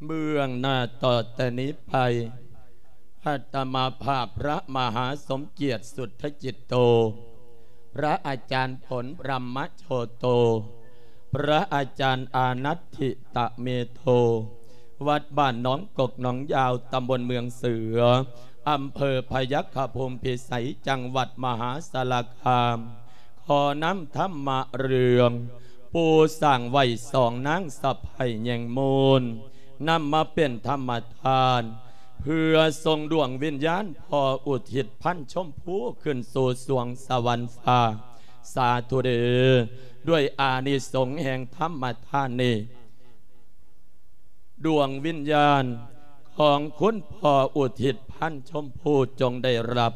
ເບື້ອງໜ້າຕໍ່ແຕ່ນີ້ໄປ ອາດຕະມາພາບພະມະຫາສົມກຽດສຸດທະຈິດໂຕ, ພະອາຈານຜົນບຣຳມະໂຊໂຕ, ພະອາຈານອານັດທິຕະເມໂທ, ວັດບ້ານໜອງກົກໜອງຍາວ, ຕຳບົນເມືອງເສືອ, ອຳເພີພະຍັກຂະພູມພິໄສ, ຈັງຫວັດມະຫາສາລະຄາມ. ຂໍນຳທຳມະເລື່ອງ ປູສ້າງໄວ້ສອງນາງສະໃພ້ແຍງມູນ ນຳມາເປັນທຳມະທານ ເພື່ອສົ່ງດວງວິນຍານພໍ່ອຸທິດພັນຊົມພູ ຂຶ້ນສູ່ສວງສະຫວັນຟ້າ ສາທຸເດ. ດ້ວຍອານິສົງແຫ່ງທຳມະທານນີ້ ດວງວິນຍານຂອງຄຸນພໍ່ອຸທິດພັນຊົມພູ ຈົ່ງໄດ້ຮັບ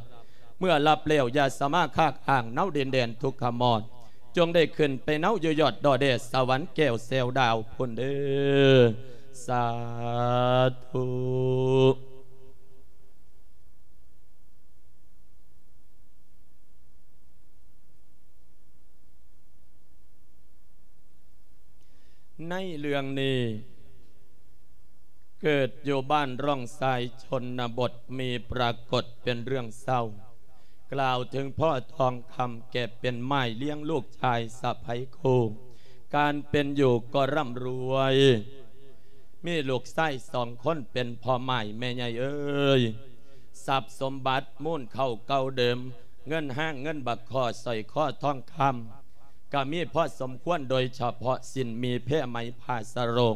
ເມື່ອຮັບແລ້ວ ຢ່າສາມາຄາກອ້າງເນົາດິນແດນທຸກຂະມອດ, ຈົ່ງໄດ້ຂຶ້ນໄປເນົາຢູ່ຍອດດອແດສະຫວັນແກ້ວແຊວດາວພຸ້ນເດີ. ສາທຸ. ໃນເລື່ອງນີ້ ເກີດຢູ່ບ້ານຮ່ອງຊາຍຊົນນະບົດ ມີປາກົດເປັນເລື່ອງເສົ້າ ກ່າວເຖິງພໍ່ທອງຄຳແກ່ເປັນໝ້າຍລ້ຽງລູກຊາຍສະໃພ້ຄູ່ ການເປັນຢູ່ກໍຮ່ຳລວຍ ມີລູກຊາຍສອງຄົນເປັນພໍ່ໝ້າຍແມ່ໃຫຍ່ເອີຍ ຊັບສົມບັດມູນເຂົ້າເກົ່າເດີມ ເງິນຫ້າງເງິນບັກຄໍ້ ສ້ອຍຄໍທອງຄຳ ກໍມີພໍສົມຄວນ ໂດຍສະເພາະສິ້ນໝີ່ ແພໄໝ ຜ້າສະໂລງ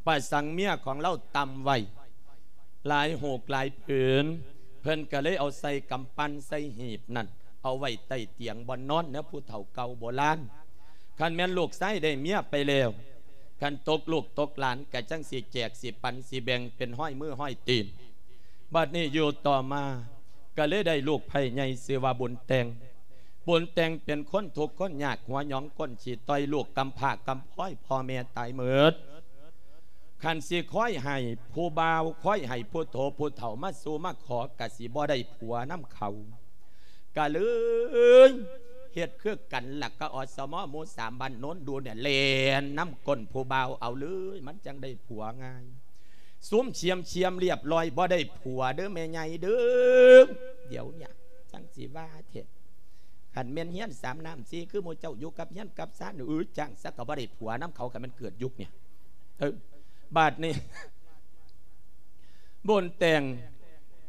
ປະສັງເມຍຂອງລາວຕ່ຳໄວ້ ຫຼາຍຫູກຫຼາຍຜືນ ເພິ່ນກໍເລີຍເອົາໃສ່ກຳປັ່ນໃສ່ຫີບນັ້ນ ເອົາໄວ້ໃຕ້ຕຽງບ່ອນນອນແນວຜູ້ເຖົ້າເກົ່າໂບລານ. ຄັນແມ່ນລູກຊາຍໄດ້ເມຍໄປແລ້ວ ຄັນຕົກລູກຕົກຫຼານກໍຈັ່ງຊິແຈກ ຊິປັນ ຊິແບ່ງເປັນຮ້ອຍມືຮ້ອຍຕີນ. ບັດນີ້ຢູ່ຕໍ່ມາກໍເລີຍໄດ້ລູກໃພ້ໃຫຍ່ຊື່ວ່າບຸນແຕ່ງ. ບຸນແຕ່ງເປັນຄົນທຸກຄົນຍາກ ຫົວຫຍອງກົ້ນຂີ້ຕ່ອຍ ລູກກຳພ້າກຳພ້ອຍ ພໍ່ແມ່ຕາຍໝົດ. ຄັນຊິຄອຍໃຫ້ຜູ້ບ່າວ ຄອຍໃຫ້ຜູ້ໂທຜູ້ເຖົ້າມາສູ່ມາຂໍ ກະຊິບໍ່ໄດ້ຜົວນຳເຂົາ ກະເລີຍເຮັດຄືກັນລະ ກະ ອສມ ໝູ່ສາມ ບ້ານໂນນດູ່ນນີ້ ແລ່ນນຳກົ້ນຜູ້ບ່າວເອົາເລີຍ ມັນຈັ່ງໄດ້ຜົວງ່າຍ. ສຸມຊຽມໆລຽບລ້ອຍ ບໍ່ໄດ້ຜົວເດີແມ່ໃຫຍ່ເດີ. ດຽວນີ້ຈັ່ງຊິວ່າແທ້ ຄັນແມ່ນຮຽນສາມນ້ຳສີ່ ຄືໝູ່ເຈົ້າຢູ່ກັບເຮືອນກັບຊານ ເອີ ຈ້າງຊະກໍບໍ່ໄດ້ຜົວນຳເຂົາ ຄັນແມ່ນເກີດຍຸກນີ້. ເອີ ບາດນີ້ບຸນແຕ່ງ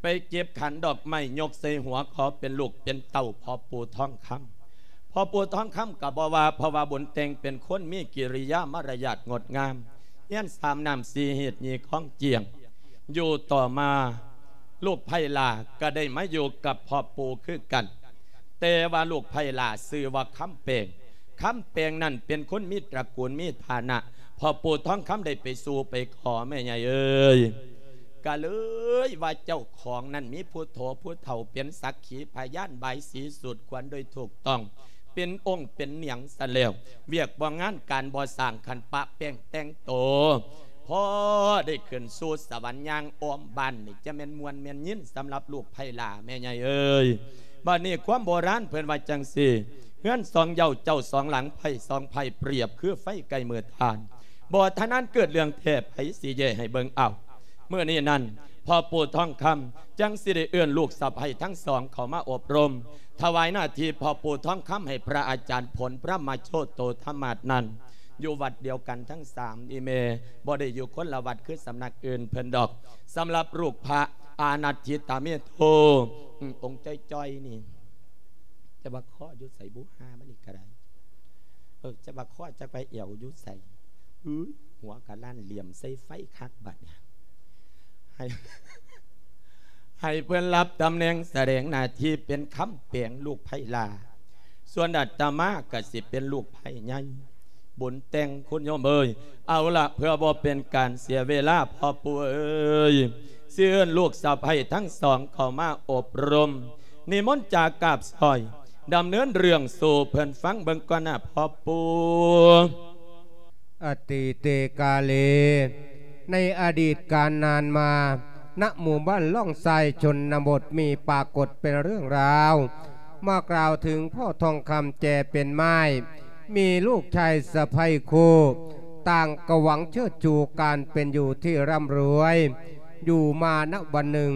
ໄປເກັບຂັນດອກໄມ້ ຍົກໃສ່ຫົວ ຂໍເປັນລູກເປັນເຕົ້າພໍ່ປູ່ທອງຄຳ. ພໍ່ປູ່ທອງຄຳກໍບໍ່ວ່າ ເພາະວ່າບຸນແຕ່ງເປັນຄົນມີກິລິຍາມາລະຍາດງົດງາມ ຮຽນສາມນ້ຳສີ່ຮີດ ຍີ່ຄອງຈຽງ. ຢູ່ຕໍ່ມາ ລູກໃພ້ຫຼ້າກໍໄດ້ມາຢູ່ກັບພໍ່ປູ່ຄືກັນ ແຕ່ວ່າລູກໃພ້ຫຼ້າຊື່ວ່າຄຳແປງ. ຄຳແປງນັ້ນເປັນຄົນມີຕະກູນມີຖານະ ພໍ່ປູ່ທອງຄຳໄດ້ໄປສູ່ໄປຂໍແມ່ໃຫຍ່ເອີຍ ກະເລີຍວ່າເຈົ້າຂອງນັ້ນມີຜູ້ໂທຜູ້ເຖົ້າເປັນສັກຂີພະຍານ ບາຍສີສູດຂວັນໂດຍຖືກຕ້ອງ ເປັນອົງເປັນຫຍັງຊັ້ນແລ້ວ ວຽກບໍ່ງານການບໍ່ສ້າງ ຄັນປະແປ້ງແຕ່ງໂຕ ພໍໄດ້ຂຶ້ນສູ່ສະຫວັນ ຍ່າງອ້ອມບ້ານນີ້ ຈະແມ່ນມ່ວນແມ່ນຍິນສຳລັບລູກໃພ້ຫຼ້າແມ່ໃຫຍ່ເອີຍ. ບາດນີ້ຄວາມໂບລານເພິ່ນວ່າຈັ່ງຊີ້ ເຮືອນສອງເຍົາເຈົ້າສອງຫຼັງ ໄພ້ສອງໄພ້ ປຽບຄືໄຟໃກ້ມືຖ່ານ ບໍ່ທະນານເກີດເລື່ອງແທ້ ໃຜຊິແຍ່ໃຫ້ເບິ່ງເອົາ. ມື້ນີ້ນັ້ນ ພໍ່ປູ່ທອງຄຳຈັ່ງຊິໄດ້ເອີ້ນລູກສະໃພ້ທັງສອງເຂົ້າມາອົບຮົມ ຖວາຍໜ້າທີ່ພໍ່ປູ່ທອງຄຳໃຫ້ພະອາຈານຜົນ ພະມະໂຊໂຕທະມາດນັ້ນ ຢູ່ວັດດຽວກັນທັງສາມ ອີ່ແມ່ ບໍ່ໄດ້ຢູ່ຄົນລະວັດຄືສຳນັກອື່ນເພິ່ນດອກ. ສຳລັບລູກພະອານັດທິຕາເມໂທ ອືມ ອົງຈ້ອຍໆນີ້ ຈະວ່າຄໍຢູ່ໃສບຸ ຫາມັນນີ້ກະໄດ້ ເອີ ຈະວ່າຄໍຈັກວ່າແອວຢູ່ໃສ ອື ຫົວກະລ້ານ ຫຼຽມໃສ່ໄຟຄັກບັດນີ້ ໃຫ້ ໃຫ້ເພິ່ນຮັບຕຳແໜ່ງສະແດງໜ້າທີ່ເປັນຄຳແປງລູກໃພ້ຫຼ້າ ສ່ວນອາດຕະມາກະຊິເປັນລູກໃພ້ໃຫຍ່ ບຸນແຕ່ງ ຄຸນໂຍມເອີຍ. ເອົາລະ ເພື່ອບໍ່ເປັນການເສຍເວລາ ພໍ່ປູ່ເອີຍ ຊິເອີ້ນລູກສະໃພ້ທັງສອງເຂົ້າມາອົບຮົມ ນິມົນຈາກາບສອຍ ດຳເນີນເລື່ອງສູ່ເພິ່ນຟັງເບິ່ງກ່ອນນະພໍ່ປູ່. ອະຕິເຕກາເລ ໃນອະດີດການນານມາ ນະໝູ່ບ້ານລ່ອງຊາຍຊົນນະບົດ ມີປາກົດເປັນເລື່ອງລາວ ມາກ່າວເຖິງພໍ່ທອງຄຳແຈເປັນໝ້າຍ ມີລູກຊາຍສະໃພ້ຄູ່ ຕ່າງກໍຫວັງເຊີດຊູການເປັນຢູ່ທີ່ຮ່ຳລວຍ ຢູ່ມານະວັນໜຶ່ງ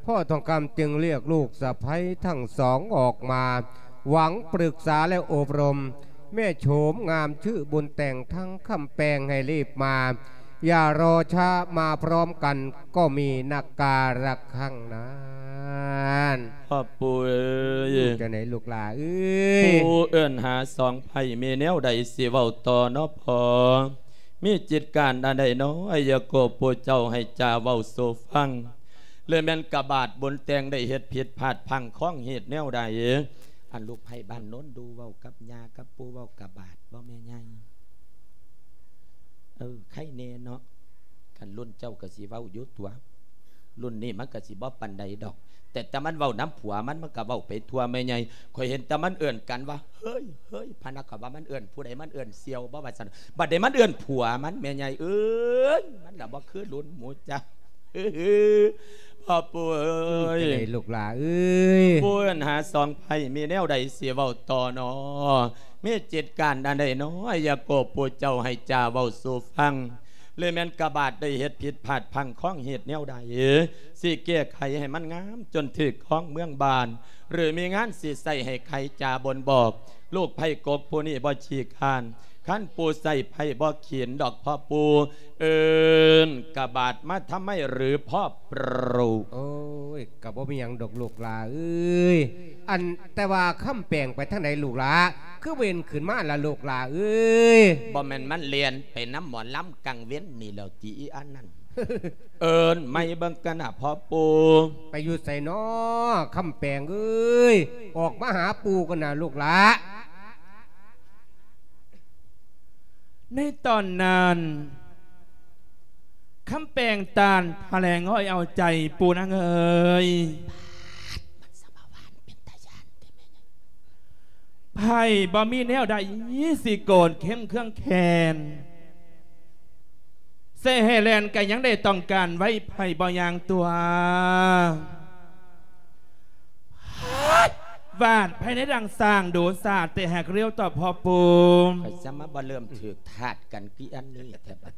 ພໍ່ທອງຄຳຈຶ່ງລຽກລູກສະໃພ້ທັງສອງອອກມາ ຫວັງປຶກສາແລະອົບຮົມ ແມ່ໂສມງາມຊື່ບຸນແຕ່ງທັງຄຳແປງໃຫ້ລີບມາ ຢ່າລໍຊ້າ ມາພ້ອມກັນກໍມີນະກາລະຄັງນັ້ນ. ພໍ່ປູ່ເອີຍ ຈັ່ງໃດລູກຫຼ້າເອີຍ? ປູ່ເອີ້ນຫາສອງໃພ້ ມີແນວໃດຊິເວົ້າຕໍ່ເນາະພໍ່? ມີຈິດການອັນໃດເນາະ ອາຍາໂກ ຜູ້ເຈົ້າໃຫ້ຈາເວົ້າສູ່ຟັງ ຫຼືແມ່ນກະບາດບຸນແຕ່ງໄດ້ເຮັດຜິດພາດພັ້ງຂອງເຫດແນວໃດ? ອັນລູກໃພ້ບ້ານໂນນດູເວົ້າກັບຍ່າກັບປູ່ ເວົ້າກະບາດບໍ່ແມ່ໃຫຍ່? ເອີ ໄຄແນ່ເນາະ ຄັນລຸ້ນເຈົ້າກໍຊິເວົ້າຢູ່ຕົວະ ລຸ້ນນີ້ມັນກໍຊິບໍ່ປານໃດດອກ ແຕ່ ແຕ່ມັນເວົ້ານຳຜົວມັນ ມັນກໍເວົ້າໄປທົ່ວແມ່ໃຫຍ່ ຂ້ອຍເຫັນແຕ່ມັນເອີ້ນກັນວ່າ ເຮີ້ຍ ເຮີ້ຍ ພະນະ ຂ້ອຍວ່າມັນເອີ້ນຜູ້ໃດ ມັນເອີ້ນສ່ຽວບໍ່ວ່າຊັ້ນ ບັດນີ້ມັນເອີ້ນຜົວມັນ ແມ່ໃຫຍ່ເອີຍ ມັນລະບໍ່ຄືລຸ້ນໝູ່ເຈົ້າ. ພໍ່ປູ່ເອີຍ ຈັ່ງໃດລູກຫຼ້າເອີຍ? ປູ່ເອີ້ນຫາສອງໃພ້ ມີແນວໃດຊິເວົ້າຕໍ່ເນາະ? ມີຈິດການອັນໃດເນາະ ອາຍາໂກ ຜູ້ເຈົ້າໃຫ້ຈາເວົ້າສູ່ຟັງ ຫຼືແມ່ນກະບາດໄດ້ເຮັດຜິດພາດພັ້ງຂອງເຫດແນວໃດ ຊິແກ້ໄຂໃຫ້ມັນງາມຈົນຖືກຄອງເມືອງບ້ານ ຫຼືມີງານຊິໃຊ້ໃຫ້ໄຂຈາບົ່ງບອກ ລູກໃພ້ກົກຜູ້ນີ້ບໍ່ຂີ້ຄ້ານ ຄັນປູ່ໃຊ້ໃພ້ບໍ່ຂິນດອກພໍ່ປູ່ ເອີ້ນກະບາດມາທຳໄມຫຼືພໍ່ປູ່? ໂອ້ຍ ກະບໍ່ມີຫຍັງດອກລູກຫຼ້າເອີຍ ອັນ ແຕ່ວ່າຄຳແປງໄປທາງໃດລູກຫຼ້າ ຄືເວັນຂຶ້ນມາລະລູກຫຼ້າເອີຍ? ບໍ່ແມ່ນມັນແລ່ນໄປນຳໝໍລຳກາງເວັນນີ້ແລ້ວຕິ ອີອັນນັ້ນ? ເອີ້ນໃໝ່ເບິ່ງກັນນະພໍ່ປູ່. ໄປຢູ່ໃສນໍຄຳແປງເອີຍ? ອອກມາຫາປູ່ກັນນະລູກຫຼ້າ. ໃນຕອນນັ້ນ ຄຳແປງຕ່ານຖະແຫຼງອ້ອຍເອົາໃຈ ປູ່ນາງເອີຍ. ໃຜບໍ່ມີແນວໃດຊິໂກດເຄັມເຄືອງແຄ້ນ ໃສ່ໃຫ້ແລ່ນກະຍັງໄດ້ຕ້ອງການໄວ້ ໃຜບໍ່ຍ່າງຕົວະ ວາດໃຜໃນດັ່ງຊ້າງດູສາດ ແຕ່ຫາກລຽວຕໍ່ພໍ່ປູ່. ຂ້ອຍຈະມາບໍ່ເລີ່ມຖືກທາດກັນຄືອັນນີ້ແທ້ບັດ.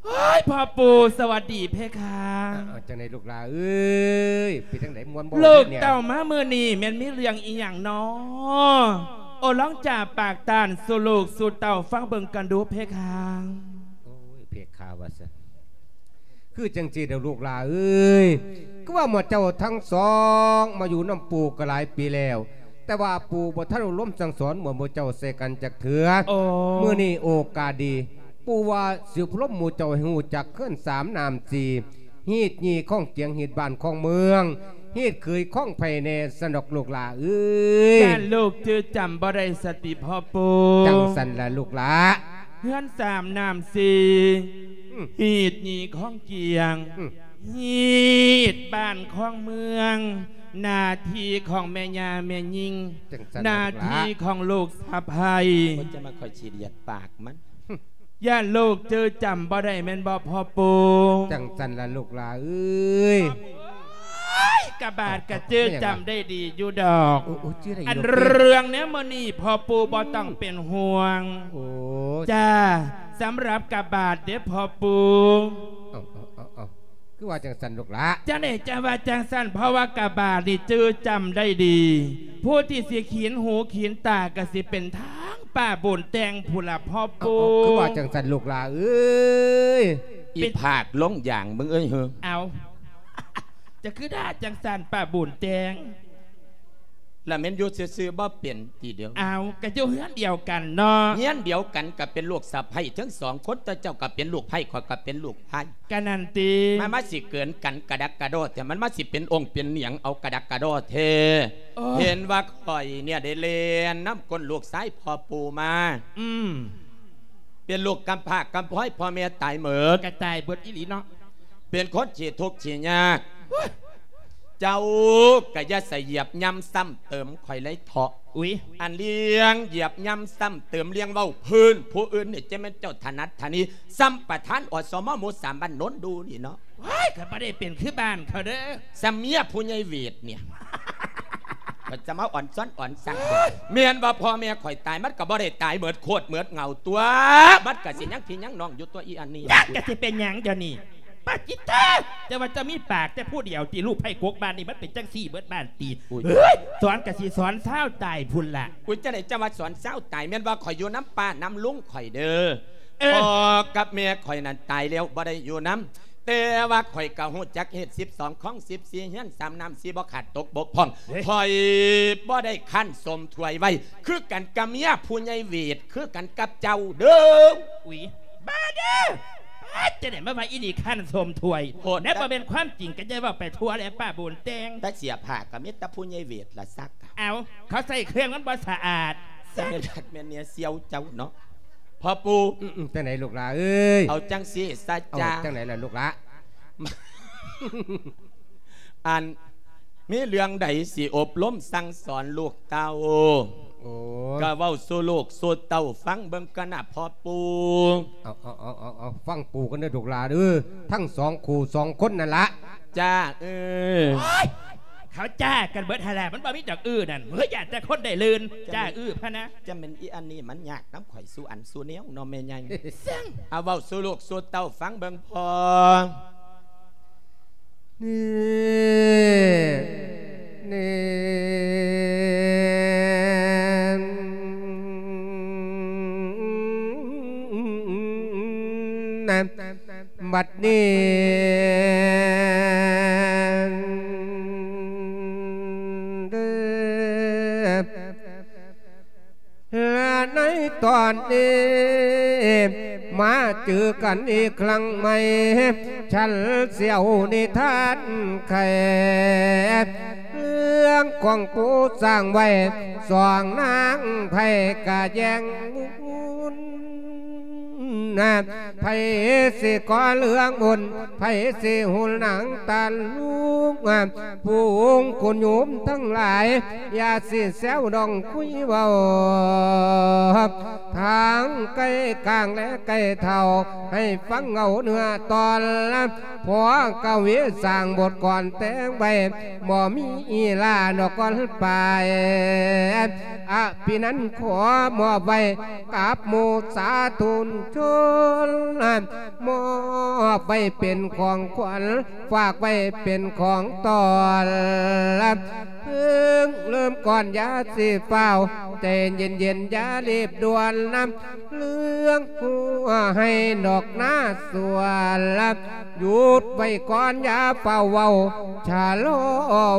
ໂອ້ຍ ພໍ່ປູ່ ສະຫວັດດີເພຄາ. ເອົາ ຈັ່ງໃດລູກຫຼ້າເອີຍ? ເປັນຈັ່ງໃດ ມ່ວນບໍ່? ລູກເຕົ້າມາມື້ນີ້ແມ່ນມີເລື່ອງອີ່ຫຍັງນໍ? ໂອ້ ລອງຈາປາກຕ່ານສູ່ລູກສູ່ເຕົ້າຟັງເບິ່ງກັນດູເພຄາ. ໂອ້ຍ ເພຄາວ່າຊັ້ນ ຄືຈັ່ງຊີ້ເດີລູກຫຼ້າເອີຍ ຄືວ່າໝູ່ເຈົ້າທັງສອງມາຢູ່ນຳປູ່ກໍຫຼາຍປີແລ້ວ ແຕ່ວ່າປູ່ບໍ່ທັນອົບຮົມສັ່ງສອນໝູ່ເຈົ້າໃສ່ກັນຈັກເທື່ອ. ໂອ້ ມື້ນີ້ໂອກາດດີ ປູ່ວ່າຊິອົບຮົມໝູ່ເຈົ້າໃຫ້ຮູ້ຈັກເຮືອນສາມນ້ຳສີ່ ຮີດຍີ່ຄອງກຽງ ຮີດບ້ານຄອງເມືອງ ຮີດເຂີຍຄອງໃຜແດ່ຊັ້ນດອກລູກຫຼ້າເອີຍ. ຢ້ານລູກຈື່ຈຳບໍ່ໄດ້ສະຕິພໍ່ປູ່. ຈັ່ງຊັ້ນລະລູກຫຼ້າ. ເຮືອນສາມນ້ຳສີ່ ອືມ ຮີດຍີ່ຄອງກຽງ ອືມ ຮີດບ້ານຄອງເມືອງ ໜ້າທີ່ຂອງແມ່ຍ່າແມ່ຍິງ ຈັ່ງຊັ້ນລະ ໜ້າທີ່ຂອງລູກສະໃພ້. ເພິ່ນຈະມາ ຂ້ອຍຊິລຽດປາກມັນ. ຢ້ານລູກຈື່ຈຳບໍ່ໄດ້ແມ່ນບໍ່ພໍ່ປູ່? ຈັ່ງຊັ້ນລະລູກຫຼ້າເອີຍ. ໂອ້ຍ ກະບາດກະຈື່ຈຳໄດ້ດີຢູ່ດອກ. ໂອ້ ໂອ້ ຈື່ໄດ້ຢູ່ ອັນເລື່ອງແນວມື້ນີ້ພໍ່ປູ່ບໍ່ຕ້ອງເປັນຫ່ວງ. ໂອ້ ຈ້າ ສຳລັບກະບາດເດ້ພໍ່ປູ່. ເອົາ ເອົາ ເອົາ ເອົາ ຄືວ່າຈັ່ງຊັ້ນລູກຫຼ້າ? ຈັ່ງໃດຈັ່ງວ່າຈັ່ງຊັ້ນ ເພາະວ່າກະບາດນີ້ຈື່ຈຳໄດ້ດີ ຜູ້ທີ່ຊິຂີນຫູຂີນຕາກະຊິເປັນທາງປ້າບຸນແຕ່ງພຸ້ນລະພໍ່ປູ່. ເອົາ ເອົາ ຄືວ່າຈັ່ງຊັ້ນລູກຫຼ້າເອີຍ. ອີພາກລົງຢາງມຶງເອີຍເຮີ. ເອົາ ຈະຄືດ່າຈັ່ງຊັ້ນປ້າບຸນແຕ່ງ? ລະແມ່ນຢູ່ຊື່ໆບໍ່ເປັນຕິດຽວ. ເອົາ ກະຢູ່ເຮືອນດຽວກັນເນາະ. ເຮືອນດຽວກັນກະເປັນລູກສະໃພ້ທັງສອງຄົນ ແຕ່ເຈົ້າກະເປັນລູກໃພ້ ຂ້ອຍກະເປັນລູກຊາຍ. ກະນັ້ນຕິ. ມາ ມາຊິເກີນກັນກະດັກກະດໍແທ້ ມັນມາຊິເປັນອົງເປັນຫຍັງເອົາກະດັກກະດໍແທ້. ໂອ້ ເຫັນວ່າຂ້ອຍເນຍໄດ້ແລ່ນນຳກົ້ນລູກຊາຍພໍ່ປູ່ມາ. ອືມ. ເປັນລູກກຳພ້າກຳພ້ອຍ ພໍ່ແມ່ຕາຍເໝິດ. ກະຕາຍເບິດອີ່ຫຼີເນາະ. ເປັນຄົນຂີ້ທຸກຂີ້ຍາກ. ໂອ້ຍ ເຈົ້າກະຢ່າສະຢຽບຍ່ຳຊ້ຳເຕີມຂ້ອຍເລີຍເຖາະ. ອຸ້ຍ ອັນເລື່ອງຢຽບຍ່ຳຊ້ຳເຕີມ ເລື່ອງເວົ້າພື້ນຜູ້ອື່ນນີ້ ຈະແມ່ນເຈົ້າຖະໜັດຖະນີ ຊ້ຳປະທານ ອສມ ໝູ່ສາມ ບ້ານໂນນດູນີ້ເນາະ. ໂອ້ຍ ຂ້ອຍບໍ່ໄດ້ເປັນຄືບ້ານເຂົາເດີ ຊ້ຳເມຍຜູ້ໃຫຍ່ເວດເນຍ. ຈະມາອ່ອນຊ້ອນອ່ອນສັງ ແມ່ນວ່າພໍ່ແມ່ຂ້ອຍຕາຍ ມັນກໍບໍ່ໄດ້ຕາຍເໝິດໂຄດເໝິດເຫງົາຕົວະ ມັນກໍຊິຍັງພີ່ຍັງນ້ອງຢູ່ຕົວະ ອີອັນນີ້ ຈັກກະຊິເປັນຫຍັງດຽວນີ້ ປາຈິດໂທ ເຈົ້າວ່າເຈົ້າມີປາກແຕ່ຜູ້ດຽວຕິ ລູກໃພ້ກົກບ້ານນີ້ ມັນເປັນຈັ່ງຊີ້ເໝິດບ້ານຕິ ອຸ້ຍ ເອີຍ ສອນກະຊິສອນຊາວຕາຍພຸ້ນລະ ອຸ້ຍ ຈັ່ງໃດເຈົ້າວ່າສອນຊາວຕາຍ ແມ່ນວ່າຂ້ອຍຢູ່ນຳປ້ານຳລຸງຂ້ອຍເດີ້ ເອີ ພໍ່ກັບແມ່ຂ້ອຍນັ້ນຕາຍແລ້ວ ບໍ່ໄດ້ຢູ່ນຳ ແຕ່ວ່າຂ້ອຍກໍຮູ້ຈັກເຮັດສິບສອງຄອງສິບສີ່ເຮືອນ ສາມນ້ຳສີ່ບໍ່ຂາດຕົກບົກຜ່ອງ ເດ້ ຂ້ອຍບໍ່ໄດ້ຄັນສົມຖ້ວຍໄວ້ ຄືກັນກັບເມຍຜູ້ໃຫຍ່ເວດ ຄືກັນກັບເຈົ້າເດີ້ ອຸ້ຍ ບ້າເດີ້ ປາດ ຈັ່ງໃດມາວ່າອີນີ້ຄັນສົມຖ້ວຍ ໂພດ ແນວບໍ່ແມ່ນຄວາມຈິງກໍຢ່າເວົ້າໄປທົ່ວແຫຼະ ປ້າບຸນແຕ່ງ ແຕ່ເສື້ອຜ້າກໍມີແຕ່ຜູ້ໃຫຍ່ເວດລະຊັກ ເອົາ ເຂົາໃສ່ເຄື່ອງມັນບໍ່ສະອາດ ແມ່ນຄັກແມ່ນແນ່ສ່ຽວເຈົ້າເນາະ ພໍ່ປູ່ ອືມໆ ຈັ່ງໃດລູກຫຼ້າເອີຍ ເອົາຈັ່ງຊີ້ຊະ ເອົາ ຈ້າ ຈັ່ງໃດລະລູກຫຼ້າ ອັນ ມີເລື່ອງໃດຊິອົບຮົມສັ່ງສອນລູກເຕົ້າ ໂອ້ຍ ກໍເວົ້າສູ່ລູກສູ່ເຕົ້າຟັງເບິ່ງກ່ອນນະພໍ່ປູ່ ເອົາໆໆໆ ຟັງປູ່ກ່ອນເດີ້ລູກຫຼ້າເອີຍ ທັງສອງຄູ່ສອງຄົນນັ້ນລະ ຈ້າ ເອີ ໂອ້ຍ ເຂົາຈ້າກັນເບິດຫັ້ນລະ ມັນບໍ່ມີດອກ ອື ນັ້ນ ເຮີ້ຍ ຢ້ານແຕ່ຄົນໄດ້ລື່ນ ຈ້າ ອື ພະນະ ຈະແມ່ນອີອັນນີ້ມັນຍາກນຳຂ້ອຍສູ່ອັນສູ່ແນວເນາະແມ່ໃຫຍ່ ເອົາເວົ້າສູ່ລູກສູ່ເຕົ້າຟັງເບິ່ງພໍ່ ນີ້ ນີ້ ບັດນີ້ເດີ ແລະໃນຕອນນີ້ ມາເຈີກັນອີກຄັ້ງໃໝ່ ສັນສຽວນິທານໄຂ ເລື່ອງຂອງປູສ້າງໄວ້ ສອງນາງໄພກະແຍ່ງບຸນ ໃຜຊິກໍ່ເລື່ອງບຸນ ໃຜຊິຫຸນນາງຕານລຸງ ຝູງຄຸນໂຍມທັງຫຼາຍ ຢ່າຊິແຊວດອງຄຸຍເວົ້າ ທາງໄກກາງແລະໄກເທົ່າ ໃຫ້ຟັງເອົາເນື້ອຕອນ ພໍ່ກະວີສ້າງບົດກອນແຕ່ງໄວ້ ບໍ່ມີອີລາດອກກ່ອນປາຍ ອະພິນັນຂໍມອບໄວ້ກັບໝູ່ສາທຸຊົນ ມອບໄວ້ເປັນຂອງຂວັນ ຝາກໄວ້ເປັນຂອງຕ້ອນ ເພິ່ງເລີ່ມກ່ອນຢ່າຊິຟ້າວ ໃຈເຢັນໆຢ່າລີບດ່ວນນຳ ເລື່ອງຫົວໄຮ່ດອກນາສວນ ຢຸດໄວ້ກ່ອນຢ່າຟ້າວເວົ້າ ຊະລໍ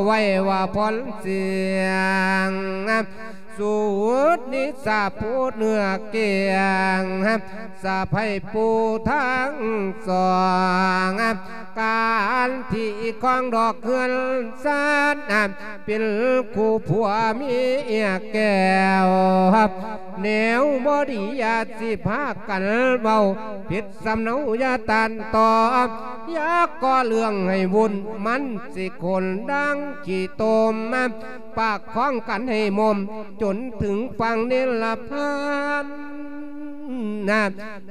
ໄວ້ວ່າຜ່ອນສຽງ ສູດນິສາພູດເໜືອກຽງ ສະໃພ້ປູທາງສອງ ການທີ່ຄອງດອກເຮືອນຊານ ເປັນຄູ່ຜົວເມຍແກ້ວ ແນວບໍ່ດີຢ່າຊິພາກັນເວົ້າ ຜິດສຳເນົາຢ່າຕ້ານຕອບ ຢ່າກໍ່ເລື່ອງໃຫ້ວຸ່ນ ມັນຊິຂົນດັ່ງຂີ້ຕົມ ປະຄອງກັນໃຫ້ໝົມ ຈົນເຖິງຝັ່ງນິລະພານ ນະ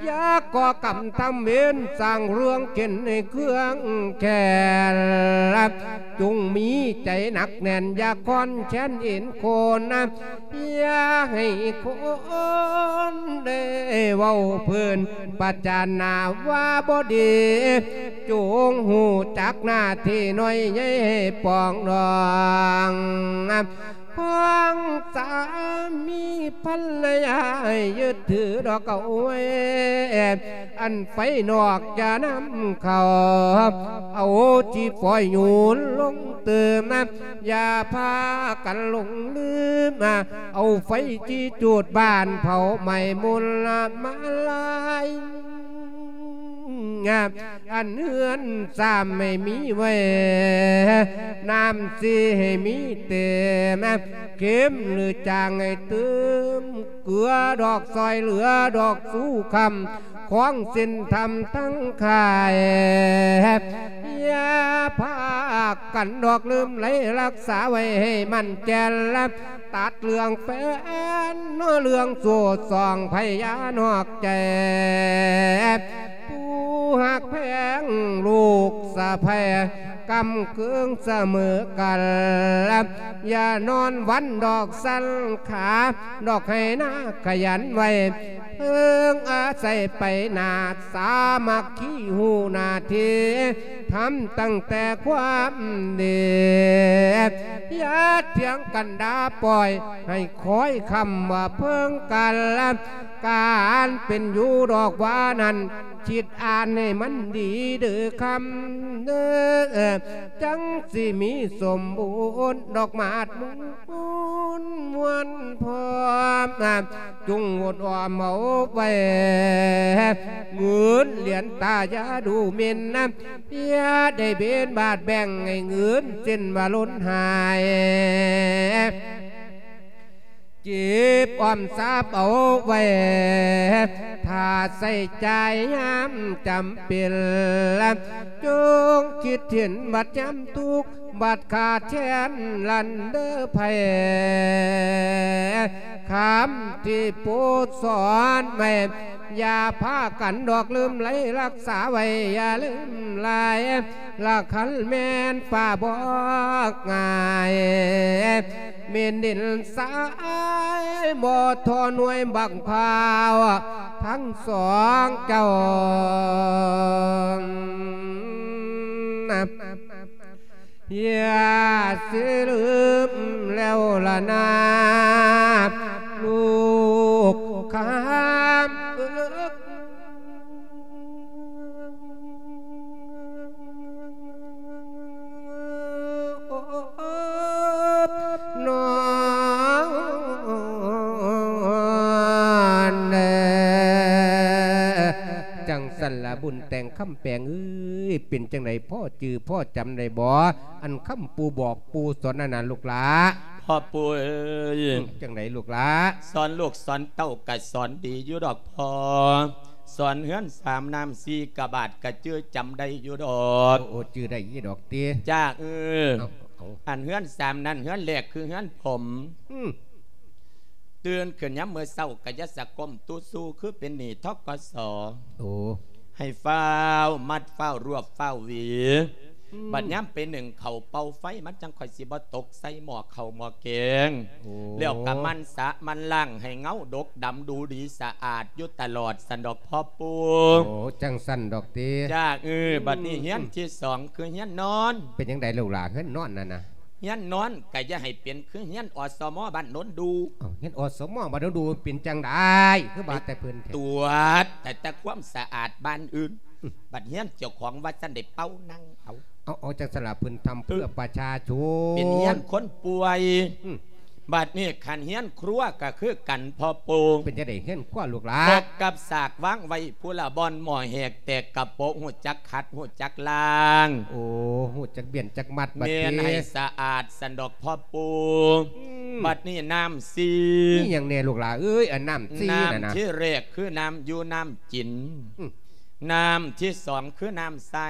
ຢ່າກໍ່ກຳທຳເວນ ສ້າງເລື່ອງເຂັນໃຫ້ເຄືອງແຂນ ຈົ່ງມີໃຈໜັກແໜ້ນ ຢ່າຄອນແຄ້ນເອັນໂຄນນະ ຢ່າໃຫ້ຄົນໄດ້ເວົ້າເພີ້ນປະຈານໜ້າວ່າບໍ່ດີ ຈົ່ງຮູ້ຈັກໜ້າທີ່ນ້ອຍໃຫຍ່ໃຫ້ປອງດອງ ຟັງສາມີພັນລະຍາໃຫ້ຍຶດຖືດອກເອົາໄວ້ ອັນໄຟນອກຢ່ານຳເຂົ້າ ເອົາຈີ່ຝອຍໂຍນລົງຕື່ມ ຢ່າພາກັນຫຼົງລືມ ເອົາໄຟຈີ່ຈູດບ້ານເຜົາໄໝ້ມົນລະມາລາຍ ອັນເຮືອນຊາມໃຫ້ມີໄວ້ ນ້ຳສີໃຫ້ມີເຕັມ ເຂັມຫຼືຈາງໃຫ້ຕື່ມ ເກືອດອກຊ່ອຍເຫຼືອດອກສູ່ຄຳ ຂອງສິນທຳທັງຂາຍ ຢ່າພາກັນດອກລືມໄຫຼ ຮັກສາໄວ້ໃຫ້ໝັ້ນແກ່ນລະ ຕັດເລື່ອງແຟນ ເລື່ອງໂສດສອງໄພຢ່ານອກໃຈ ຜູ້ຮັກແພງລູກສະໃພ້ ກຳເຄືອງສະເໝີກັນ ຢ່ານອນວັນດອກສັນຂາ ດອກໄຮ່ນາຂະຫຍັນໄວ້ ເພິ່ງອາໄສໄປໜ້າ ສາມັກຄີຮູ້ໜ້າທີ່ ທຳຕັ້ງແຕ່ຄວາມດີ ຢ່າຖຽງກັນດ່າປ່ອຍ ໃຫ້ຄອຍຄຳວ່າເພິ່ງກັນ ການເປັນຢູ່ດອກວ່ານັ້ນ ຄິດອ່ານໃຫ້ມັນດີເດີຄຳເດີ ຈັ່ງຊິມີສົມບູນດອກໝາດມູນມ່ວນພ້ອມ ຈົ່ງໂຫດອ້ອມເອົາໄວ້ ເງິນຫຼຽນຕາຢ່າດູໝິ່ນນຳ ຢ່າໄດ້ເບນບາດແບ່ງໃຫ້ເງິນເສັ້ນວ່າລົ້ນຫາຍ ເກັບອອມຊາບເອົາໄວ້ ຖ້າໃຊ້ຈ່າຍຍາມຈຳເປັນ ຈົ່ງຄິດເຫັນບັດຍາມທຸກ ບັດຂາດແຄນລັນເດີໄພ ຄຳທີ່ປູສອນໄວ້ ຢ່າພາກັນດອກລືມໄຫຼ ຮັກສາໄວ້ຢ່າລືມຫຼາຍ ລະຄັນແມ່ນຟ້າບອກງ່າຍ ແມ່ນດິນຊາຍ ບໍ່ທໍໜ່ວຍບັກພ້າວ ທັງສອງເຈົ້າ ຢ່າຊິລືມແລ້ວລະນາ ລູກຄຳເອີຍ ນອນເດີ ຈັ່ງຊັ້ນລະບຸນແຕ່ງຄຳແປງເອີຍ ເປັນຈັ່ງໃດພໍຈື່ພໍຈຳໄດ້ບໍ່ ອັນຄຳປູບອກປູສອນນັ້ນນະລູກຫຼ້າ? ພໍ່ປູເອີຍ ຈັ່ງໃດລູກຫຼ້າ? ສອນລູກສອນເຕົ້າກະສອນດີຢູ່ດອກພໍ່ ສອນເຮືອນສາມນ້ຳສີ່ກະບາດກະຈື່ຈຳໄດ້ຢູ່ດອກ ໂອ້ ຈື່ໄດ້ຢູ່ດອກຕິ ຈ້າເອີຍ ເອົາ ອັນເຮືອນສາມນັ້ນ ເຮືອນແລກຄືເຮືອນຜົມ ອືມ ຕື່ນຂຶ້ນຍາມມື້ເຊົ້າກະຢ່າສະກົ້ມຕຸຊູ ຄືເປັນໜີ້ ທກສ ໂອ້ ໃຫ້ຟ້າວມັດ ຟ້າວລວບ ຟ້າວຫວີ ອືມ ບັດຍາມໄປໜຶ້ງເຂົ້າເປົ່າໄຟ ມັນຈັ່ງຄ່ອຍຊິບໍ່ຕົກໃສ່ໝໍ້ເຂົ້າໝໍ້ແກງ ໂອ້ ແລ້ວກະໝັ່ນສະໝັ່ນລ້າງໃຫ້ເງົາດົກດຳ ດູດີສະອາດຢູ່ຕະຫຼອດ ຊັ້ນດອກພໍ່ປູ ໂອ້ ຈັ່ງຊັ້ນດອກຕິ ຈ້າເອີຍ ອືມ ບັດນີ້ເຮືອນທີສອງຄືເຮືອນນອນ ເປັນຈັ່ງໃດລູກຫຼ້າ ເຮືອນນອນນັ້ນນະ? ເຮືອນນອນກະຢ່າໃຫ້ເປັນຄືເຮືອນ ອສມ ບ້ານໂນນດູ ເອົ້າ ເຮືອນ ອສມ ບ້ານໂນນດູເປັນຈັ່ງໃດ ຄືວ່າແຕ່ເພິ່ນແທ້ ໄປກວດແຕ່ ແຕ່ຄວາມສະອາດບ້ານອື່ນ ອືມ ບັດເຮືອນເຈົ້າຂອງວ່າຊັ້ນໄດ້ເປົ່ານັ່ງເອົາ ເອົາ ເອົາ ຈັ່ງຊັ້ນລະ ເພິ່ນທຳເພື່ອປະຊາຊົນ ເປັນເຮືອນຄົນປ່ວຍ ອືມ ບັດນີ້ຄັນເຮືອນຄົວກະຄືກັນພໍ່ປູ ເປັນຈັ່ງໃດເຮືອນຄົວລູກຫຼ້າ? ພົບກັບສາກວາງໄວ້ ຜູ້ລະບ່ອນໝໍ້ແຫກແຕກກະໂປະ ຮູ້ຈັກຂັດ ຮູ້ຈັກລ້າງ ໂອ້ ຮູ້ຈັກບຽນຈັກມັດ ບັດນີ້ ແມ່ນໃຫ້ສະອາດ ຊັ້ນດອກພໍ່ປູ ອືມ ບັດນີ້ນ້ຳສີ່ ມີຫຍັງແດ່ລູກຫຼ້າເອີຍ? ອັນນ້ຳສີ່ນັ້ນນະ ນ້ຳທີແລກຄືນ້ຳຢູ່ນ້ຳກິນ ອືມ ນ້ຳທີສອງຄືນ້ຳໃຊ້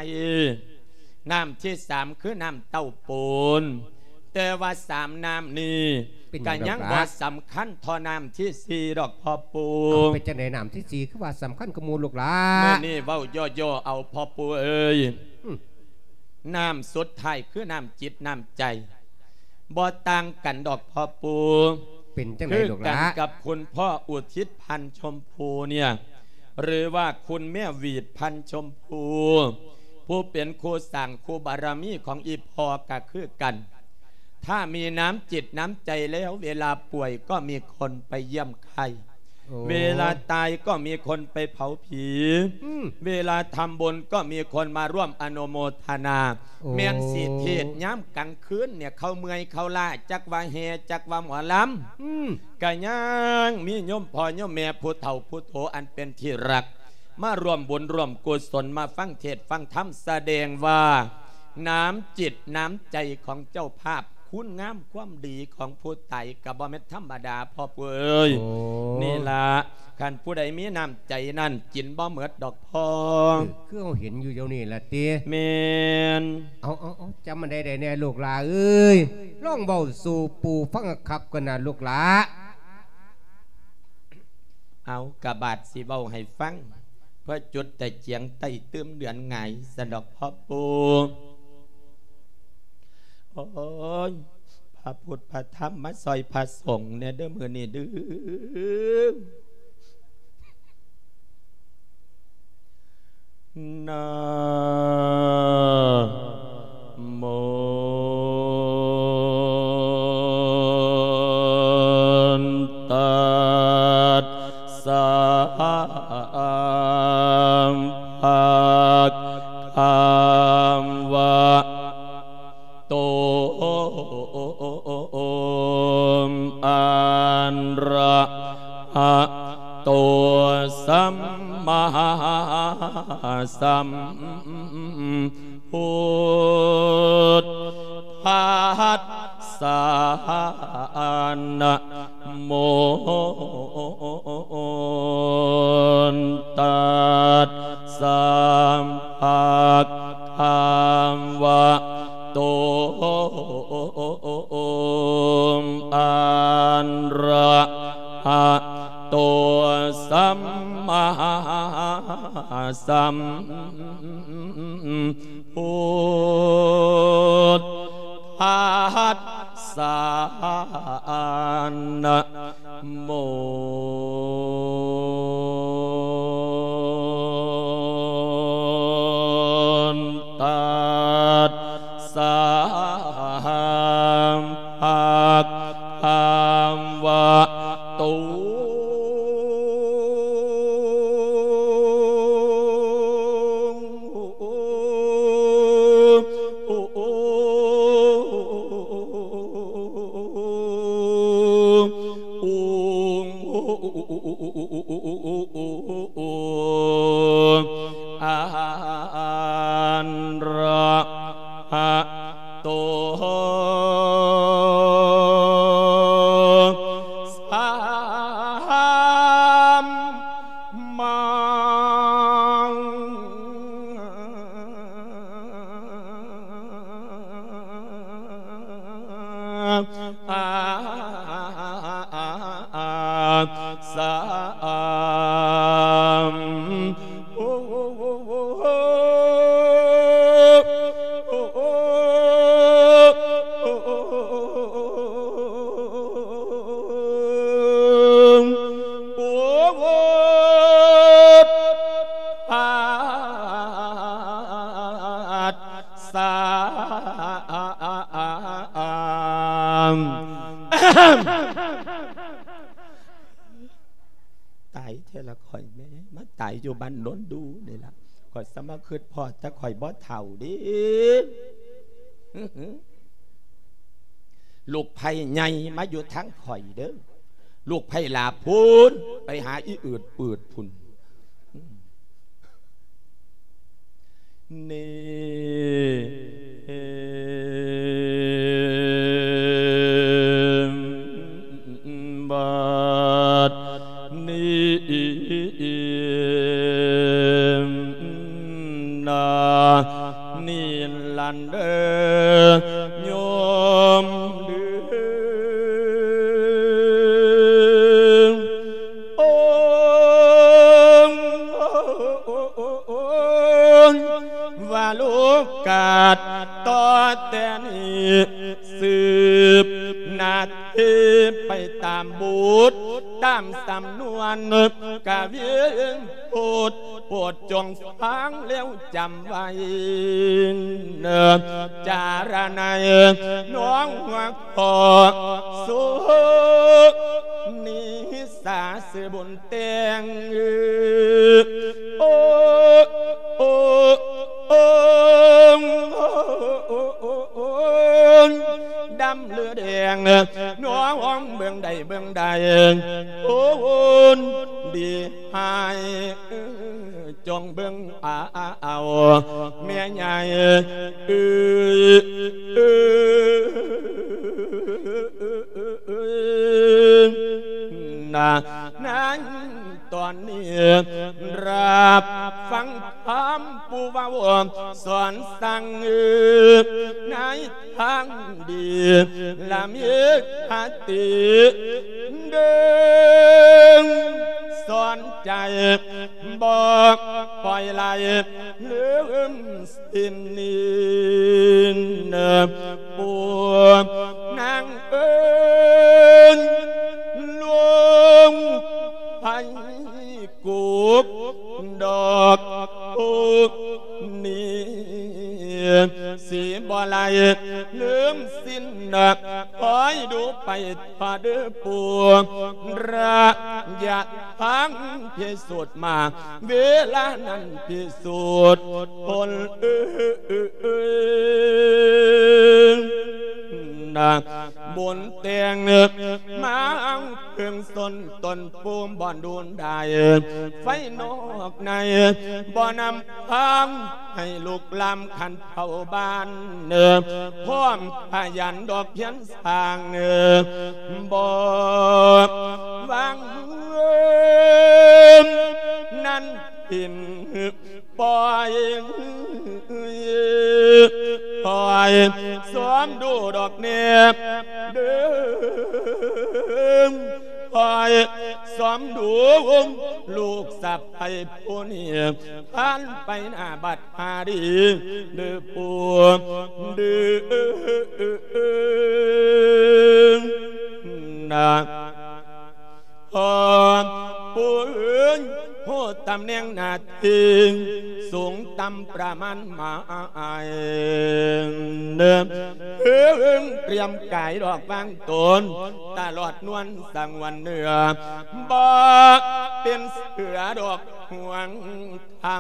ນ້ຳທີສາມຄືນ້ຳເຕົ້າໂປນ ແຕ່ວ່າສາມນ້ຳນີ້ ເປັນຫຍັງ ກະຍັງບໍ່ສຳຄັນເທົ່ານ້ຳທີສີ່ດອກພໍ່ປູ ເອົ້າ ເປັນຈັ່ງໃດນ້ຳທີສີ່ຄືວ່າສຳຄັນກວ່າໝູ່ລູກຫຼ້າ? ມື້ນີ້ເວົ້າຫຍໍ້ໆເອົາພໍ່ປູເອີຍ ອືມ ນ້ຳສຸດທ້າຍຄືນ້ຳຈິດນ້ຳໃຈ ບໍ່ຕ່າງກັນດອກພໍ່ປູ ເປັນຈັ່ງໃດລູກຫຼ້າ? ຄືກັນກັບຄຸນພໍ່ອຸທິດ ພັນຊົມພູ ເນຍ ຫຼືວ່າຄຸນແມ່ຫວີດ ພັນຊົມພູ ຜູ້ເປັນຄູ່ສ້າງຄູ່ບາລະມີຂອງອີ່ພໍ່ກະຄືກັນ ຖ້າມີນ້ຳຈິດນ້ຳໃຈແລ້ວ ເວລາປ່ວຍກໍມີຄົນໄປຢ້ຽມໄຂ້ ໂອ້ ເວລາຕາຍກໍມີຄົນໄປເຜົາຜີ ອືມ ເວລາທຳບຸນກໍມີຄົນມາຮ່ວມອະນຸໂມທະນາ ໂອ້ ແມ່ນຊິເທດຍາມກາງຄືນເນຍ ເຂົາເມື່ອຍເຂົາລ້າ ຈັກວ່າແຫ່ ຈັກວ່າໝໍລຳ ອືມ ກະຍັງມີໂຍມພໍ່ໂຍມແມ່ຜູ້ເຖົ້າຜູ້ໂຕອັນເປັນທີ່ຮັກ ມາຮ່ວມບຸນຮ່ວມກຸສົນ ມາຟັງເທດຟັງທຳ ສະແດງວ່ານ້ຳຈິດນ້ຳໃຈຂອງເຈົ້າພາບ ຄຸນງາມຄວາມດີຂອງຜູ້ຕາຍກະບໍ່ແມ່ນທຳມະດາພໍ່ປູເອີຍ ໂອ້ ນີ້ລະ ຄັນຜູ້ໃດມີນ້ຳໃຈນັ້ນ ກິນບໍ່ໝົດດອກພໍ່ ເອີ ຄືເຮົາເຫັນຢູ່ດຽວນີ້ລະຕິ ແມ່ນ ເອົາ ເອົາ ເອົາ ຈຳມັນໄດ້ແດ່ລູກຫຼ້າເອີຍ ລອງເວົ້າສູ່ປູຟັງຄັກກ່ອນນະລູກຫຼ້າ ເອົາ ກະບາດຊິເວົ້າໃຫ້ຟັງ ເພື່ອຈຸດຕະກຽງໃຕ້ຕື່ມເດືອນຫງາຍ ຊັ້ນດອກພໍ່ປູ ໂອ້ຍ ພະພຸດພະທຳມາຊ່ອຍພະສົງແດ່ເດີ້ມື້ນີ້ເດີ້. ນະໂມ ຕັດສະ ພະຄະວະໂຕ ອະຣະຫະໂຕ ສຳມາສຳພຸດທັດສະ ນະໂມ ຕັດສະ ພະຄະວະໂຕ ອະຣະຫະໂຕ ສຳມາສຳພຸດທັດສະ ນະໂມ ຕັດສະ ພະຄະວະໂຕ ອັນຣະຫະໂຕ ສຳມາ ສະ ສາ ຕາຍແທ້ລະຂ້ອຍແມ່ ມາຕາຍຢູ່ບ້ານໂນນດູນີ້ລະ ຂ້ອຍສະມາຄຶດພໍດ ແຕ່ຂ້ອຍບໍ່ເຖົ້າເດ້. ລູກໃພ້ໃຫຍ່ມາຢູ່ທາງຂ້ອຍເດີ້ ລູກໃພ້ຫຼ້າພຸ້ນ ໄປຫາອີເອີດເປີດພຸ້ນ. ນີ້ ບາດນີ້ນາ ນີ້ລະເດີ ໂຍມເດີ. ໂອ້ ວ່າໂລກາດຕໍ່ແຕ່ນີ້ ສືບໜ້າທີ່ໄປຕາມບຸດ ຕາມສຳນວນກະວິນພຸດ ໂປດຈົ່ງຟັງແລ້ວຈຳໄວ້ ຈາລະໄນນ້ອງ ຂໍສຸນິສາຊື່ບຸນແຕ່ງ ໂອ້ ໂອ້ ໂອ້ ດຳຫຼືແດງ ນ້ອງເບິ່ງໃດເບິ່ງໃດ ໂອ້ ດີ ໃຫ້ ເອີ ຈົ່ງເບິ່ງເອົາ ແມ່ໃຫຍ່ເອີຍ ເອີ ນາ ໃນຕອນນີ້ ຮັບຟັງຄຳຜູ້ເວົ້າສອນສັ່ງ ໃນ ທາງດີ ລະມີຄະຕິເບິ່ງສອນໃຈ ບໍ່ປ່ອຍໄຫຼລືມສິ້ນນີ້ ຜູ້ ຊິບໍ່ໄຫຼລືມສິນ ຄອຍດູໄປເດີປູ່ ລະຍະທາງພິສູດມາ ເວລານັ້ນພິສູດຜົນ ບຸນແຕ່ງມາເພິ່ງຊົນຕົ້ນປູ່ ບໍ່ດູນໄດ້ໄຟນອກໃນ ບໍ່ນຳພາໃຫ້ລຸກລາມຄັນເຜົາບ້ານ ພ້ອມພະຍານດອກພຽນ ທາງເນີ ບໍ່ວາງນັ້ນເປັນ ປ່ອຍ ຄອຍຊອມດູດອກແນ່ເດີ ຄອຍຊອມດູລູກສະໃພ້ຜູ້ນີ້ ຜ່ານໄປໜ້າບັດ ຫາດີເດີປູ່ເດີ ນະ ພໍ່ປູ່ເອີຍ ຮູ້ຕຳແໜ່ງໜ້າທີ່ ສູງຕ່ຳປະມານໝາຍ ເອີ ຕຽມກາຍດອກວາງຕົນ ຕະຫຼອດນວນສະຫງວນເນື້ອ ບໍ່ເປັນເສືອດອກຫວງ ທຳ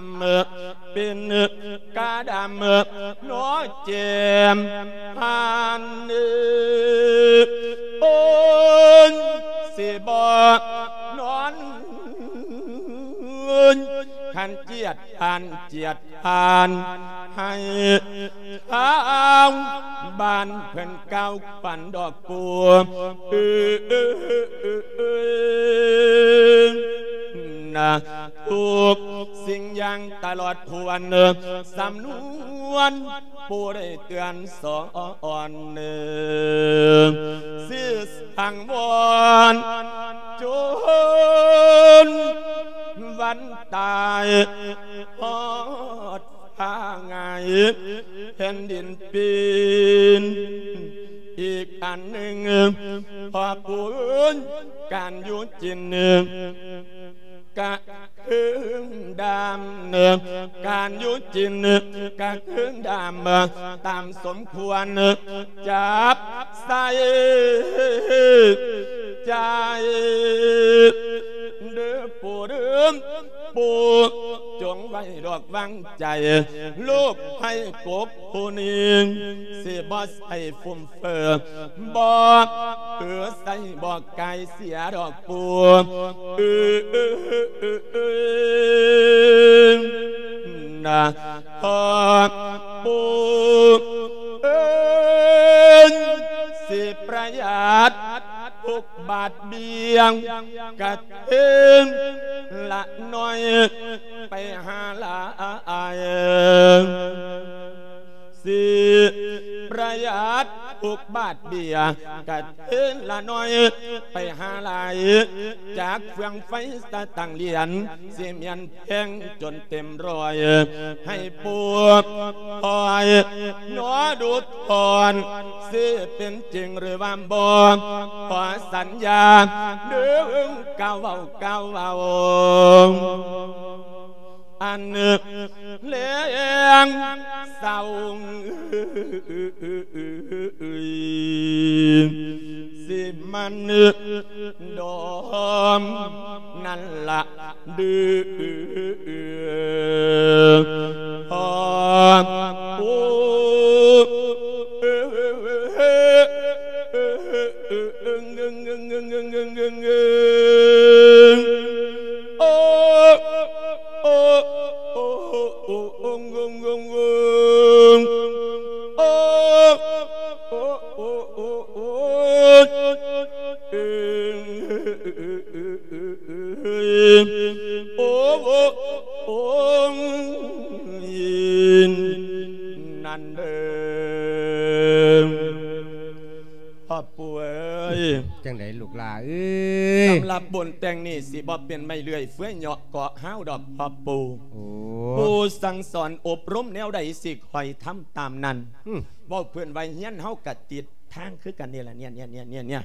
ເປັນກາດຳນໍແຈ່ມຫານ ໂອ້ຍ ຊິບໍ່ນອນ ຄັນຈຽດຜ່ານ ຈຽດຜ່ານ ໃຫ້ທາງບ້ານເພິ່ນກ່າວ ປັນດອກປູ່ ນະ ທຸກສິ່ງຢ່າງຕະຫຼອດຖ້ວນ ສຳນວນ ຜູ້ໄດ້ເຕືອນສອນ ຊິສັງວອນ ຈົນວັນຕາຍ ຮອດ ພາງ່າຍແຜ່ນດິນປີນ ອີກອັນໜຶ່ງ ພໍ່ປູ່ເອີຍ ການຢູ່ກິນກະເຄິ່ງດຳ ການຢູ່ກິນກະເຄິ່ງດຳ ຕາມສົມຄວນ ຈັບໃສ່ໃຈ ເດີປູ່ເດີ ປູ່ ຈົ່ງໄວ້ດອກວາງໃຈ ລູກໃຫ້ກົບຜູ້ນີ້ ຊິບໍ່ໃສ່ຟຸມເຟີ ບໍ່ເອີໃສ່ ບໍ່ກາຍເສຍດອກປູ່ ນະ ພໍ່ປູ່ເອີຍ ຊິປະຢັດທຸກບາດເບຍງ ກະເທິງລະໜ້ອຍໄປຫາຫຼາຍ ຊິປະຢັດທຸກບາດເບຍ ກະເທິງລະໜ້ອຍໄປຫາຫຼາຍ ຈາກເຟືອງໄຟສະຕັງຫຼຽນ ຊິແມ່ນແພງຈົນເຕັມຮ້ອຍ ໃຫ້ປູ່ຄອຍໜໍດູທອນ ຊິເປັນຈິງຫຼືວ່າບໍ່ ຂໍສັນຍາເດີ ກ່າວເວົ້າ ກ່າວເວົ້າ ອັນແລງເຊົ້າ ຊິມັນດອມນັ້ນລະ ດື ພໍ່ປູ່ ໂອ້ ໂອ້ ໂອ້ ໂອ້ ໂອ້ ໂອ້ ໂອ້ ໂອ້ ໂອ້ ໂອ້ ໂອ້ ໂອ້ ໂອ້ ໂອ້ ໂອ້ ນັ້ນເດີ ພໍ່ປູ່ເອີຍ ຈັ່ງໃດລູກຫຼ້າເອີຍ? ສຳລັບບຸນແຕ່ງນີ້ ຊິບໍ່ເປັນໄມ້ເລື່ອຍເຟືອຍເຍາະເກາະຮ້າວດອກພໍ່ປູ່. ໂອ້ ປູ່ສັ່ງສອນອົບຮົມແນວໃດ ຊິຂ້ອຍທຳຕາມນັ້ນ. ອືມ ເວົ້າເພິ່ນວ່າຮຽນເຮົາກະຕິດທາງຄືກັນນີ້ລະ ເນຍ ເນຍ ເນຍ ເນຍ ເນຍ.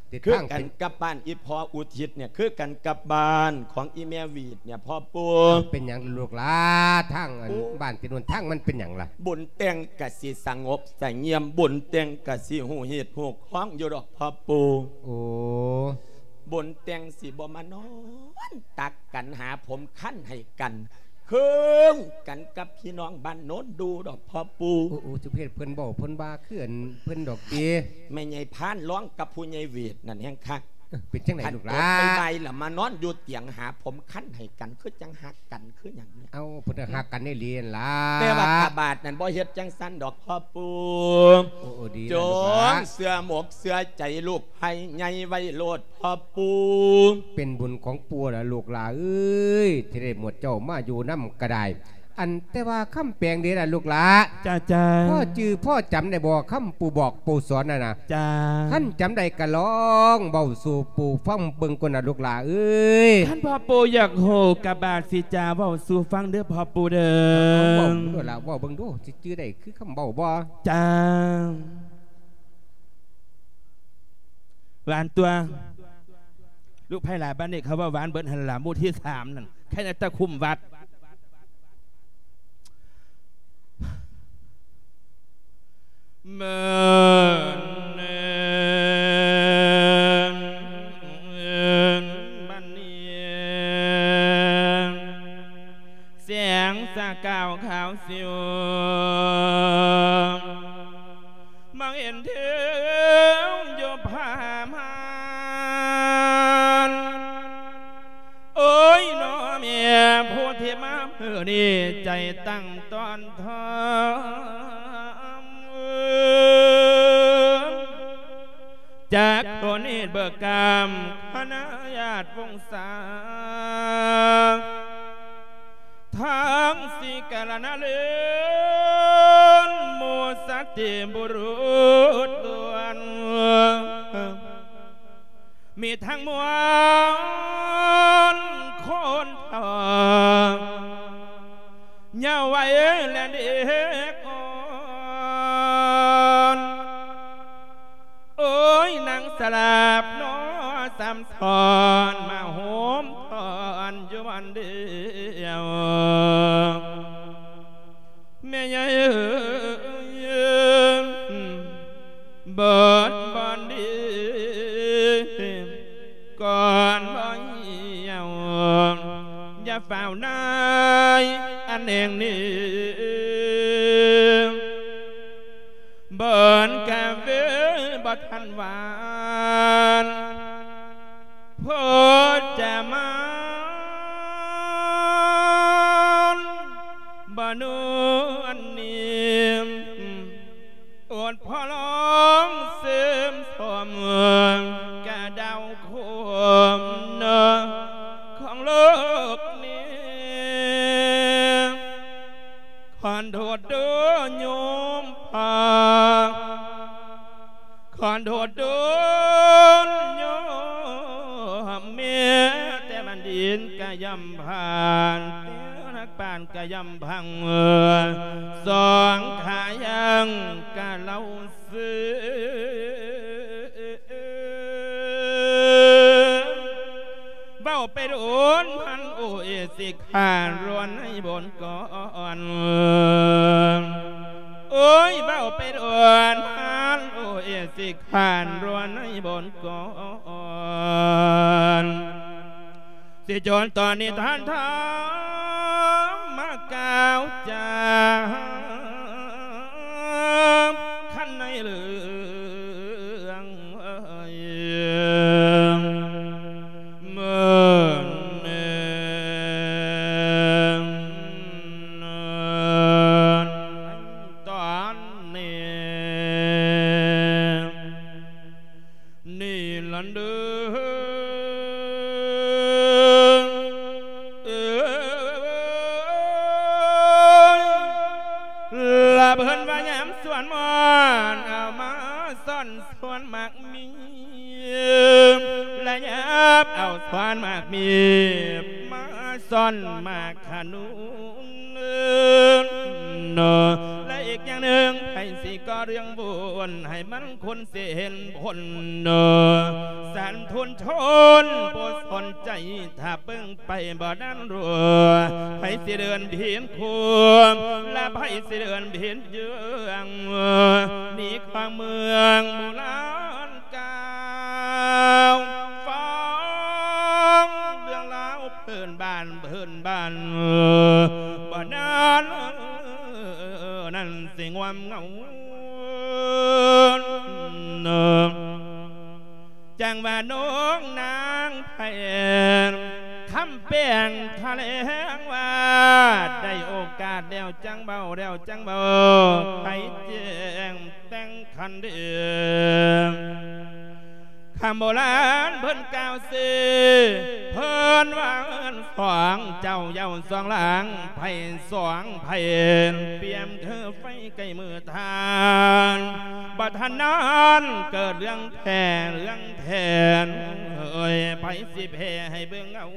ເອີ ທິດ ຄືກັນກັບບ້ານອີ່ພໍ່ອຸທິດເນຍ ຄືກັນກັບບ້ານຂອງອີ່ແມ່ຫວີດເນຍ ພໍ່ປູ່. ເປັນຫຍັງລູກຫຼານ ທາງອັນ ໂອ້ ບ້ານຕິດໂນນ ທາງມັນເປັນຫຍັງລະ? ບຸນແຕ່ງກະຊິສະຫງົບສະຫງຽມ ບຸນແຕ່ງກະຊິຮູ້ຮີດຮູ້ຄອງຢູ່ດອກ ພໍ່ປູ່. ໂອ້ ບຸນແຕ່ງຊິບໍ່ມານອນຕັກກັນຫາຜົມຄັນໃຫ້ກັນ ຄືກັນກັບພີ່ນ້ອງບ້ານໂນນດູດອກ ພໍ່ປູ່. ໂອ້ ໂອ້ ສຸເພດ ເພິ່ນເວົ້າເພິ່ນວ່າຄືອັນເພິ່ນດອກຕິ. ແມ່ໃຫຍ່ພານຮ້ອງກັບຜູ້ໃຫຍ່ຫວຽດນັ້ນແຮງຄັກ. ເອີ ເປັນຈັ່ງໃດລູກຫຼານ? ຄັນຕົກໄປໄວລະມານອນຢູ່ຕຽງຫາຜົມຄັນໃຫ້ກັນ ຄືຈັ່ງຮັກກັນຄືຫຍັງເນຍ. ເອົ້າ ເພິ່ນກໍຮັກກັນອີ່ຫຼີຫັ້ນລະ. ແຕ່ວ່າຂະບາດນັ້ນບໍ່ເຮັດຈັ່ງຊັ້ນດອກ ພໍ່ປູ່. ໂອ້ ໂອ້ ດີລະລູກຫຼານ ຈົ່ງເຊື່ອໝົກເຊື່ອໃຈລູກ ໃຫ້ໃຫຍ່ໄວໂລດ ພໍ່ປູ່. ເປັນບຸນຂອງປູ່ລະລູກຫຼານເອີຍ ທີ່ໄດ້ໝວດເຈົ້າມາຢູ່ນຳກະດາຍ. ອັນ ແຕ່ວ່າຄຳແປງເດລະລູກຫຼານ? ຈ້າ ຈ້າ. ພໍຈື່ພໍຈຳໄດ້ບໍ່ ຄຳປູ່ບອກປູ່ສອນນັ້ນນະ? ຈ້າ. ຄັນຈຳໄດ້ກະລອງເວົ້າສູ່ປູ່ຟັງເບິ່ງກ່ອນນະລູກຫຼານເອີຍ. ຄັນພໍ່ປູ່ຢາກຮູ້ກະບາດຊິຈາເວົ້າສູ່ຟັງເດີ ພໍ່ປູ່ເດີ. ເວົ້າເບິ່ງດູລະ ເວົ້າເບິ່ງດູ ຊິຈື່ໄດ້ຄືຄຳເວົ້າບໍ່? ຈ້າ. ຫວານຕົວະ ລູກໃພ້ຫຼ້າ ບ້ານນີ້ເຂົາວ່າຫວານເບິດຫັ້ນລະ ໝູ່ທີສາມນັ້ນ ໃຄແຕ່ຄຸ້ມວັດ. ເມີນເນນ ບັດນີ້ ແສງສະກາວຂາວສິວ ມອງເຫັນເທິງຢູ່ຜາມ່ານ. ໂອ້ຍ ນ້ອແມ່ຜູ້ທີ່ມາມື້ນີ້ ໃຈຕັ້ງຕ້ອນທອມ ຈາກໂຄນິດເບີກາມ ຄະນະຍາດວົງສາ ທັງສີ່ກາລະນະເລນ ໝູ່ສັດຕິບຸລຸດລ້ວນ ມີທັງມວນຄົນເຖົ້າ ເຍົາໄວ ແລະເດັກອ່ອນ. ໂອ້ຍ ນາງສະລາບໜໍ ສຳສອນມາໂຮມທອນຢູ່ບ່ອນດຽວ ແມ່ໃຫຍ່ເອີຍ ເບິດບ່ອນດີ ກ່ອນບໍ່ຫ່ຽວ ຢ່າຟ້າວນາຍອັນແຫ່ງນີ້ ເບິນກາເວບໍ່ທັນຫວານ ໂພດຈະມານບໍ່ນວນນີ້ ໂອດພໍ່ລອງເສີມສົມກະດາວໂຄມເນາະຂອງໂລກນີ້ ຂໍໂທດເດີໂຍມພໍ່ ຂໍໂທດເດີໂຍມແມ່ ແຕ່ບັນດິດກະຍ່ອມຜ່ານ ແຕ່ນັກປານກະຍ່ອມພັງ ສອງຂາຍັງກະເລົ່າ ເວົ້າໄປໂດນພັນ ໂອເອ ຊິຂ້ານລວນໃຫ້ບົນກ່ອນ ໂອ້ຍ ເວົ້າໄປໂດນພັນ ໂອເອ ຊິຂ້ານລວນໃຫ້ບົນກ່ອນ ຊິຈົນຕອນນີ້ທ່ານທຳມະກ່າວຈາ ຄັນໃນເລື່ອງເອີຍ ເມີນເນນ ຕອນນີ້ ນີ້ລະເດີ ເອີຍ ລະເພິ່ນວ່າຍາມສວນມ່ອນ ເອົາມາສ້ອນສວນໝາກມີ ລະຍາມເອົາສວນໝາກມີ ມາສ້ອນໝາກຂະໜູນ ເນາະ ລະອີກຢ່າງໜຶ່ງ ໃຜ ຊິກໍ່ເລື່ອງບຸນໃຫ້ມັນຄົນຊິເຫັນຜົນ. ສາທຸຊົນຜູ້ສົນໃຈ ຖ້າເບິ່ງໄປບໍ່ນັ້ນຮູ້ ໃຜຊິເດີນຜິດຄູ ແລະໃຜຊິເດີນຜິດເຍືອງ ນີ້ຂອງເມືອງໂບລານ ກ່າວຟັງເລື່ອງລາວພື້ນບ້ານ ພື້ນບ້ານ ບໍ່ນານນັ້ນຊິງວມເງົາ ຈັ່ງວ່ານ້ອງນາງແພນ ຄຳແປງຖະແຫຼງວ່າ ໄດ້ໂອກາດແລ້ວຈັ່ງເວົ້າ ແລ້ວຈັ່ງເວົ້າ ໃຫ້ແຈ້ງແຕ່ງ ຄັນເດ ຄຳໂບລານເພິ່ນກ່າວຊື່ ເພິ່ນວ່າເອີ້ນສອງເຈົ້າເຍົາສອງຫຼັງ ໃຜສອງໃຜ ປຽບຄືໄຟໃກ້ມືທ່ານ ບໍ່ທັນນານເກີດເລື່ອງແທ້ເລື່ອງແທ້ ເອີຍ ໃຜຊິແພ້ໃຫ້ເບິ່ງເອົາ.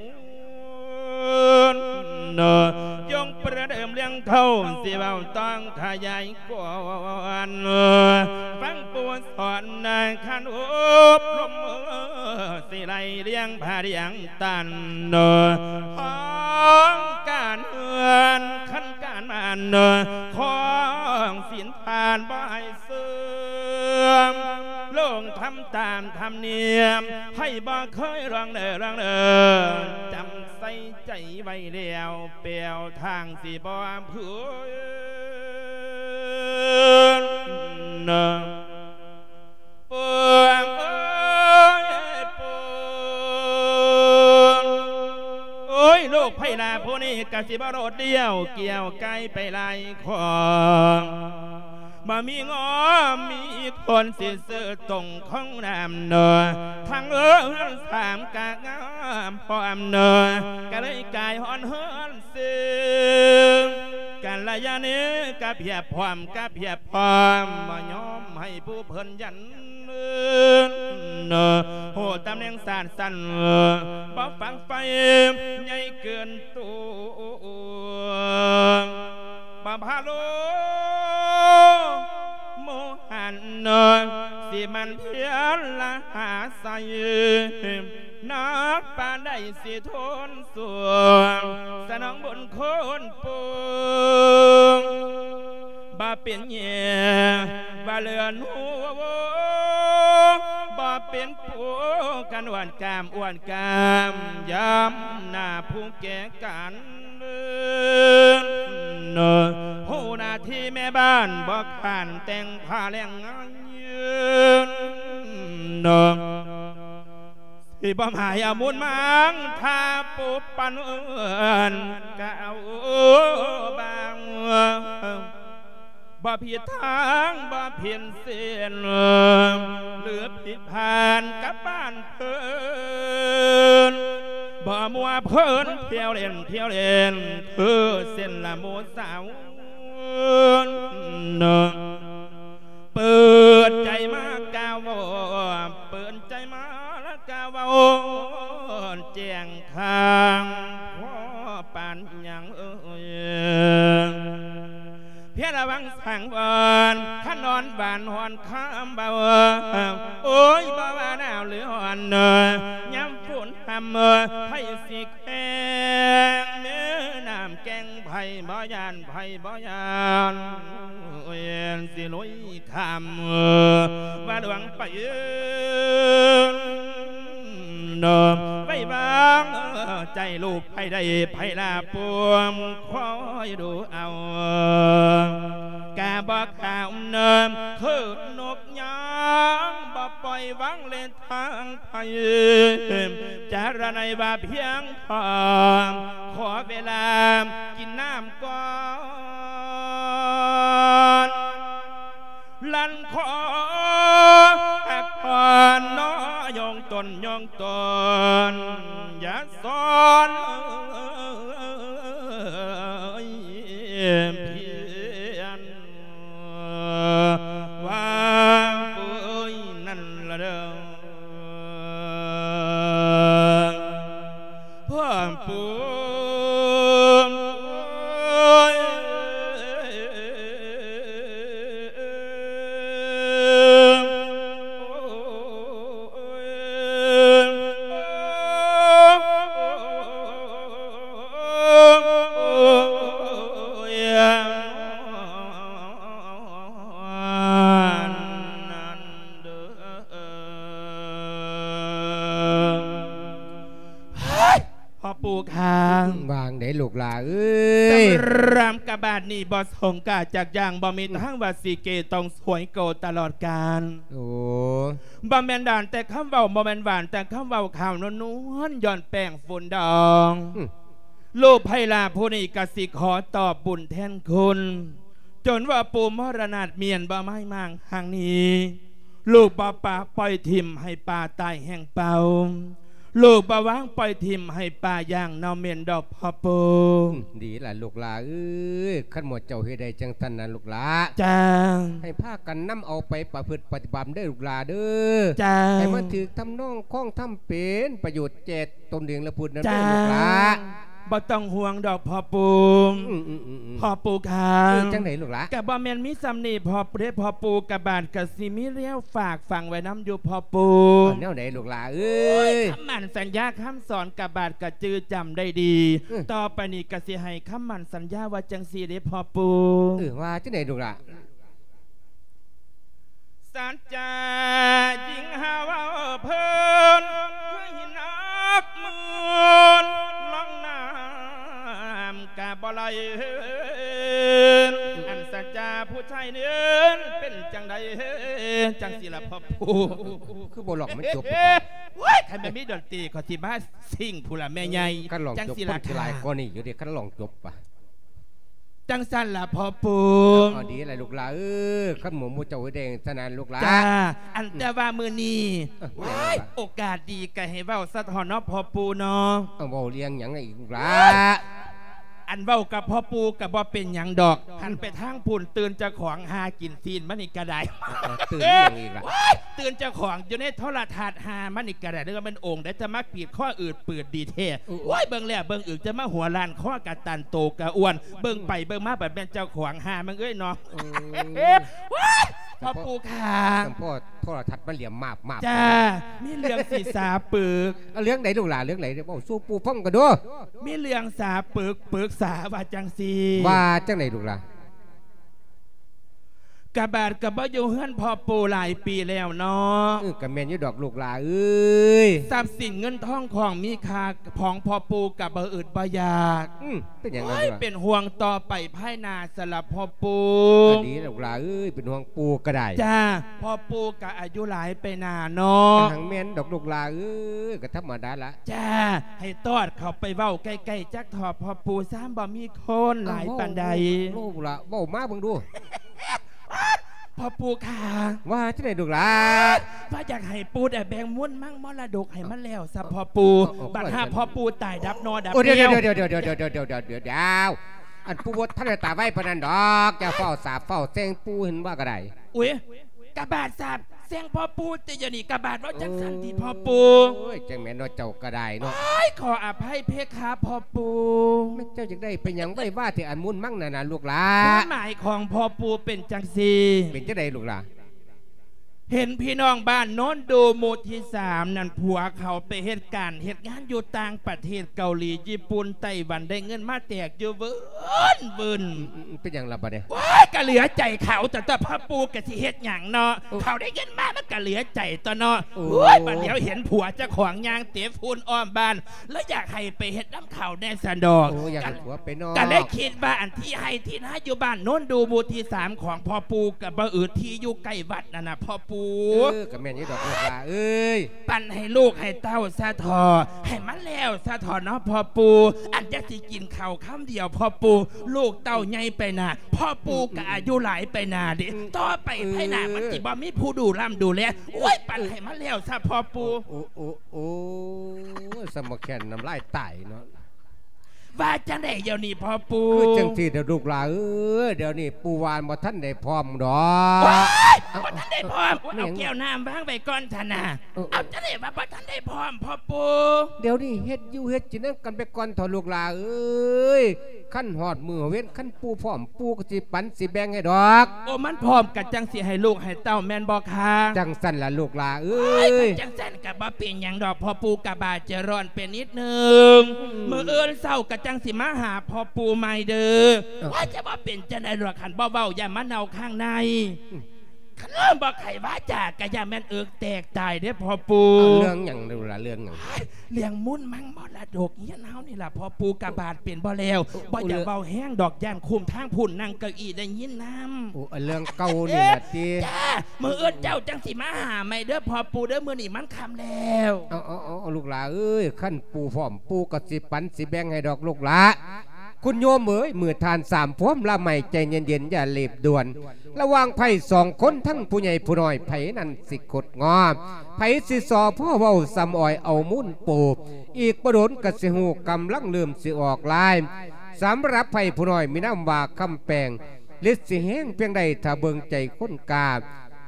ຈົ່ງປະເດີມເລື່ອງເກົ່າ ຊິເວົ້າຕ້ອງຂະຫຍາຍກວ້າງ ຟັງຜູ້ສອນນາຍຄັນອົບຮົມ ຊິໄລ່ລຽງພາລຽງຕັນ ຂອງການເຮືອນ ຄັນການມານ ຂອງສິນທານບໍ່ໃຫ້ ເສື່ອມ ລົງທຳຕາມທຳນຽມ ໃຜບໍ່ເຄີຍລອງເດີລອງເດີ ຈຳໃສ່ໃຈໄວ້ແລ້ວ ແປ້ວທາງຊິບໍ່ເພີນ ປວງເອີຍປວງ ໂອ້ຍ ລູກໄພລາຜູ້ນີ້ກະຊິບໍ່ໂດດດ່ຽວ ກ່ຽວໄກໄປຫຼາຍຂອງ ບໍ່ມີງໍມີຄົນຊິຊື້ຕົງຂອງນ້ຳເນາະ ທັງເອີນສາມກະງາມພ້ອມເນາະ ກະເລີຍກາຍຮ້ອນເຮືອນເຊ ກັນລະຍານີກະພຽບພ້ອມ ກະພຽບພ້ອມ ບໍ່ຍອມໃຫ້ຜູ້ເພິ່ນຢັນເນາະ ໂຫ ຕຳແໜ່ງສາດສັ້ນ ບໍ່ຝັງໄຟໃຫຍ່ເກີນໂຕ ບໍ່ພາໂລໂມຫັນ ຊິໝັ່ນພຽນລະຫາໄຊ ໜັກປານໃດຊິທົນສວມ ສະໜອງບຸນຄຸນປົງ ບໍ່ເປັນແຍ່ວ່າເຫຼືອໜູ ບໍ່ເປັນປູກັນອວດກາມ ອວດກາມ ຍາມໜ້າຜູ້ແກ່ກັນ ເນາະ ຮູ້ໜ້າທີ່ແມ່ບ້ານບໍ່ຂານແຕ່ງຜ້າແລງງານເນາະ ຊິບໍ່ໝາຍເອົາມູນມາງ ຖ້າປູປັນເອີນກະເອົາບາງ ບໍ່ຜິດທາງ ບໍ່ຜິດເສັ້ນ ຫຼືຜິດຜ່ານກັບບ້ານເພິ່ນ ບໍ່ມົວເພີນທ່ຽວເຫຼັ້ນ ທ່ຽວເຫຼັ້ນ ຄືເສັ້ນລະໝູ່ສາວ ເປີດໃຈມາກ່າວເວົ້າ ເປີດໃຈມາລະກ່າວເວົ້າ ແຈ້ງຂ້າງພໍປານຫຍັງເອີຍ ພຽງລະວັງສັງວອນ ຄັນນອນບ້ານຮອນຄຳເບົາ ໂອ້ຍ ບໍ່ວ່າໜາວຫຼືຮ້ອນ ຍາມຝົນຮຳ ໃຜຊິແຂ່ງແມ່ນ້ຳແກ່ງ ໃຜບໍ່ຢ້ານ ໃຜບໍ່ຢ້ານ ໂອ້ຍ ຊິລຸຍຂ້າມ ວ່າຫຼວງໄປ ເນາະ ໄວ້ວາງໃຈລູກໃຜໄດ້ ໃຜລາປວມ ຄອຍດູເອົາ ກະບໍ່ຂາວເນີມ ຄືນົກຍາງ ບໍ່ປ່ອຍວາງເລັດທາງໄພ ຈາລະໄນວ່າພຽງພໍ ຂໍເວລາກິນນ້ຳກ່ອນ ລັນຂໍພັກຜ່ອນເນາະ ຍອງຕົນ ຍອງຕົນ ຢ່າສອນພຽນ ວ່າປຸ້ຍນັ້ນລະເດີ ພວກປຸ້ຍ ປູ່ຂ້າ ວ່າຈັ່ງໃດລູກຫຼ້າເອີຍ? ສຳລັບກະບາດນີ້ບໍ່ສົງກາຈັກຢ່າງ ບໍ່ມີທາງວ່າຊິເກຕ້ອງສວຍໂກຕະຫຼອດການ. ໂອ້ ບໍ່ແມ່ນຫວານແຕ່ຄຳເວົ້າ ບໍ່ແມ່ນຫວານແຕ່ຄຳເວົ້າ ຂາວນວນໆ ຍ້ອນແປ້ງຝຸ່ນດອງ. ອືມ ລູກໄພລາຜູ້ນີ້ກະຊິຂໍຕອບບຸນແທນຄຸນ ຈົນວ່າປູ່ມໍລະນາດມ້ຽນບໍ່ໄມ້ມ້າງຫາງໜີ ລູກບໍ່ປະປ່ອຍຖິ້ມໃຫ້ປາຕາຍແຫ້ງເປົ່າ ລູກບໍ່ວາງປ່ອຍຖິ້ມໃຫ້ປາຢ່າງເນົ່າເໝັນດອກພໍ່ປູ່. ອືມ ດີລະລູກຫຼ້າເອີຍ ຄັນໝູ່ເຈົ້າເຮັດໄດ້ຈັ່ງຊັ້ນນະລູກຫຼ້າ ຈ້າ ໃຫ້ພາກັນນຳເອົາໄປປະພຶດປະຕິບັດເດີລູກຫຼ້າເດີ ຈ້າ ໃຫ້ມັນຖືກທຳນອງຄອງທຳ ເປັນປະໂຫຍດແກ່ຕົນເອງແລະຜູ້ອື່ນນຳເດີ ຈ້າ ລູກຫຼ້າ. ບໍ່ຕ້ອງຫ່ວງດອກພໍ່ປູ່. ອືມໆໆໆ ພໍ່ປູ່ຂ້າ ເອີ ຈັ່ງໃດລູກຫຼ້າ? ກະບໍ່ແມ່ນມີສ່ຳນີ້ພໍ່ປູ່ເດ້ພໍ່ປູ່ ກະບາດກະຊິມີແນວຝາກຝັງໄວ້ນຳຢູ່ພໍ່ປູ່. ເອົາແນວໃດລູກຫຼ້າເອີຍ? ໂອ້ຍ ຄຳໝັ້ນສັນຍາຄຳສອນ ກະບາດກະຈື່ຈຳໄດ້ດີ. ເອີ ຕໍ່ໄປນີ້ກະຊິໃຫ້ຄຳໝັ້ນສັນຍາວ່າຈັ່ງຊີ້ເດ້ພໍ່ປູ່. ເອີ ວ່າຈັ່ງໃດລູກຫຼ້າ? ສັດຈາຍິງຫາເວົ້າເພີນ ຄືຫີນໜັກໝື່ນ ລ່ອງນ້ຳກະບໍ່ໄຫຼ. ອັນສັດຈາຜູ້ຊາຍເນີນ ເປັນຈັ່ງໃດຈັ່ງຊີ້ລະພໍ່ປູ່? ຄືບໍ່ຮ້ອງໃຫ້ມັນຈົບ? ໂອ້ຍ ຄັນແມ່ນມີດົນຕີ ຂ້ອຍຊິມາຊິງພຸ້ນລະແມ່ໃຫຍ່. ເອີ ຄັນຮ້ອງຈົບ ຈັ່ງຊີ້ລະ ຄົນຊິຫຼາຍກວ່ານີ້ຢູ່ເດ້ ຄັນຮ້ອງຈົບປະ. ຈັ່ງຊັ້ນລະພໍ່ປູ່. ເອົາ ດີລະລູກຫຼ້າເອີຍ ຄັນໝູ່ໝູ່ເຈົ້າເຮັດໄດ້ຊັ້ນນະລູກຫຼ້າ. ຈ້າ ອັນ ອືມ ແຕ່ວ່າມື້ນີ້ ເອີ ໂອ້ຍ ໂອກາດດີກະໃຫ້ເວົ້າສະເທາະເນາະພໍ່ປູ່ເນາະ. ເອົາ ເວົ້າເລື່ອງຫຍັງອີກລູກຫຼ້າ? ໂອ້ຍ ອັນເວົ້າກັບພໍ່ປູ່ກະບໍ່ເປັນຫຍັງດອກ ຫັນໄປທາງພຸ້ນ ຕື່ນເຈົ້າຂອງຫາກິນຊີ້ນມານີ້ກະໄດ້. ເອີ ຕື່ນອີ່ຫຍັງອີກລະ? ໂອ້ຍ ຕື່ນເຈົ້າຂອງຢູ່ໃນໂທລະທັດຫາມານີ້ກະໄດ້ ເດີວ່າແມ່ນອົງໃດຈະມາປີດຄໍອືດປືດດີແທ້. ໂອ້ຍ ເບິ່ງແລ້ວເບິ່ງອີກ ຈະມາຫົວລ້ານ ຄໍກະຕັນ ໂຕກະອ້ວນ ເບິ່ງໄປເບິ່ງມາ ບັດແມ່ນເຈົ້າຂອງຫາມາເອີຍເນາະ. ໂອ້ຍ ພໍ່ປູ່ຂ້າ ສຳພໍໂທລະທັດມາຫຼຽມມາບໆ. ຈ້າ ມີເລື່ອງຊິສາປຶກ. ເອົາ ເລື່ອງໃດລູກຫຼ້າ? ເລື່ອງໃດ? ເວົ້າສູ່ປູ່ຟັງກັນດູ. ມີເລື່ອງສາປຶກ ປຶກສາວ່າຈັ່ງຊີ້. ວ່າຈັ່ງໃດລູກຫຼ້າ? ກະບາດກະບໍ່ຢູ່ເຮືອນພໍ່ປູ່ຫຼາຍປີແລ້ວເນາະ. ເອີ ກະແມ່ນຢູ່ດອກລູກຫຼ້າເອີຍ ຊັບສິນເງິນທອງຂອງມີຄ່າຂອງພໍ່ປູ່ກະບໍ່ອຶດບໍ່ຢາກ. ອືມ ເປັນຫຍັງລະ? ໂອ້ຍ ເປັນຫ່ວງຕໍ່ໄປພາຍໜ້າຊັ້ນລະພໍ່ປູ່. ອັນນີ້ລູກຫຼ້າເອີຍ ເປັນຫ່ວງປູ່ກະໄດ້. ຈ້າ ພໍ່ປູ່ກະອາຍຸຫຼາຍໄປໜ້າເນາະ. ກະຫັງແມ່ນດອກລູກຫຼ້າເອີຍ ກະທຳມະດາລະ. ຈ້າ ໃຫ້ຕອດເຂົ້າໄປເວົ້າໃກ້ໆຈັກເທາະພໍ່ປູ່ ຊາມບໍ່ມີຄົນຫຼາຍປານໃດ. ເອົາ ເວົ້າ ເວົ້າ ເວົ້າມາເບິ່ງດູ. ພໍ່ປູ່ຂ້າ ວ່າຈັ່ງໃດລູກຫຼ້າ? ວ່າຢາກໃຫ້ປູ່ໄດ້ແບ່ງມູນມັງມໍລະດົກໃຫ້ມັນແລ້ວຊະພໍ່ປູ່. ເອົາ ເອົາ ບັດຫາພໍ່ປູ່ຕາຍດັບໜໍ່ດັບແກ້ວ. ໂອ້ ດຽວໆ ດຽວໆ ອັນປູ່ບໍ່ທັນໄດ້ຕາຍໄວປານນັ້ນດອກ ຢ່າຟ້າວສາບຟ້າວແຊ່ງປູ່ ເຫັນວ່າກະໄດ້. ອຸ້ຍ ກະບາດສາບແຊ່ງພໍ່ປູ່ຕິ ດຽວນີ້ກະບາດເວົ້າຈັ່ງຊັ້ນຕິພໍ່ປູ່. ໂອ້ຍ ຈັ່ງແມ່ນເນາະ ເຈົ້າກະໄດ້ເນາະ. ໂອ້ຍ ຂໍອະໄພເພຄະພໍ່ປູ່. ແມ່ນເຈົ້າຢາກໄດ້ໄປຫຍັງໄວວາແທ້ ອັນມູນມັງນັ້ນນະລູກຫຼ້າ? ຄວາມໝາຍຂອງພໍ່ປູ່ເປັນຈັ່ງຊີ້. ເປັນຈັ່ງໃດລູກຫຼ້າ? ເຫັນພີ່ນ້ອງບ້ານໂນນດູໝູ່ທີສາມນັ້ນ ຜົວເຂົາໄປເຮັດການເຮັດງານຢູ່ຕ່າງປະເທດ ເກົາຫຼີ ຍີ່ປຸ່ນ ໄຕ້ຫວັນ ໄດ້ເງິນມາແຈກຢູ່ວືນ ອືມ ເປັນຫຍັງລະບາດນີ້? ໂອ້ຍ ກະເຫຼືອໃຈເຂົາ ແຕ່ ແຕ່ພໍ່ປູ່ກະຊິເຮັດຫຍັງເນາະ. ເອີ ເຂົາໄດ້ເງິນມາ ມັນກະເຫຼືອໃຈຕົວະເນາະ. ໂອ້ຍ ໂອ້ຍ ບັດດຽວເຫັນຜົວເຈົ້າຂອງຍ່າງເຕະຝຸ່ນອ້ອມບ້ານ ລະຢາກໃຫ້ໄປເຮັດນຳເຂົາແດ່ຊັ້ນດອກ. ໂອ້ ຢາກໃຫ້ຜົວໄປນອກ ກະເລີຍຄິດວ່າອັນທີ່ໄຮ່ທີ່ນາຢູ່ບ້ານໂນນດູໝູ່ທີສາມຂອງພໍ່ປູ່ ກະບໍ່ອຶດ ທີ່ຢູ່ໃກ້ວັດນັ້ນນະພໍ່ປູ່. ເອີ ກະແມ່ນຢູ່ດອກລູກຫຼ້າເອີຍ. ປັນໃຫ້ລູກໃຫ້ເຕົ້າຊະເທາະ ໃຫ້ມັນແລ້ວຊະເທາະເນາະພໍ່ປູ່. ອັນຈັກຊິກິນເຂົ້າຄຳດຽວພໍ່ປູ່ ລູກເຕົ້າໃຫຍ່ໄປໜ້າ ພໍ່ປູ່ກະອາຍຸຫຼາຍໄປໜ້າເດ. ອືມ ຕໍ່ໄປ ເອີ ພາຍໜ້າມັນຊິບໍ່ມີຜູ້ດູລ້ຳດູແລ. ໂອ້ຍ ເອີ ປັນໃຫ້ມັນແລ້ວຊະພໍ່ປູ່. ໂອ້ ໂອ້ ໂອ້ ໂອ້ ສະມາແຄນນ້ຳລາຍຕາຍເນາະ. ວ່າຈັ່ງໃດດຽວນີ້ພໍ່ປູ່? ຄືຈັ່ງຊີ້ເດີລູກຫຼ້າເອີຍ ດຽວນີ້ປູ່ວ່າບໍ່ທັນໄດ້ພ້ອມດອກ. ໂອ້ຍ ເອົ້າ ບໍ່ທັນໄດ້ພ້ອມ. ແມ່ນຫຍັງ? ເອົາແກ້ວນ້ຳວາງໄວ້ກ່ອນຊັ້ນນະ. ເອີ ເອົາ ຈັ່ງໃດວ່າບໍ່ທັນໄດ້ພ້ອມພໍ່ປູ່? ດຽວນີ້ເຮັດຢູ່ເຮັດກິນນຳກັນໄປກ່ອນເຖາະລູກຫຼ້າເອີຍ. ຄັນຮອດມື້ເວັນ ຄັນປູ່ພ້ອມ ປູ່ກະຊິປັນຊິແບ່ງໃຫ້ດອກ. ໂອ້ ມັນພ້ອມກະຈັ່ງຊິໃຫ້ລູກໃຫ້ເຕົ້າແມ່ນບໍ່ຄະ? ຈັ່ງຊັ້ນລະລູກຫຼ້າເອີຍ. ໂອ້ຍ ຄັນຈັ່ງຊັ້ນກະບໍ່ເປັນຫຍັງດອກ ພໍ່ປູ່ກະບາດຈະຮ້ອນໄປນິດໜຶ່ງ. ອືມ ມື້ອື່ນເຊົ້າກະຈັ່ງຊິມາຫາພໍ່ປູ່ໃໝ່ເດີ. ເອີ ວ່າຈະບໍ່ເປັນຈັ່ງໃດດອກ ຄັນບໍ່ເວົ້າຢ້ານມັນເນົ່າຂ້າງໃນ. ອືມ ຄັນເລີ່ມບໍ່ໄຂວາຈາ ກະຢ່າແມ່ນເອິກແຕກຕາຍເດ້ພໍ່ປູ່. ເອົາເລື່ອງຫຍັງລູກຫຼານ ເລື່ອງຫຍັງ? ເລື່ອງມູນມັງມໍລະດົກເຮືອນເຮົານີ້ລະພໍ່ປູ່. ກະບາດເປັນບໍ່ແລ້ວ ບໍ່ຢາກເວົ້າແຮງດອກ ຢ້ານຄຸ້ມທາງພຸ້ນນັ່ງເກົ້າອີໄດ້ຍິນນຳ. ໂອ້ ເລື່ອງເກົ່ານີ້ລະຕິ? ຈ້າ ມື້ອື່ນເຈົ້າຈັ່ງຊິມາຫາໃໝ່ເດີພໍ່ປູ່ເດີ ມື້ນີ້ມັນຄ່ຳແລ້ວ. ເອົາ ເອົາ ເອົາ ເອົາ ລູກຫຼາເອີຍ ຄັນປູ່ພ້ອມ ປູ່ກະຊິປັນຊິແບ່ງໃຫ້ດອກລູກຫຼາ. ຄຸນໂຍມເອີຍ ເມື່ອທ່ານສາມພວມລະໄໝ ໃຈເຢັນໆ ຢ່າເລບດ່ວນ. ລະຫວ່າງໃຜສອງຄົນ ທັງຜູ້ໃຫຍ່ຜູ້ນ້ອຍ ໃຜນັ້ນຊິຄົດງອມ ໃຜຊິສໍ້ພໍເວົ້າສ່ຳອອຍເອົາມູນປູບ. ອີກບໍ່ດົນກະຊິຮູ້ ກຳລັງເລີ່ມຊິອອກລາຍ. ສຳລັບໃຜຜູ້ນ້ອຍມີນາມວ່າຄຳແປງ ລິດຊິແຮງພຽງໃດ ຖ້າເບິ່ງໃຈຄົນກ້າ.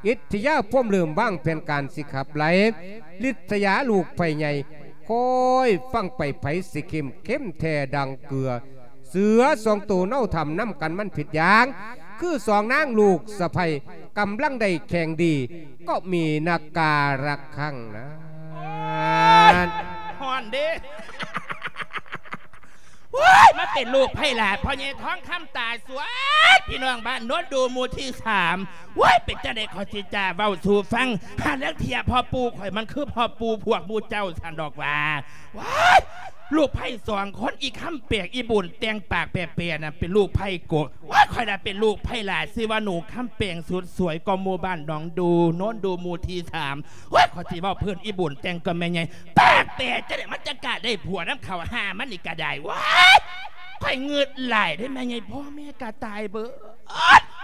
ອິດທິຍາພວມເລີ່ມວາງແຜນການຊິຂັບໄລ່ ລິດສະຍາລູກໃຜໃຫຍ່ ຄອຍຟັງໄປ ໃຜຊິເຂັ້ມເຂັ້ມແທ້ດັ່ງເກືອ. ເສືອສອງໂຕເນົາຖ້ຳນຳກັນມັນຜິດຢ່າງ ຄືສອງນາງລູກສະໃພ້ກຳລັງໄດ້ແຂ່ງດີ ກໍມີນາກາລະຄັງນະ. ໂອ້ຍ ຮ້ອນເດ້. ໂອ້ຍ ມາເປັນລູກໃຜຫຼ້າ ພໍ່ໃຫຍ່ທອງຄຳຕາສວຍ ພີ່ນ້ອງບ້ານໂນນດູໝູ່ທີສາມ. ໂອ້ຍ ເປັນຈັ່ງໃດຂ້ອຍຊິຈະເວົ້າສູ່ຟັງ. ຫາລາງເທື່ອພໍ່ປູ່ຂ້ອຍມັນຄືພໍ່ປູ່ພວກໝູ່ເຈົ້າຊັ້ນດອກວ່າ. ໂອ້ຍ ລູກໃຜສອງຄົນ ອີຄຳແປງ ອີບຸນແຕ່ງປາກແປໆ ນະ ເປັນລູກໃຜກົກ. ໂອ້ຍ ຂ້ອຍລະເປັນລູກໃຜຫຼ້າ ຊື່ວ່າໜູຄຳແປງ ສຸດສວຍກວ່າໝູ່ບ້ານໜອງດູ ໂນນດູໝູ່ທີສາມ. ໂອ້ຍ ຂ້ອຍຊິເວົ້າເພິ່ນ ອີບຸນແຕ່ງກະແມ່ໃຫຍ່ ປາກແປຈັ່ງໃດ ມັນຈະກະໄດ້ຜົວນຳເຂົາ ຫາມັນນີ້ກະໄດ້. ໂອ້ຍ ຂ້ອຍງຶດຫຼາຍເດ້ແມ່ໃຫຍ່ ພໍ່ແມ່ກະຕາຍເບີດ.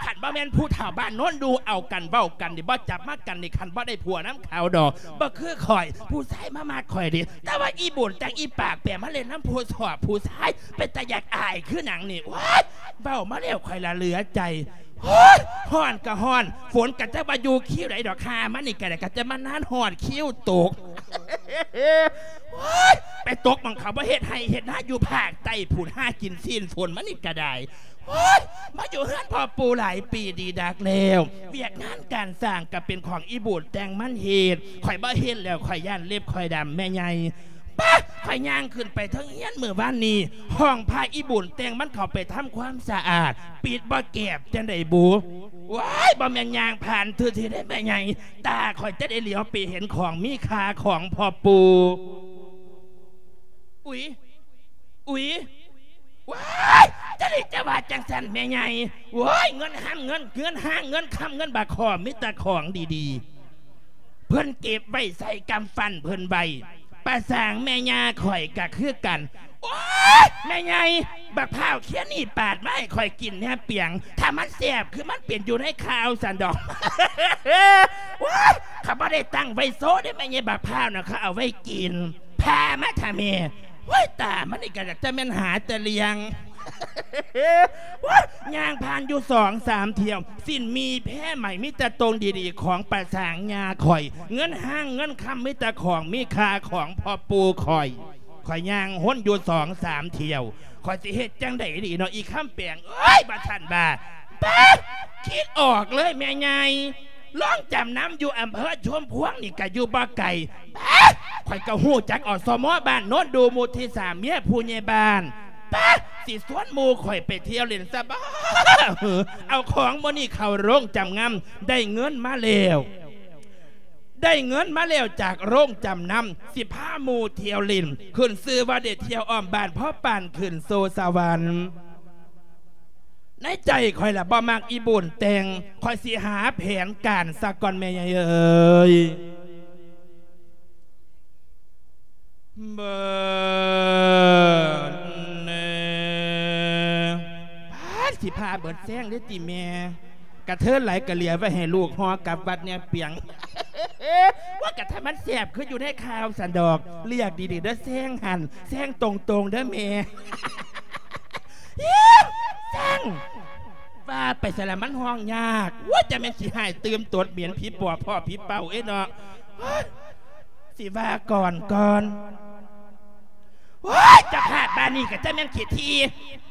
ຄັນບໍ່ແມ່ນຜູ້ເຖົ້າບ້ານໂນນດູເອົາກັນເວົ້າກັນນີ້ ບໍ່ຈັບມາກັນນີ້ ຄັນບໍ່ໄດ້ຜົວນຳເຂົາດອກ. ບໍ່ຄືຂ້ອຍ ຜູ້ຊາຍມາມັກຂ້ອຍເດ້ ແຕ່ວ່າອີບຸນຈັ່ງອີປາກແປມາເຫຼັ້ນນຳຜູ້ຊອບຜູ້ຊາຍ ເປັນຕາຢາກອາຍຄືຫຍັງນີ້. ໂອ້ຍ ເວົ້າມາແລ້ວຂ້ອຍລະເຫຼືອໃຈ. ໂອ້ຍ ຮ້ອນກະຮ້ອນ ຝົນກະຈັກວ່າຢູ່ຄິວໃດດອກ ຫາມັນນີ້ກະໄດ້ ກະຈະມານານຮອດຄິວຕົກ. ໂອ້ຍ ໄປຕົກໝ່ອງເຂົາບໍ່ເຮັດໄຮ່ເຮັດນາຢູ່ພາກໃຕ້ພຸ້ນ ຫາກິນຊີ້ນຝົນມັນນີ້ກະໄດ້. ໂອ້ຍ ມາຢູ່ເຮືອນພໍ່ປູ່ຫຼາຍປີດີດັກແລ້ວ ວຽກງານການສ້າງກະເປັນຂອງອີບຸນແຕ່ງມັນເຮັດ ຂ້ອຍບໍ່ເຮັດແລ້ວ ຂ້ອຍຢ້ານເລັບຂ້ອຍດຳແມ່ໃຫຍ່. ປະ ຂ້ອຍຍ່າງຂຶ້ນໄປເທິງເຮືອນມື້ວານນີ້ ຫ້ອງພະອີບຸນແຕ່ງມັນເຂົ້າໄປທຳຄວາມສະອາດ ປິດບໍ່ແກບຈັ່ງໃດບຸ. ໂອ້ຍ ບໍ່ແມ່ນຍ່າງຜ່ານຊື່ໆ ເດ້ແມ່ໃຫຍ່ ຕາຂ້ອຍຈະໄດ້ຫຼຽວໄປເຫັນຂອງມີຄ່າຂອງພໍ່ປູ່. ອຸຍ ອຸຍ ວ້າຍ ຈະໄດ້ຈະວ່າຈັ່ງຊັ້ນແມ່ໃຫຍ່. ໂອ້ຍ ເງິນຫ້າງເງິນ ເງິນຫ້າງເງິນຄຳ ເງິນບາກຄໍ່ ມີແຕ່ຂອງດີໆ ເພິ່ນເກັບໄວ້ໃສ່ກຳປັ່ນເພິ່ນໄວ້ ປາສາງແມ່ຍ່າຂ້ອຍກະຄືກັນ. ໂອ້ຍ ແມ່ໃຫຍ່ ບັກພ້າວເຄຍນີ້ປາດມາໃຫ້ຂ້ອຍກິນແດ່ປຽງ ຖ້າມັນແຊບຄືມັນເປັນຢູ່ໃນຂ່າວຊັ້ນດອກ. ໂອ້ຍ ເຂົາບໍ່ໄດ້ຕັ້ງໄວ້ໂຊເດ້ແມ່ໃຫຍ່ ບັກພ້າວນະ ເຂົາເອົາໄວ້ກິນ. ພາມາຖ້າແມ່ ໂອ້ຍ ຕາມັນນີ້ກະຈະແມ່ນຫາແຕ່ເລື່ອງ. ໂອ້ຍ ຍ່າງຜ່ານຢູ່ສອງສາມຖ້ຽວ ສິ້ນໝີ່ແພໄໝ ມີແຕ່ໂຕງດີໆ ຂອງປາສາງຍ່າຂ້ອຍ ເງິນຫ້າງເງິນຄຳ ມີແຕ່ຂອງມີຄ່າຂອງພໍ່ປູ່ຂ້ອຍ. ຂ້ອຍຍ່າງຫົນຢູ່ສອງສາມຖ້ຽວ ຂ້ອຍຊິເຮັດຈັ່ງໃດດີເນາະ ອີຄຳແປງເອີຍ ວ່າຊັ້ນວ່າ. ປາດ ຄິດອອກເລີຍແມ່ໃຫຍ່ ໂຮງຈຳນຳຢູ່ອຳເພີຊຸມພວງນີ້ກະຢູ່ບໍ່ໄກ. ປາດ ຂ້ອຍກະຮູ້ຈັກ ອສມ ບ້ານໂນນດູໝູ່ທີສາມ ເມຍຜູ້ໃຫຍ່ບ້ານ. ປາດ ຊິຊວນໝູ່ຂ້ອຍໄປທ່ຽວຫຼິ້ນຊະບໍ ເອົາຂອງມື້ນີ້ເຂົ້າໂຮງຈຳນຳ ໄດ້ເງິນມາແລ້ວ ໄດ້ເງິນມາແລ້ວຈາກໂຮງຈຳນຳ ຊິພາໝູ່ທ່ຽວຫຼິ້ນ ຂຶ້ນຊື່ວ່າໄດ້ທ່ຽວອ້ອມບ້ານ ພໍປານຂຶ້ນສູ່ສະຫວັນ. ໃນໃຈຂ້ອຍລະບໍ່ມັກອີບຸນແຕ່ງ ຂ້ອຍຊິຫາແຜນການຊະກ່ອນແມ່ໃຫຍ່ເອີຍ. ເບີດແນ່ ປາດ ຊິພາເບີດແຊງເດ້ຕິແມ່ ກະເທີນຫຼາຍກະເຫຼືອໄວ້ໃຫ້ລູກຫໍ່ກັບວັດແນ່ປຽງ. ວ່າກະຖ້າມັນແຊບຄືຢູ່ໃນຂ່າວຊັ້ນດອກ ເລືອກດີໆເດີ ແຊງຫັ້ນ ແຊງຕົງໆເດີແມ່. ແຊງ ວ່າໄປໃສລະ ມັນຮ້ອງຍາກ. ໂອ້ຍ ຈະແມ່ນຂີ້ຮ້າຍຕື່ມຕົດ ເໝັນຜີປອບ ພໍ້ຜີເປົ້າເອີຍເນາະ. ໂອ້ຍ ຊິວ່າກ່ອນກ່ອນ. ໂອ້ຍ ເຈົ້າພາບບ້ານນີ້ກະຈະແມ່ນຂີ້ຖີ່.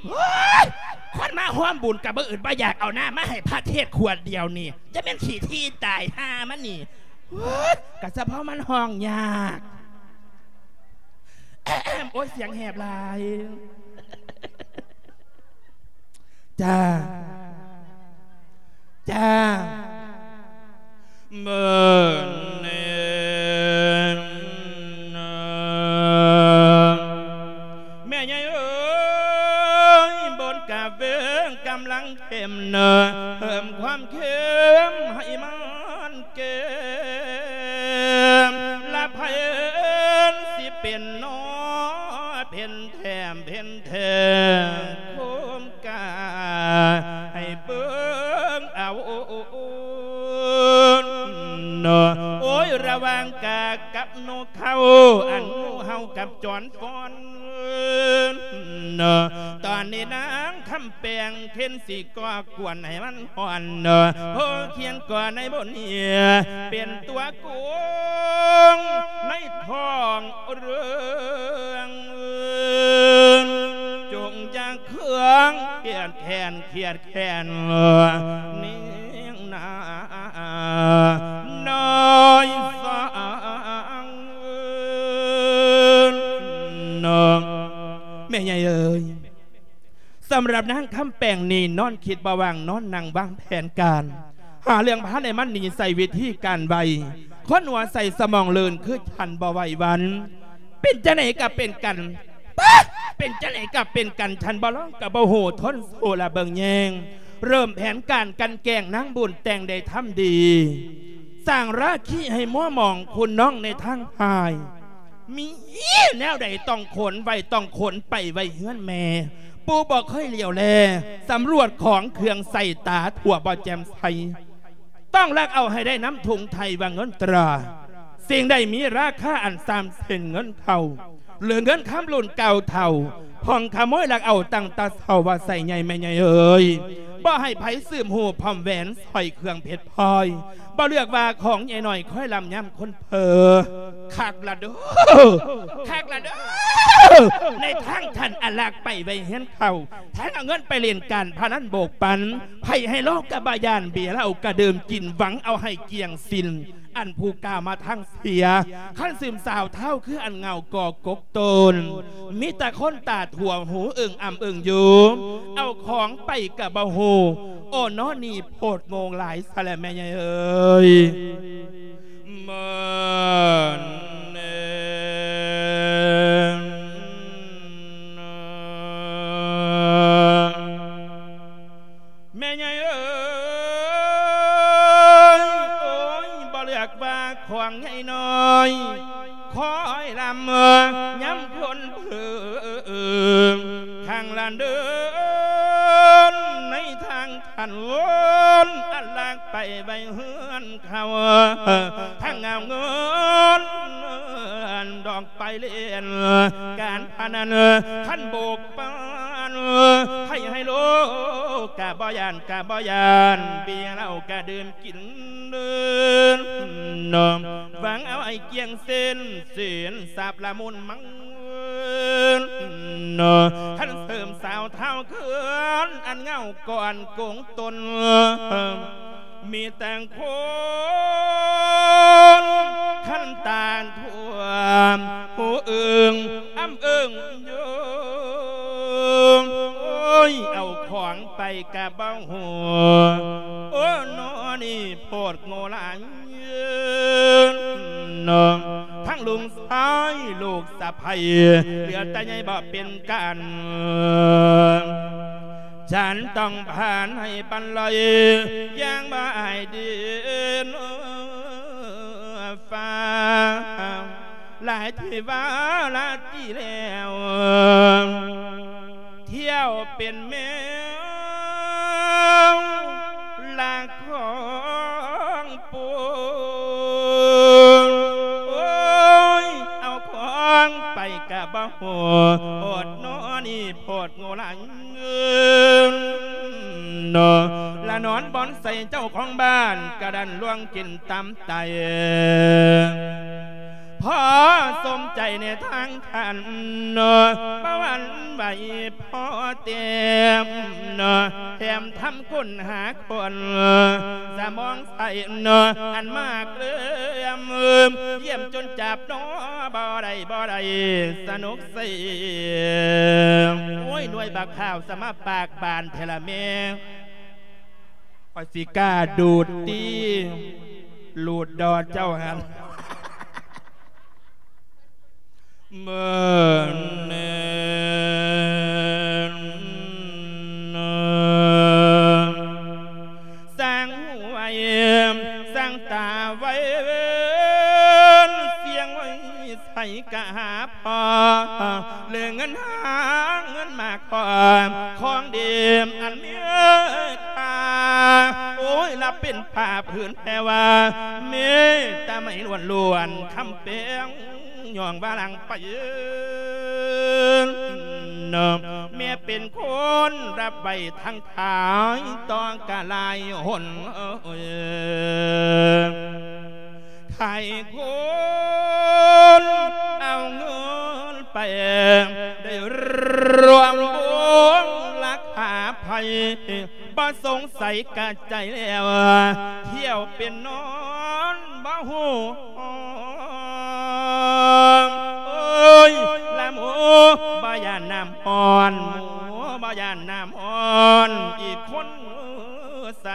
ໂອ້ຍ ຄົນມາຮ່ວມບຸນກະບໍ່ອຶດບໍ່ຢາກ ເອົານ້ຳມາໃຫ້ພະເທດຂວດດຽວນີ້ ຈະແມ່ນຂີ້ຖີ່ຕາຍ ຫ່າມັນນີ້. ໂອ້ຍ ກະສະເພາະມັນຮ້ອງຍາກ. ໂອ້ຍ ສຽງແຫບຫຼາຍ. ຈ້າ ຈ້າ. ເບິ່ງແນ່ ແມ່ໃຫຍ່ເອີຍ ບົນກາເວງກຳລັງເຂັ້ມເນີ ເພີ່ມຄວາມເຂັ້ມໃຫ້ມັນເຂັ້ມ ລະໃຜຊິເປັນໜໍ ເປັນແຖມເປັນແຖມ ໂຄມກາໃຫ້ເບິ່ງເອົາ ໂອ້ຍ ລະຫວ່າງກາກັບນົກເຂົາ ອັນງູເຫົ່າກັບຈອນຟອນ ຕອນນີ້ນາງຄຳແປງເຂັນຊິກໍ່ກວນໃຫ້ມັນຮ້ອນ ໂພຂຽນກໍໃນບົນເຫືອ ເປັນຕົວໂກງໃນທ້ອງເລື່ອງ ຈົ່ງຢ່າເຄືອງຄຽດແຄ້ນ ຄຽດແຄ້ນນີ້ນານ້ອຍສາງ ແມ່ໃຫຍ່ເອີຍ ສຳລັບນາງຄຳແປງນີ້ ນອນຄິດບໍ່ວ່າງ ນອນນັ່ງວາງແຜນການ ຫາເລື່ອງພາໃຫ້ມັນໜີ ໃຊ້ວິທີການໄວ ຄົນຫົວໃສສະໝອງເລີນ ຄືທັນບໍ່ໄວວັນ ເປັນຈັ່ງໃດກໍເປັນກັນ ປະ ເປັນຈັ່ງໃດກໍເປັນກັນ ທັນບໍ່ລອງກໍບໍ່ຮູ້ ທົນສູ້ລະເບິ່ງແຍງ ເລີ່ມແຜນການກັ່ນແກ້ງນາງບຸນແຕ່ງໄດ້ທຳດີ ສ້າງລາຄີໃຫ້ມົວໝອງຄຸນນ້ອງໃນທາງຮ້າຍ ມີແນວໃດຕ້ອງຂົນໄວ້ ຕ້ອງຂົນໄປໄວ້ເຮືອນແມ່ ປູ່ບໍ່ເຄີຍຫຼຽວແລ ສຳຫຼວດຂອງເຄື່ອງໃຊ້ຕາທົ່ວບໍ່ແຈ່ມໃສ ຕ້ອງລັກເອົາໃຫ້ໄດ້ນຳທຸງໄທວ່າເງິນຕາ ສິ່ງໃດມີລາຄາອັນສ່ຳເຊັ່ນເງິນເຂົາ ຫຼືເງິນຄຳລຸ້ນເກົ່າເຖົ້າ ພອງຂະໂມຍລັກເອົາຕັ້ງແຕ່ເຊົ້າວ່າໃສ່ໃຫຍ່ແມ່ໃຫຍ່ເອີຍ ບໍ່ໃຫ້ໃຜສືບຮູ້ພ້ອມແຫວນ ສ້ອຍເຄື່ອງເພັດພລອຍ ບໍ່ເລືອກວ່າຂອງໃຫຍ່ນ້ອຍ ຄອຍລຳຍາມຄົນເພີ ຄັກລະເດີ ຄັກລະເດີ ໃນທາງທ່ານອາລັກໄປໄວ້ເຮືອນເຂົາ ແທນເອົາເງິນໄປຫຼິ້ນການພະນັນໂບກປັນ ໄພ້ໄຮໂລກະບໍ່ຢ້ານ ເບຍເຫຼົ້າກະດື່ມກິນ ຫວັງເອົາໃຫ້ກ້ຽງສິ້ນ ອັນຜູ້ກ້າວມາທາງເສຍ ຄັນຊຶມສາວທ້າວຄືອັນເຫງົາກໍກົກໂຕນ ມີແຕ່ຄົນຕາຖົ່ວຫູເອິ່ງອຳເອິ່ງຢູ່ ເອົາຂອງໄປກະບໍ່ຮູ້ ໂອ້ ນອນີ້ໂພດໂງ່ຫຼາຍຊະແຫຼະແມ່ໃຫຍ່ເອີຍ ເມີນເນ ແມ່ໃຫຍ່ເອີຍ ໂອ້ຍ ບໍ່ເລືອກວ່າຂອງໃຫຍ່ນ້ອຍ ຄອຍລຳຍາມຄົນເພີງ ຂ້າງລານເດີນໃນທາງທ່ານວົນ ອັນລັກໄປໄວ້ເຮືອນເຂົາ ທັງເອົາເງິນດອກໄປຫຼິ້ນການພະນັນ ຄັນໂບກ ປານໄພ້ໄຮໂລກະບໍ່ຢ້ານ ກະບໍ່ຢ້ານ ເບຍເຫຼົ້າກະດື່ມກິນເດີນ ຫວັງເອົາໃຫ້ກ້ຽງເສັ້ນ ສິນຊັບລະມຸນມັນ ຄັນເສີມສາວທ້າວເຂືອນ ອັນເຫງົາກ່ອນໂກງຕົນ ມີແຕ່ງຄົນຄັນຕານຖ້ວມ ຫູເອິ່ງອຳເອິ່ງຢູ່ ໂອ້ຍ ເອົາຂອງໄປກະບໍ່ຮູ້ ໂອ້ ນອນີ້ໂພດໂງ່ຫຼາຍ ທັງລຸງຊາຍລູກສະໃພ້ ເຫຼືອແຕ່ໃຫຍ່ບໍ່ເປັນການ ສັນຕ້ອງຜ່ານໃຫ້ປັນລອຍ ຢ່າງບໍ່ອາຍດິນຟ້າ ຫຼາຍທີ່ວ່າລາຕີແລ້ວ ທ່ຽວເປັນແມວລາຂອງປູ ໂອ້ຍ ເອົາຂອງໄປກະບໍ່ຮູ້ ໂພດເນາະນີ້ໂພດໂງ່ຫຼາຍ ເນາະ ລະນອນບ່ອນໃສເຈົ້າຂອງບ້ານກະດັນລ່ວງກິນຕຳໄຕ ພໍສົມໃຈໃນທາງທ່ານ ເນາະ ປະຫວັນໄວ້ພໍແຕ້ມ ເນາະ ແຖມທຳຄົ້ນຫາຄົນ ສະໝອງໃສ ເນາະ ອັນມາເລື່ອມ ຢ້ຽມຈົນຈັບ ເນາະ ບໍ່ໄດ້ ບໍ່ໄດ້ ສະໜຸກເສຍ ໂອ້ຍ ໜ່ວຍບັກຂາວ ສະມາປາກບານແທ້ລະແມ່ ຂ້ອຍຊິກ້າດູດຕິ ລູດດໍເຈົ້າຫັ້ນ ເມີນ ສ້າງຫວຍ ສ້າງຕາໄວ ສຽງໄວ ໃສກະຫາພໍ ເລີງເງິນຫາເງິນມາຂອ ຂອງດີອັນມີຄ່າ ໂອ້ຍ ລະເປັນຜ້າຜືນແພວາ ມີແຕ່ໄມ້ລ້ວນໆ ຄຳແປງ ຍ້ອງວ່າຫຼັງໄປ ແມ່ເປັນຄົນຮັບໄວ້ທັງຂາຍ ຕ້ອງກະຫຼາຍຫົນ ຂາຍຄົນເອົາເງິນໄປ ໄດ້ລວມວົງລາຄາໄພ ບໍ່ສົງໄສກະໃຈແລ້ວ ທ່ຽວເປັນນອນບໍ່ຮູ້ ໂອ້ຍ ລະໝູບໍ່ຢ້ານນ້ຳຮ້ອນ ໝູບໍ່ຢ້ານນ້ຳຮ້ອນ ອີກຄົນໃສ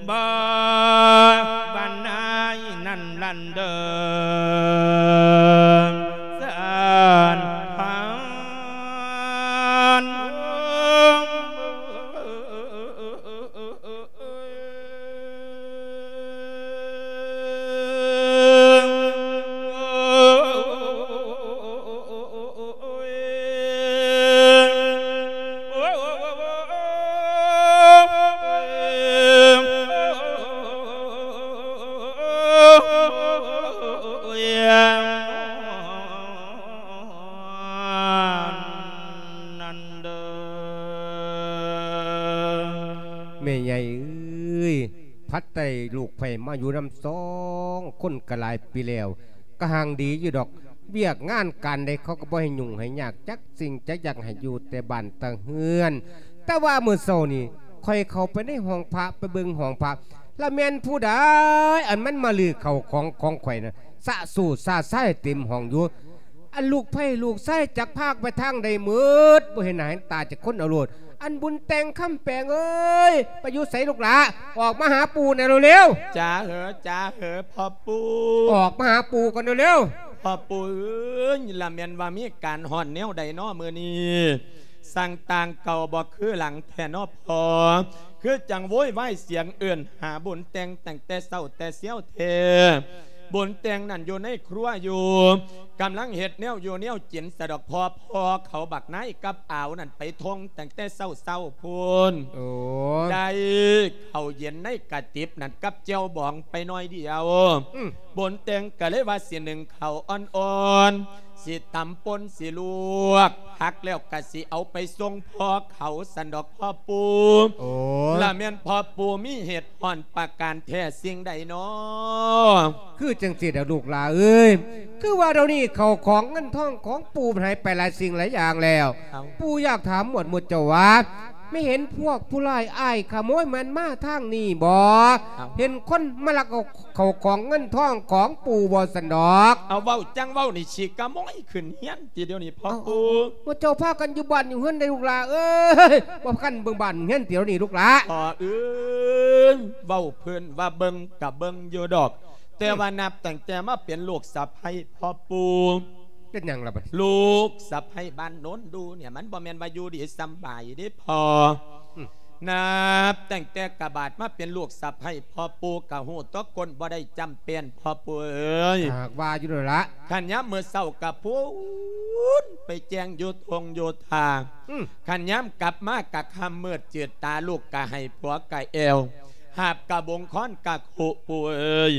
ບໍ່ບານນາຍນັ້ນລັນເດີ ສານພັນ. ແມ່ໃຫຍ່ເອີຍ ພັດໄດ້ລູກໃພ້ມາຢູ່ນຳສອງຄົນກະຫຼາຍປີແລ້ວ ກະຮັ່ງດີຢູ່ດອກ ວຽກງານການໃດເຂົາກະບໍ່ໃຫ້ຫຍຸ້ງໃຫ້ຍາກຈັກສິ່ງຈັກຢ່າງ ໃຫ້ຢູ່ແຕ່ບ້ານແຕ່ເຮືອນ. ແຕ່ວ່າມື້ເຊົ້ານີ້ ຂ້ອຍເຂົ້າໄປໃນຫ້ອງພະ ໄປເບິ່ງຫ້ອງພະ ລະແມ່ນຜູ້ໃດ ອັນມັນມາຮື້ເຂົ້າຂອງຂອງຂ້ອຍນະ ສະໂຊສະຊາຍເຕັມຫ້ອງຢູ່. ອັນລູກໃພ້ລູກຊາຍຈັກພາກໄປທາງໃດໝົດ ບໍ່ເຫັນໜ້າເຫັນຕາຈັກຄົນເອົາໂລດ. ອັນບຸນແຕ່ງ ຄຳແປງເອີຍ ໄປຢູ່ໃສລູກຫຼ້າ? ອອກມາຫາປູ່ແດ່ເລັວໆ. ຈ້າເຫີ ຈ້າເຫີ ພໍ່ປູ່. ອອກມາຫາປູ່ກ່ອນເລັວໆ. ພໍ່ປູ່ເອີຍ ລະແມ່ນວ່າມີການຮ້ອນແນວໃດນໍມື້ນີ້? ສ້າງຕ່າງເກົ່າບໍ່ຄືຫຼັງແທ້ນໍພໍ່ ຄືຈັ່ງໂວຍວາຍສຽງເອີ້ນຫາບຸນແຕ່ງຕັ້ງແຕ່ເຊົ້າແຕ່ຊຽວແທ້. ບຸນແຕ່ງນັ້ນຢູ່ໃນຄົວຢູ່ ກຳລັງເຮັດແນວຢູ່ແນວກິນສະດອກພໍ່ ພໍ່ເຂົາບັກນາຍກັບອາວນັ້ນໄປທົ່ງຕັ້ງແຕ່ເຊົ້າໆພຸ້ນ. ໂອ້ ໄດ້ເຂົ້າເຢັນໃນກະຕິບນັ້ນກັບແຈ່ວບອງໄປໜ້ອຍດຽວ. ອືມ ບຸນແຕ່ງກະເລີຍວ່າຊິໜຶ້ງເຂົ້າອ່ອນໆ ຊິຕຳປົ່ນຊິລວກຜັກແລ້ວກະຊິເອົາໄປສົ່ງພໍ່ເຂົາຊັ້ນດອກພໍ່ປູ່. ໂອ້ ລະແມ່ນພໍ່ປູ່ມີເຫດຮ້ອນປະການແທ້ສິ່ງໃດນໍ? ຄືຈັ່ງຊີ້ດອກລູກຫຼ້າເອີຍ ຄືວ່າດຽວນີ້ເຂົ້າຂອງເງິນທອງຂອງປູ່ມັນຫາຍໄປຫຼາຍສິ່ງຫຼາຍຢ່າງແລ້ວ. ເອົ້າ ປູ່ຢາກຖາມໝວດໝູ່ເຈົ້າວ່າ ແມ່ເຫັນພວກຜູ້ຮ້າຍອ້າຍຂະໂມຍມັນມາທາງນີ້ບໍ່? ເອົ້າ ເຫັນຄົນມາລັກເອົາເຂົ້າຂອງເງິນທອງຂອງປູ່ບໍ່ຊັ້ນດອກ? ເອົາ ເວົ້າຈັ່ງເວົ້ານີ້ຊິຂະໂມຍຂຶ້ນເຮືອນຕິດຽວນີ້ພໍ່ປູ່. ເອົ້າ ໝູ່ເຈົ້າພາກັນຢູ່ບ້ານຢູ່ເຮືອນໃດລູກຫຼ້າເອີຍ ບໍ່ພາກັນເບິ່ງບ້ານເບິ່ງເຮືອນຕິດຽວນີ້ລູກຫຼ້າ? ພໍ່ເອີຍ ເວົ້າເພິ່ນວ່າເບິ່ງກະເບິ່ງຢູ່ດອກ ແຕ່ວ່າ ອືມ ນັບຕັ້ງແຕ່ມາເປັນລູກສະໃພ້ພໍ່ປູ່ ເປັນຫຍັງລະບັດ? ລູກສະໃພ້ບ້ານໂນນດູນີ້ ມັນບໍ່ແມ່ນວ່າຢູ່ດີສຳບາຍເດ້ພໍ່. ອືມ ນັບຕັ້ງແຕ່ກະບາດມາເປັນລູກສະໃພ້ພໍ່ປູ່ ກະຮູ້ຕົວຄົນບໍ່ໄດ້ຈ້ຳແປ້ນພໍ່ປູ່ເອີຍ. ຫາກວ່າຢູ່ນັ້ນລະ ຄັນຍາມມື້ເຊົ້າກະພຸ້ນໄປແຈ້ງຢູ່ທົ່ງຢູ່ທ່າ. ອືມ ຄັນຍາມກັບມາກະຄ່ຳມືດຈືດ ຕາລູກກະໄຫ້ ຜົວກະແອວ ຫາບກະບົງຄ້ອນກະຄຸ ປູ່ເອີຍ.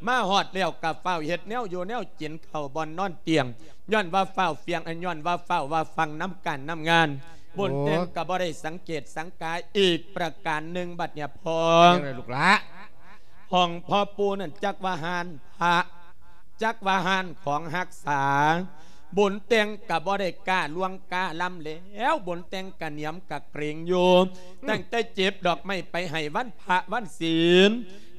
ມາຮອດແລ້ວກະຟ້າວເຮັດແນວຢູ່ແນວກິນ ເຂົ້າບ່ອນນອນຕຽງ ຍ້ອນວ່າຟ້າວຟຽງ ອັນ ຍ້ອນວ່າຟ້າວວ່າຟັງນຳການນຳງານ. ໂອ້ ບຸນແຕ່ງກະບໍ່ໄດ້ສັງເກດສັງກາອີກປະການໜຶ່ງບັດເນີ້ຍພໍ່. ຈັ່ງໃດລູກຫຼ້າ? ຫ້ອງພໍ່ປູ່ນັ້ນຈັກວ່າຮ້ານພະ ຈັກວ່າຮ້ານຂອງຮັກສາ ບຸນແຕ່ງກະບໍ່ໄດ້ກ້າລ່ວງກ້າລຳແລ້ວ ບຸນແຕ່ງກະໜຽມກະເກງຢູ່. ອືມ ຕັ້ງແຕ່ເກັບດອກໄມ້ໄປໃຫ້ວັນພະວັນສິນ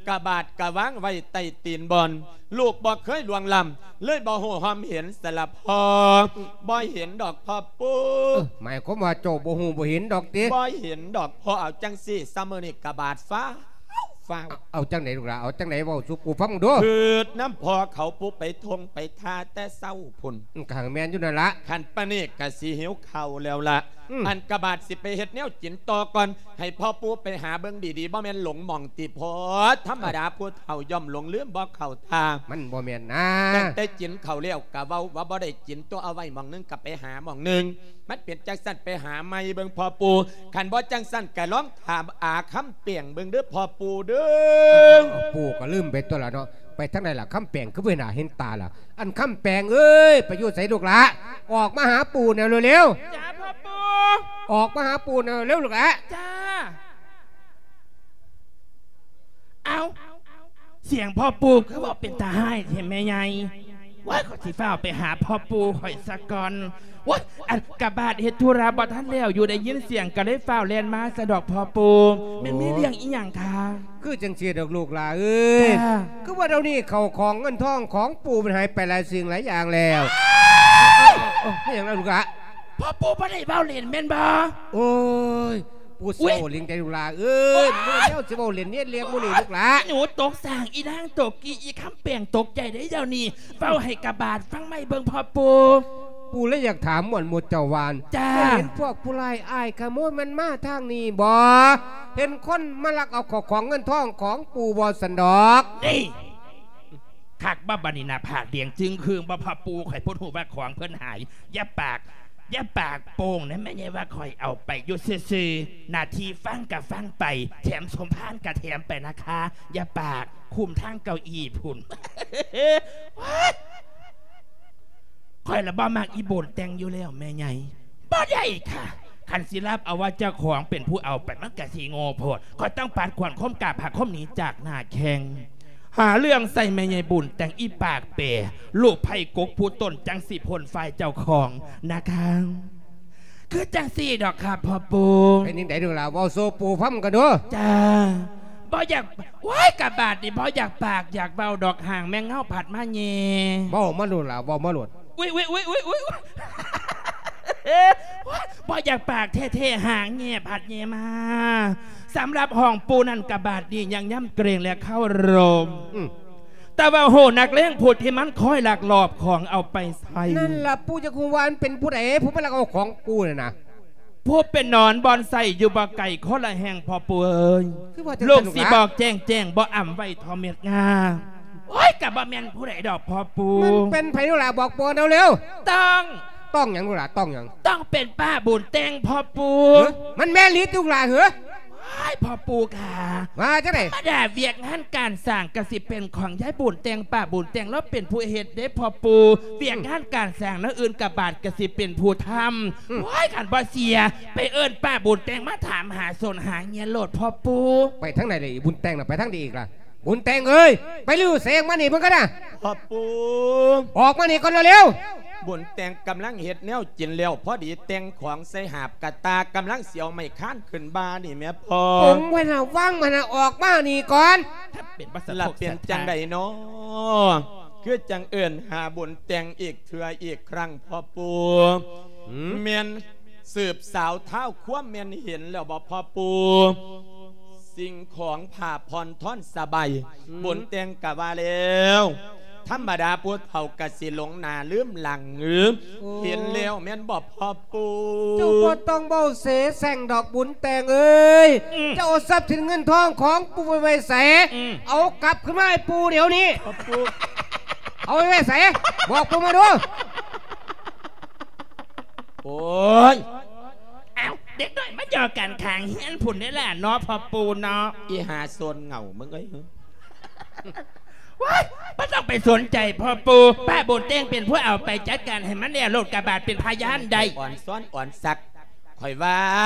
ກະບາດກະວາງໄວ້ໃຕ້ຕີນບ່ອນ ລູກບໍ່ເຄີຍລ່ວງລ້ຳ ເລີຍບໍ່ຮູ້ຮ່ອມເຫັນສະລະພໍ່ ບໍ່ເຫັນດອກພໍ່ປູ່. ເອີ ໝາຍຄວາມວ່າເຈົ້າບໍ່ຮູ້ບໍ່ເຫັນດອກຕິ? ບໍ່ເຫັນດອກພໍ່. ເອົາຈັ່ງຊີ້ ຊຳມື້ນີ້ກະບາດຟ້າວ ຟ້າວ. ເອົາ ເອົາຈັ່ງໃດລູກຫຼານ? ເອົາຈັ່ງໃດເວົ້າສູ່ປູ່ຟັງດູ. ຄືນຳພໍ່ເຂົາປູ່ໄປທົ່ງໄປທ່າແຕ່ເຊົ້າພຸ້ນ. ອືມ ກະຫັ້ນແມ່ນຢູ່ນັ້ນລະ. ຄັນປານນີ້ກະຊິຫິວເຂົ້າແລ້ວລະ. ອືມ ອັນກະບາດຊິໄປເຮັດແນວກິນຕໍ່ກ່ອນ ໃຫ້ພໍ່ປູ່ໄປຫາເບິ່ງດີໆ ບໍ່ແມ່ນຫຼົງໝ່ອງຕິພໍ່? ທຳມະດາຜູ້ເຖົ້າຍ່ອມຫຼົງລືມບໍ່ເຂົ້າທ່າ. ມັນບໍ່ແມ່ນນາ. ຕັ້ງແຕ່ກິນເຂົ້າແລ້ວກະເວົ້າວ່າບໍ່ໄດ້ກິນຕົວະ ເອົາໄວ້ໝ່ອງໜຶ່ງກະໄປຫາໝ່ອງໜຶ່ງ. ມັນເປັນຈັ່ງຊັ້ນ ໄປຫາໃໝ່ເບິ່ງພໍ່ປູ່. ຄັນບໍ່ຈັ່ງຊັ້ນກະລອງຖາມອາຄຳແປງເບິ່ງເດີພໍ່ປູ່ເດີ. ປູ່ກະລືມໄປຕົວະລະເນາະ. ໄປທາງໃດລະຄຳແປງ ຄືບໍ່ເຫັນໜ້າເຫັນຕາລະ? ອັນຄຳແປງເອີຍ ໄປຢູ່ໃສລູກຫຼານ? ອອກມາຫາປູ່ແນວເລັວໆ. ຈ້າພໍ່ປູ່. ອອກມາຫາປູ່ແນວເລັວລູກຫຼານ. ຈ້າ. ເອົ້າ ສຽງພໍ່ປູ່ຄືເວົ້າເປັນຕາຮ້າຍແທ້ແມ່ໃຫຍ່. ໂອ້ຍ ຂ້ອຍຊິຟ້າວໄປຫາພໍ່ປູ່ຂ້ອຍສາກ່ອນ. ໂອ້ຍ ອັນກະບາດເຮັດທຸລະບໍ່ທັນແລ້ວຢູ່ ໄດ້ຍິນສຽງກະເລີຍຟ້າວແລ່ນມາຊະດອກພໍ່ປູ່. ໂອ້ ແມ່ນມີເລື່ອງອີ່ຫຍັງຄະ? ຄືຈັ່ງຊີ້ດອກລູກຫຼານເອີຍ. ຈ້າ. ຄືວ່າດຽວນີ້ເຂົ້າຂອງເງິນທອງຂອງປູ່ມັນຫາຍໄປຫຼາຍສິ່ງຫຼາຍຢ່າງແລ້ວ. ເອົ້າ ເອົ້າ ເອົ້າ ແມ່ນຫຍັງລະລູກຫຼານ? ພໍ່ປູ່ບໍ່ໄດ້ເວົ້າຫຼິ້ນແມ່ນບໍ່? ໂອ້ຍ ປູ່ຊິເວົ້າຫຼິ້ນໄດ໋ລູກຫຼານເອີຍ. ໂອ້ຍ ບໍ່ແມ່ນແນວຊິເວົ້າຫຼິ້ນເດ້ ເລື່ອງໝູ່ນີ້ລູກຫຼານ. ໜູຕົກສ້າງ ອີນາງຕົກກີ່ ອີຄຳແປງຕົກໃຈໄດ໋ດຽວນີ້. ເວົ້າໃຫ້ກະບາດຟັງໃໝ່ເບິ່ງພໍ່ປູ່. ປູ່ເລີຍຢາກຖາມມ່ວນໝູ່ເຈົ້າວ່າ. ຈ້າ. ເຫັນພວກຜູ້ຮ້າຍອ້າຍຂະໂມຍມັນມາທາງນີ້ບໍ່? ເຫັນຄົນມາລັກເອົາເຂົ້າຂອງເງິນທອງຂອງປູ່ບໍ່ຊັ້ນດອກ? ນີ້ ຄັກບໍ່ບາດນີ້ ໜ້າຜາກແດງຈຶ່ງຄຶ່ງບໍ່ພໍ່ປູ່? ຂ້ອຍພຸດຮູ້ວ່າຂອງເພິ່ນຫາຍ. ຢ່າປາກ ຢ່າປາກໂປ່ງນະແມ່ໃຫຍ່ ວ່າຂ້ອຍເອົາໄປຢູ່ຊື່ໆ. ໜ້າທີ່ຟັງກະຟັງໄປ ແຖມສົມພານກະແຖມໄປນະຄະ. ຢ່າປາກ ຄຸມທາງເກົ້າອີ່ພຸ້ນ. ຂ້ອຍລະບໍ່ມັກອີ່ບຸນແຕ່ງຢູ່ແລ້ວແມ່ໃຫຍ່. ບໍ່ໄດ້ຄະ ຄັນຊິຮັບເອົາວ່າເຈົ້າຂອງເປັນຜູ້ເອົາໄປ ມັນກະຊິໂງ່ໂພດ. ຂ້ອຍຕ້ອງປັດຂວັນຄົມກ້າ ພາຄົມໜີຈາກໜ້າແຂ້ງ. ຫາເລື່ອງໃສ່ແມ່ໃຫຍ່ບຸນແຕ່ງ ອີປາກແປ ລູກໄຜ່ກົກຜູ້ຕົນ ຈັ່ງຊິພົ້ນຝ່າຍເຈົ້າຂອງນະຄະ. ຄືຈັ່ງຊີ້ດອກຄະພໍ່ປູ່. ເປັນຈັ່ງໃດເດີລະ ເວົ້າສູ່ປູ່ຟັງກັນດູ. ຈ້າ. ບໍ່ຢາກ ໂອ້ຍ ກະບາດນີ້ບໍ່ຢາກປາກຢາກເວົ້າດອກ ຫາງແມງເງົາພັດມາແຍ່. ເວົ້າມາໂລດລະ ເວົ້າມາໂລດ. ອຸ້ຍ ອຸ້ຍ ອຸ້ຍ ອຸ້ຍ ອຸ້ຍ ບໍ່ຢາກປາກແທ້ໆ ຫາງແຍ່ພັດແຍ່ມາ. ສຳລັບຫ້ອງປູ່ນັ້ນກະບາດນີ້ຍັງຍຳເກງ ແລະ ເຄົາລົບ. ອືມ. ແຕ່ວ່າໂຫ ນັກເລງຜູ້ທີ່ມັນຄອຍລັກລອບຂອງເອົາໄປໃຊ້. ນັ້ນລະ ປູ່ຢາກຮູ້ວ່າມັນເປັນຜູ້ໃດ ຜູ້ມາລັກເອົາຂອງປູ່ນັ້ນນະ? ຜູ້ເປັນໜອນບ່ອນໄສ້ຢູ່ບໍ່ໄກຄົນລະແຫ່ງພໍ່ປູ່ເອີຍ. ຄືວ່າຈັ່ງຊັ້ນ ລູກຊິບອກແຈ້ງໆ ບໍ່ອຳໄວ້ທໍ່ເມັດງາ. ໂອ້ຍ ກະບໍ່ແມ່ນຜູ້ໃດດອກພໍ່ປູ່. ມັນເປັນໃຜລູກຫຼານ ບອກປົວເຮົາເລັວ. ຕ້ອງ ຕ້ອງຫຍັງລູກຫຼານ ຕ້ອງຫຍັງ? ຕ້ອງເປັນປ້າບຸນແຕ່ງພໍ່ປູ່. ເອີ ມັນແມ່ນອີ່ຫຼີຕິລູກຫຼານເອີຍ. ໂອ້ຍ ພໍ່ປູ່ກະ ວ່າຈັ່ງໃດ? ທຳມະດາວຽກງານການສ້າງກະຊິເປັນຂອງຍາຍບຸນແຕ່ງ ປ້າບຸນແຕ່ງລາວເປັນຜູ້ເຮັດເດ້ພໍ່ປູ່. ວຽກງານການສ້າງແນວອື່ນກະບາດກະຊິເປັນຜູ້ທຳ. ອືມ. ໂອ້ຍ ຄັນບໍ່ເຊື່ອ ໄປເອີ້ນປ້າບຸນແຕ່ງມາຖາມຫາສົນຫາເຫຍື່ອໂລດພໍ່ປູ່. ໄປທາງໃດລະ ອີ່ບຸນແຕ່ງນະ ໄປທາງໃດອີກລະ? ບຸນແຕ່ງເອີຍ ໄປຢູ່ໃສ ອອກມານີ້ເບິ່ງກັນນະ. ພໍ່ປູ່ ອອກມານີ້ກ່ອນເລັວໆ. ບຸນແຕ່ງກຳລັງເຮັດແນວກິນແລ້ວ ພໍດີແຕ່ງຂອງໃສ່ຫາບກະຕ່າ ກຳລັງຊິເອົາໄມ້ຄານຂຶ້ນບ່ານີ້ແມ່ພໍ່. ປົງໄວ້ນະ ວາງມັນນະ ອອກມານີ້ກ່ອນ. ລະເປັນຈັ່ງໃດນໍ ຄືຈັ່ງເອີ້ນຫາບຸນແຕ່ງອີກເທື່ອອີກຄັ້ງພໍ່ປູ່? ອືມ. ແມ່ນ ສືບສາວທ້າວຄວາມແມ່ນເຫັນແລ້ວບໍ່ພໍ່ປູ່? ສິ່ງຂອງຜ້າຜ່ອນທ່ອນສະບາຍ ອືມ ບຸນແຕ່ງກະວ່າແລ້ວ ທຳມະດາຜູ້ເຖົ້າກະຊິຫຼົງໜ້າລືມຫຼັງ. ໂອ້ ເຫັນແລ້ວແມ່ນບໍ່ພໍ່ປູ່? ເຈົ້າບໍ່ຕ້ອງເວົ້າເສແສ້ງດອກບຸນແຕ່ງເອີຍ. ອືມ. ເຈົ້າເອົາຊັບສິນເງິນທອງຂອງປູ່ໄວ້ໃສ? ອືມ. ເອົາກັບຄືນມາໃຫ້ປູ່ດຽວນີ້. ພໍ່ປູ່ ເອົາໄວ້ໃສ? ບອກປູ່ມາດູ. ໂອ້ຍ ອ້າວ ເດັກນ້ອຍມາຢອກກັນຂ້າງເຮືອນພຸ້ນເດ້ລະເນາະ ພໍ່ປູ່ເນາະ. ອີ່ຫາໂຊນເຫງົາມຶງເອີຍ ວ້າຍ ບໍ່ຕ້ອງໄປສົນໃຈພໍ່ປູ່. ປ້າບຸນແຕ່ງເປັນຜູ້ເອົາໄປ ຈັດການໃຫ້ມັນແລ້ວໂລດ ກະບາດເປັນພະຍານໄດ້. ອ່ອນຊ້ອນອ່ອນສັກ ຂ້ອຍວ່າ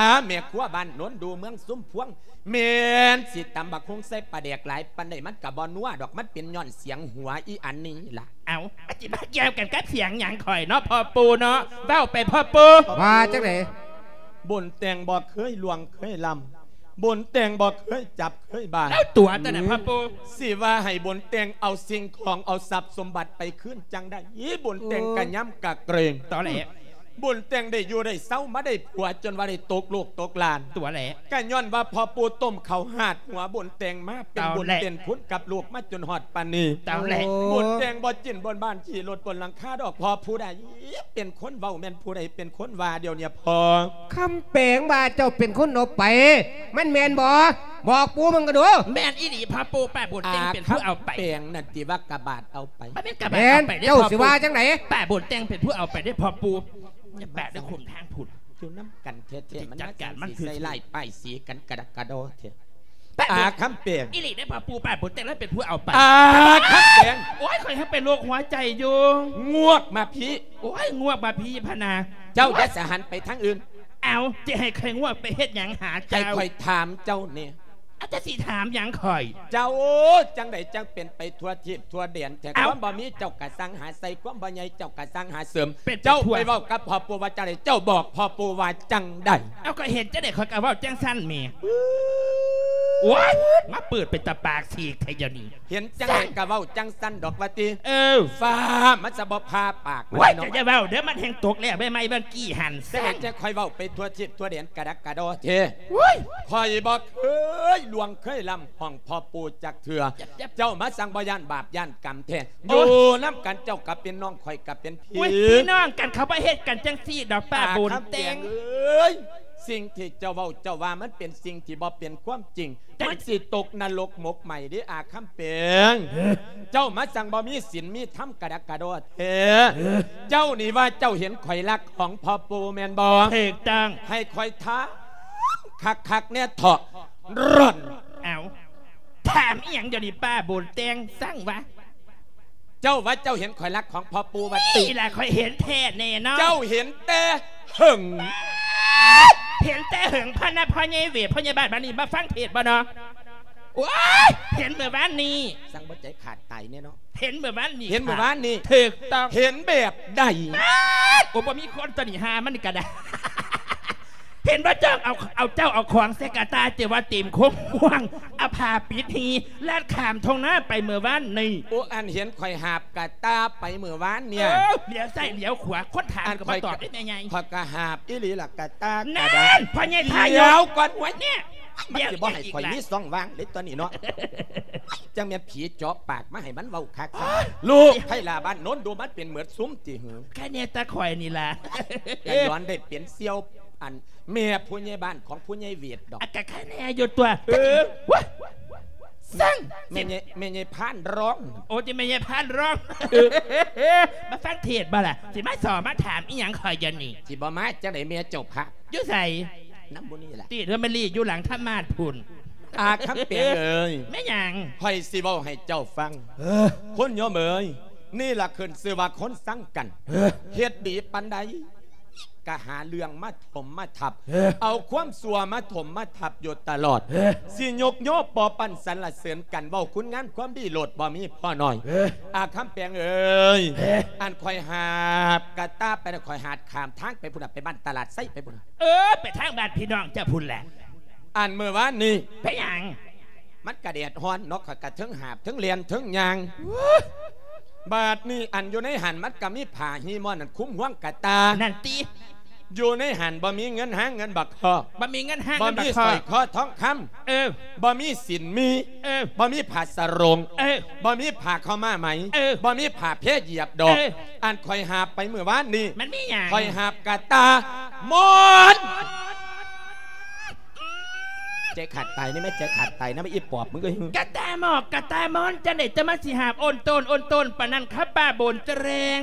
ແມ່ຄົວບ້ານໂນນດູ ເມືອງຊຸມພວງ ແມ່ນຊິຕຳບັກຫຸ່ງໃສ່ປາແດກຫຼາຍປານໃດ ມັນກະບໍ່ນົວດອກ ມັນເປັນຍ້ອນສຽງຫົວອີ່ອັນນີ້ລະ. ເອົ້າ ມັນຊິມາກ່ຽວກັນກັບສຽງຫຍັງຂ້ອຍເນາະພໍ່ປູ່ເນາະ. ເວົ້າໄປພໍ່ປູ່. ວ່າຈັ່ງໃດ? ບຸນແຕ່ງບໍ່ເຄີຍລ່ວງເຄີຍລ້ຳ ບຸນແຕ່ງບໍ່ເຄີຍຈັບເຄີຍບາ ແລ້ວຕົວະແຕ່ນັ້ນ ອືມ ພໍ່ປູ່ ຊິວ່າໃຫ້ບຸນແຕ່ງເອົາສິ່ງຂອງເອົາຊັບສົມບັດໄປຄືນຈັ່ງໃດ ບຸນແຕ່ງ ໂອ້ ກະຍຳກະເກງ ຕອແຫຼ ບຸນແຕ່ງໄດ້ຢູ່ໄດ້ເຊົາ ມາໄດ້ຜົວຈົນວ່າໄດ້ຕົກລູກຕົກຫຼານ ຕົວແຫຼ ກະຍ້ອນວ່າພໍ່ປູ່ຕົ້ມເຂົ້າຫາດຫົວບຸນແຕ່ງມາ ເປັນບຸນ ຕອແຫຼ ເປັນຄຸນກັບລູກມາຈົນຮອດປານນີ້ ຕອແຫຼ ໂອ້ ບຸນແຕ່ງບໍ່ຈິ້ນບົນບ້ານຂີ່ລົດບົນຫຼັງຄາດອກ ເພາະຜູ້ໃດເປັນຄົນເວົ້າ ແມ່ນຜູ້ໃດເປັນຄົນວ່າ ດຽວນີ້ພໍ່ ຄຳແປງວ່າເຈົ້າເປັນຄົນເອົາໄປ ມັນແມ່ນບໍ່? ບອກປູ່ມັນກະດູ. ແມ່ນອີ່ຫຼີພໍ່ປູ່ ປ້າບຸນແຕ່ງເປັນຜູ້ເອົາໄປ. ອາ ຄຳແປງນັ້ນຕິວ່າກະບາດເອົາໄປ. ບໍ່ແມ່ນກະບາດເອົາໄປເດ້ ພໍ່ປູ່ ຊິວ່າຈັ່ງໃດ? ປ້າບຸນແຕ່ງເປັນຜູ້ເອົາໄປເດ້ພໍ່ປູ່. ຢ່າປະເດີ ຄຸມທາງພຸ້ນ ຢູ່ນຳກັນແທ້ໆ ມັນຈັດການມັນ ຊິໃສ່ຮ້າຍປ້າຍສີກັນກະດັກກະດໍແທ້. ປ້າບຸນ ອາ ຄຳແປງ ອີ່ຫຼີເດ້ພໍ່ປູ່ ປ້າບຸນແຕ່ງລະເປັນຜູ້ເອົາໄປ. ອາ ຄຳແປງ ໂອ້ຍ ຂ້ອຍຍັງເປັນໂລກຫົວໃຈຢູ່. ງວກມາພີ້. ໂອ້ຍ ງວກມາພີ້ພະນາ. ເຈົ້າຢ່າສະຫັນໄປທາງອື່ນ. ເອົ້າ ຈະໃຫ້ຂ້ອຍງວກໄປເຮັດຫຍັງຫາເຈົ້າ? ໃຫ້ຂ້ອຍຖາມເຈົ້າແດ່. ອາ ຈະຊິຖາມຫຍັງຂ້ອຍ? ເຈົ້າ ຈັ່ງໃດຈັ່ງເປັນໄປທົ່ວທີບທົ່ວແດນແທ້? ເອົ້າ ຄວາມບໍ່ມີເຈົ້າກະສັ່ງຫາໃສ່ ຄວາມບໍ່ໃຫຍ່ເຈົ້າກະສັ່ງຫາເສີມ. ເປັນໄປທົ່ວ. ເຈົ້າໄປເວົ້າກັບພໍ່ປູ່ວ່າຈັ່ງໃດ? ເຈົ້າບອກພໍ່ປູ່ວ່າຈັ່ງໃດ? ເອົ້າ ຂ້ອຍເຫັນຈັ່ງໃດຂ້ອຍກະເວົ້າຈັ່ງຊັ້ນແໝ່. ໂອ້ຍ ມາເປີດເປັນຕາປາກສີກແທ້ດຽວນີ້. ເຫັນຈັ່ງໃດກະເວົ້າຈັ່ງຊັ້ນດອກວ່າຕິ. ເອີ ຟ້າມັນຈະບໍ່ຜ່າປາກມັນ. ໂອ້ຍ ເນາະ ເຈົ້າຢ່າເວົ້າເດີ ມັນແຮ່ງຕົກແລ້ວໃບໄມ້ບາງກີ້ຫັ້ນ. ຈັ່ງໃດຈັ່ງຂ້ອຍເວົ້າໄປທົ່ວທີບທົ່ວແດນກະດັກກະດໍແທ້. ໂອ້ຍ ຂ້ອຍບໍ່ເຄີຍລ່ວງເຄີຍລຳຫ້ອງພໍ່ປູ່ຈັກເທື່ອ. ເຈົ້າມາສັ່ງບໍ່ຢ້ານບາບຢ້ານກຳແທ້. ໂອ້ຍ ຢູ່ນຳກັນເຈົ້າກະເປັນນ້ອງ ຂ້ອຍກະເປັນພີ່. ໂອ້ຍ ພີ່ນ້ອງກັນ ເຂົາບໍ່ເຮັດກັນຈັ່ງຊີ້ດອກ ປ້າບຸນແຕ່ງ. ອາ ຄຳແປງເອີຍ ສິ່ງທີ່ເຈົ້າເວົ້າເຈົ້າວ່າ ມັນເປັນສິ່ງທີ່ບໍ່ເປັນຄວາມຈິງ. ມັນຊິຕົກນະລົກໝົກໄໝເດ້ ອາຄຳແປງ. ເຈົ້າມາຈັ່ງບໍ່ມີສິນມີທຳກະດັກກະດໍແທ້. ເຈົ້ານີ້ວ່າເຈົ້າເຫັນຂ້ອຍລັກຂອງພໍ່ປູ່ແມ່ນບໍ່? ຖືກຕ້ອງ. ໃຫ້ຂ້ອຍຖາມຄັກໆແດ່ເຖາະ ຣອນ. ເອົ້າ ຖາມອີ່ຫຍັງດຽວນີ້ ປ້າບຸນແຕ່ງ ສັ່ງວ່າ ເຈົ້າວ່າເຈົ້າເຫັນຂ້ອຍລັກຂອງພໍ່ປູ່ວ່າຕິ? ນີ້ລະ ຂ້ອຍເຫັນແທ້ແນ່ນອນ. ເຈົ້າເຫັນແຕ່ເຫິງ. ເຫັນແຕ່ເຫິງພະນະ ພໍ່ໃຫຍ່ເວດ ພໍ່ໃຫຍ່ບ້ານ ບາດນີ້ມາຟັງເທດບໍ່ເນາະ? ໂອ້ຍ ເຫັນມື້ວານນີ້. ສັ່ງບໍ່ໃຈຂາດຕາຍແນ່ເນາະ. ເຫັນມື້ວານນີ້. ເຫັນມື້ວານນີ້. ຖືກຕ້ອງ. ເຫັນແບບໃດ? ໂອ້ ບໍ່ມີຄົນຕົວນີ້ ຫາມັນກະໄດ້. ເຫັນບໍ່ ເຈົ້າເອົາ ເອົາ ເຈົ້າເອົາຂອງໃສ່ກະຕ່າ ເຈົ້າວ່າເຕັມຄົມຮ່ວງ ເອົາຜ້າປິດຫີ ລັດຂ້າມທົ່ງນາໄປມື້ວານນີ້. ໂອ້ ອັນເຫັນຂ້ອຍຫາບກະຕ່າໄປມື້ວານເນີ້ຍ. ເອີ ຫຼຽວຊ້າຍຫຼຽວຂວາ ຄົນຖາມກໍບໍ່ຕອບເດ້ແມ່ໃຫຍ່. ຂ້ອຍກະຫາບອີ່ຫຼີລະກະຕ່າກະດາ. ນັ້ນ ພໍ່ໃຫຍ່ທາຍຸ ດຽວກ່ອນ ໂອ້ຍ ເນຍ ມັນຊິບໍ່ໃຫ້ຂ້ອຍມີຊ່ອງວ່າງເດ້ຕົວນີ້ເນາະ. ຈັ່ງແມ່ນຜີເຈາະປາກມາໃຫ້ມັນເວົ້າຄັກ. ລູກໄພລາບ້ານໂນນດູ ມັນເປັນເໝິດຊຸມຕິຫື? ແຄ່ແນ່ແຕ່ຂ້ອຍນີ້ລະ ກະຍ້ອນໄດ້ເປັນສ່ຽວ ອັນ ແມ່ຜູ້ໃຫຍ່ບ້ານຂອງຜູ້ໃຫຍ່ເວດດອກ. ອາ ກະໄຄແນ່ຢູ່ຕົວະ. ເອີ ໂອ້ຍ ຊັ້ນ ແມ່ໃຫຍ່ ແມ່ໃຫຍ່ພານຮ້ອງ. ໂອ້ ຕິແມ່ໃຫຍ່ພານຮ້ອງ. ເອີ ມາຟັງເທດບໍ່ລະ? ຊິມາສໍ່ມາຖາມອີ່ຫຍັງຂ້ອຍດຽວນີ້? ຊິບໍ່ມາຈັ່ງໃດແມ່ເຈົ້າພະ? ຢູ່ໃສ? ນຳໝູ່ນີ້ລະ. ຕິ ເຮືອນແມ່ລີ້ຢູ່ຫຼັງທຳມາດພຸ້ນ. ອາຄຳແປງເອີຍ ແມ່ນຫຍັງ? ຂ້ອຍຊິເວົ້າໃຫ້ເຈົ້າຟັງ. ເອີ ຄົນໂຍມເອີຍ ນີ້ລະຂຶ້ນຊື່ວ່າຄົນຊັງກັນ. ເອີ ເຮັດດີປານໃດ ກະຫາເລື່ອງມາຖົມມາທັບ. ເອີ ເອົາຄວາມຊົ່ວມາຖົມມາທັບຢູ່ຕະຫຼອດ. ເອີ ຊິຍົກຍໍປໍປັ້ນສັນລະເສີນກັນ ເວົ້າຄຸນງາມຄວາມດີໂລດ ບໍ່ມີພໍໜ້ອຍ. ເອີ ອາຄຳແປງເອີຍ ເອີ ອັນຂ້ອຍຫາບກະຕ່າໄປນະ ຂ້ອຍຫາບຂ້າມທາງໄປພຸ້ນນະ ໄປບ້ານຕະຫຼາດໄຊໄປພຸ້ນນະ. ເອີ ໄປທາງບ້ານພີ່ນ້ອງເຈົ້າພຸ້ນແຫຼະ. ອັນມື້ວານນີ້ ເປັນຫຍັງ? ມັນກະແດດຮ້ອນເນາະ ຂ້ອຍກະເທິງຫາບເທິງແລ່ນເທິງຍ່າງ. ບາດນີ້ອັນຢູ່ໃນຫັ້ນມັນກະມີຜ້າຮີ່ມ້ອນນັ້ນຄຸມຮວງກະຕ່າ. ນັ້ນຕິ. ຢູ່ໃນຫັ້ນບໍ່ມີເງິນຫາເງິນບັກຄອກ ບໍ່ມີເງິນຫາເງິນບັກຄອກ ບໍ່ມີສ້ອຍຄໍທອງຄຳ. ເອີ ບໍ່ມີສິນມີ. ເອີ ບໍ່ມີຜ້າສະໂຣງ. ເອີ ບໍ່ມີຜ້າເຂົ້າມາໄໝ. ເອີ ບໍ່ມີຜ້າແພຢຽບດອກ. ເອີ ອັນຂ້ອຍຫາບໄປມື້ວານນີ້ ມັນມີຫຍັງ? ຂ້ອຍຫາບກະຕ່າມ້ອນ. ໃຈຂາດຕາຍນີ້ແມ່ ໃຈຂາດຕາຍນະ ອີປອບ ມຶງເອີຍ. ກະຕ່າໝອກກະຕ່າມ້ອນ ຈັ່ງໃດເຈົ້າມາຊິຫາບໂອນໂຕນໂອນໂຕນປານນັ້ນຄະປ້າບຸນແຕງ?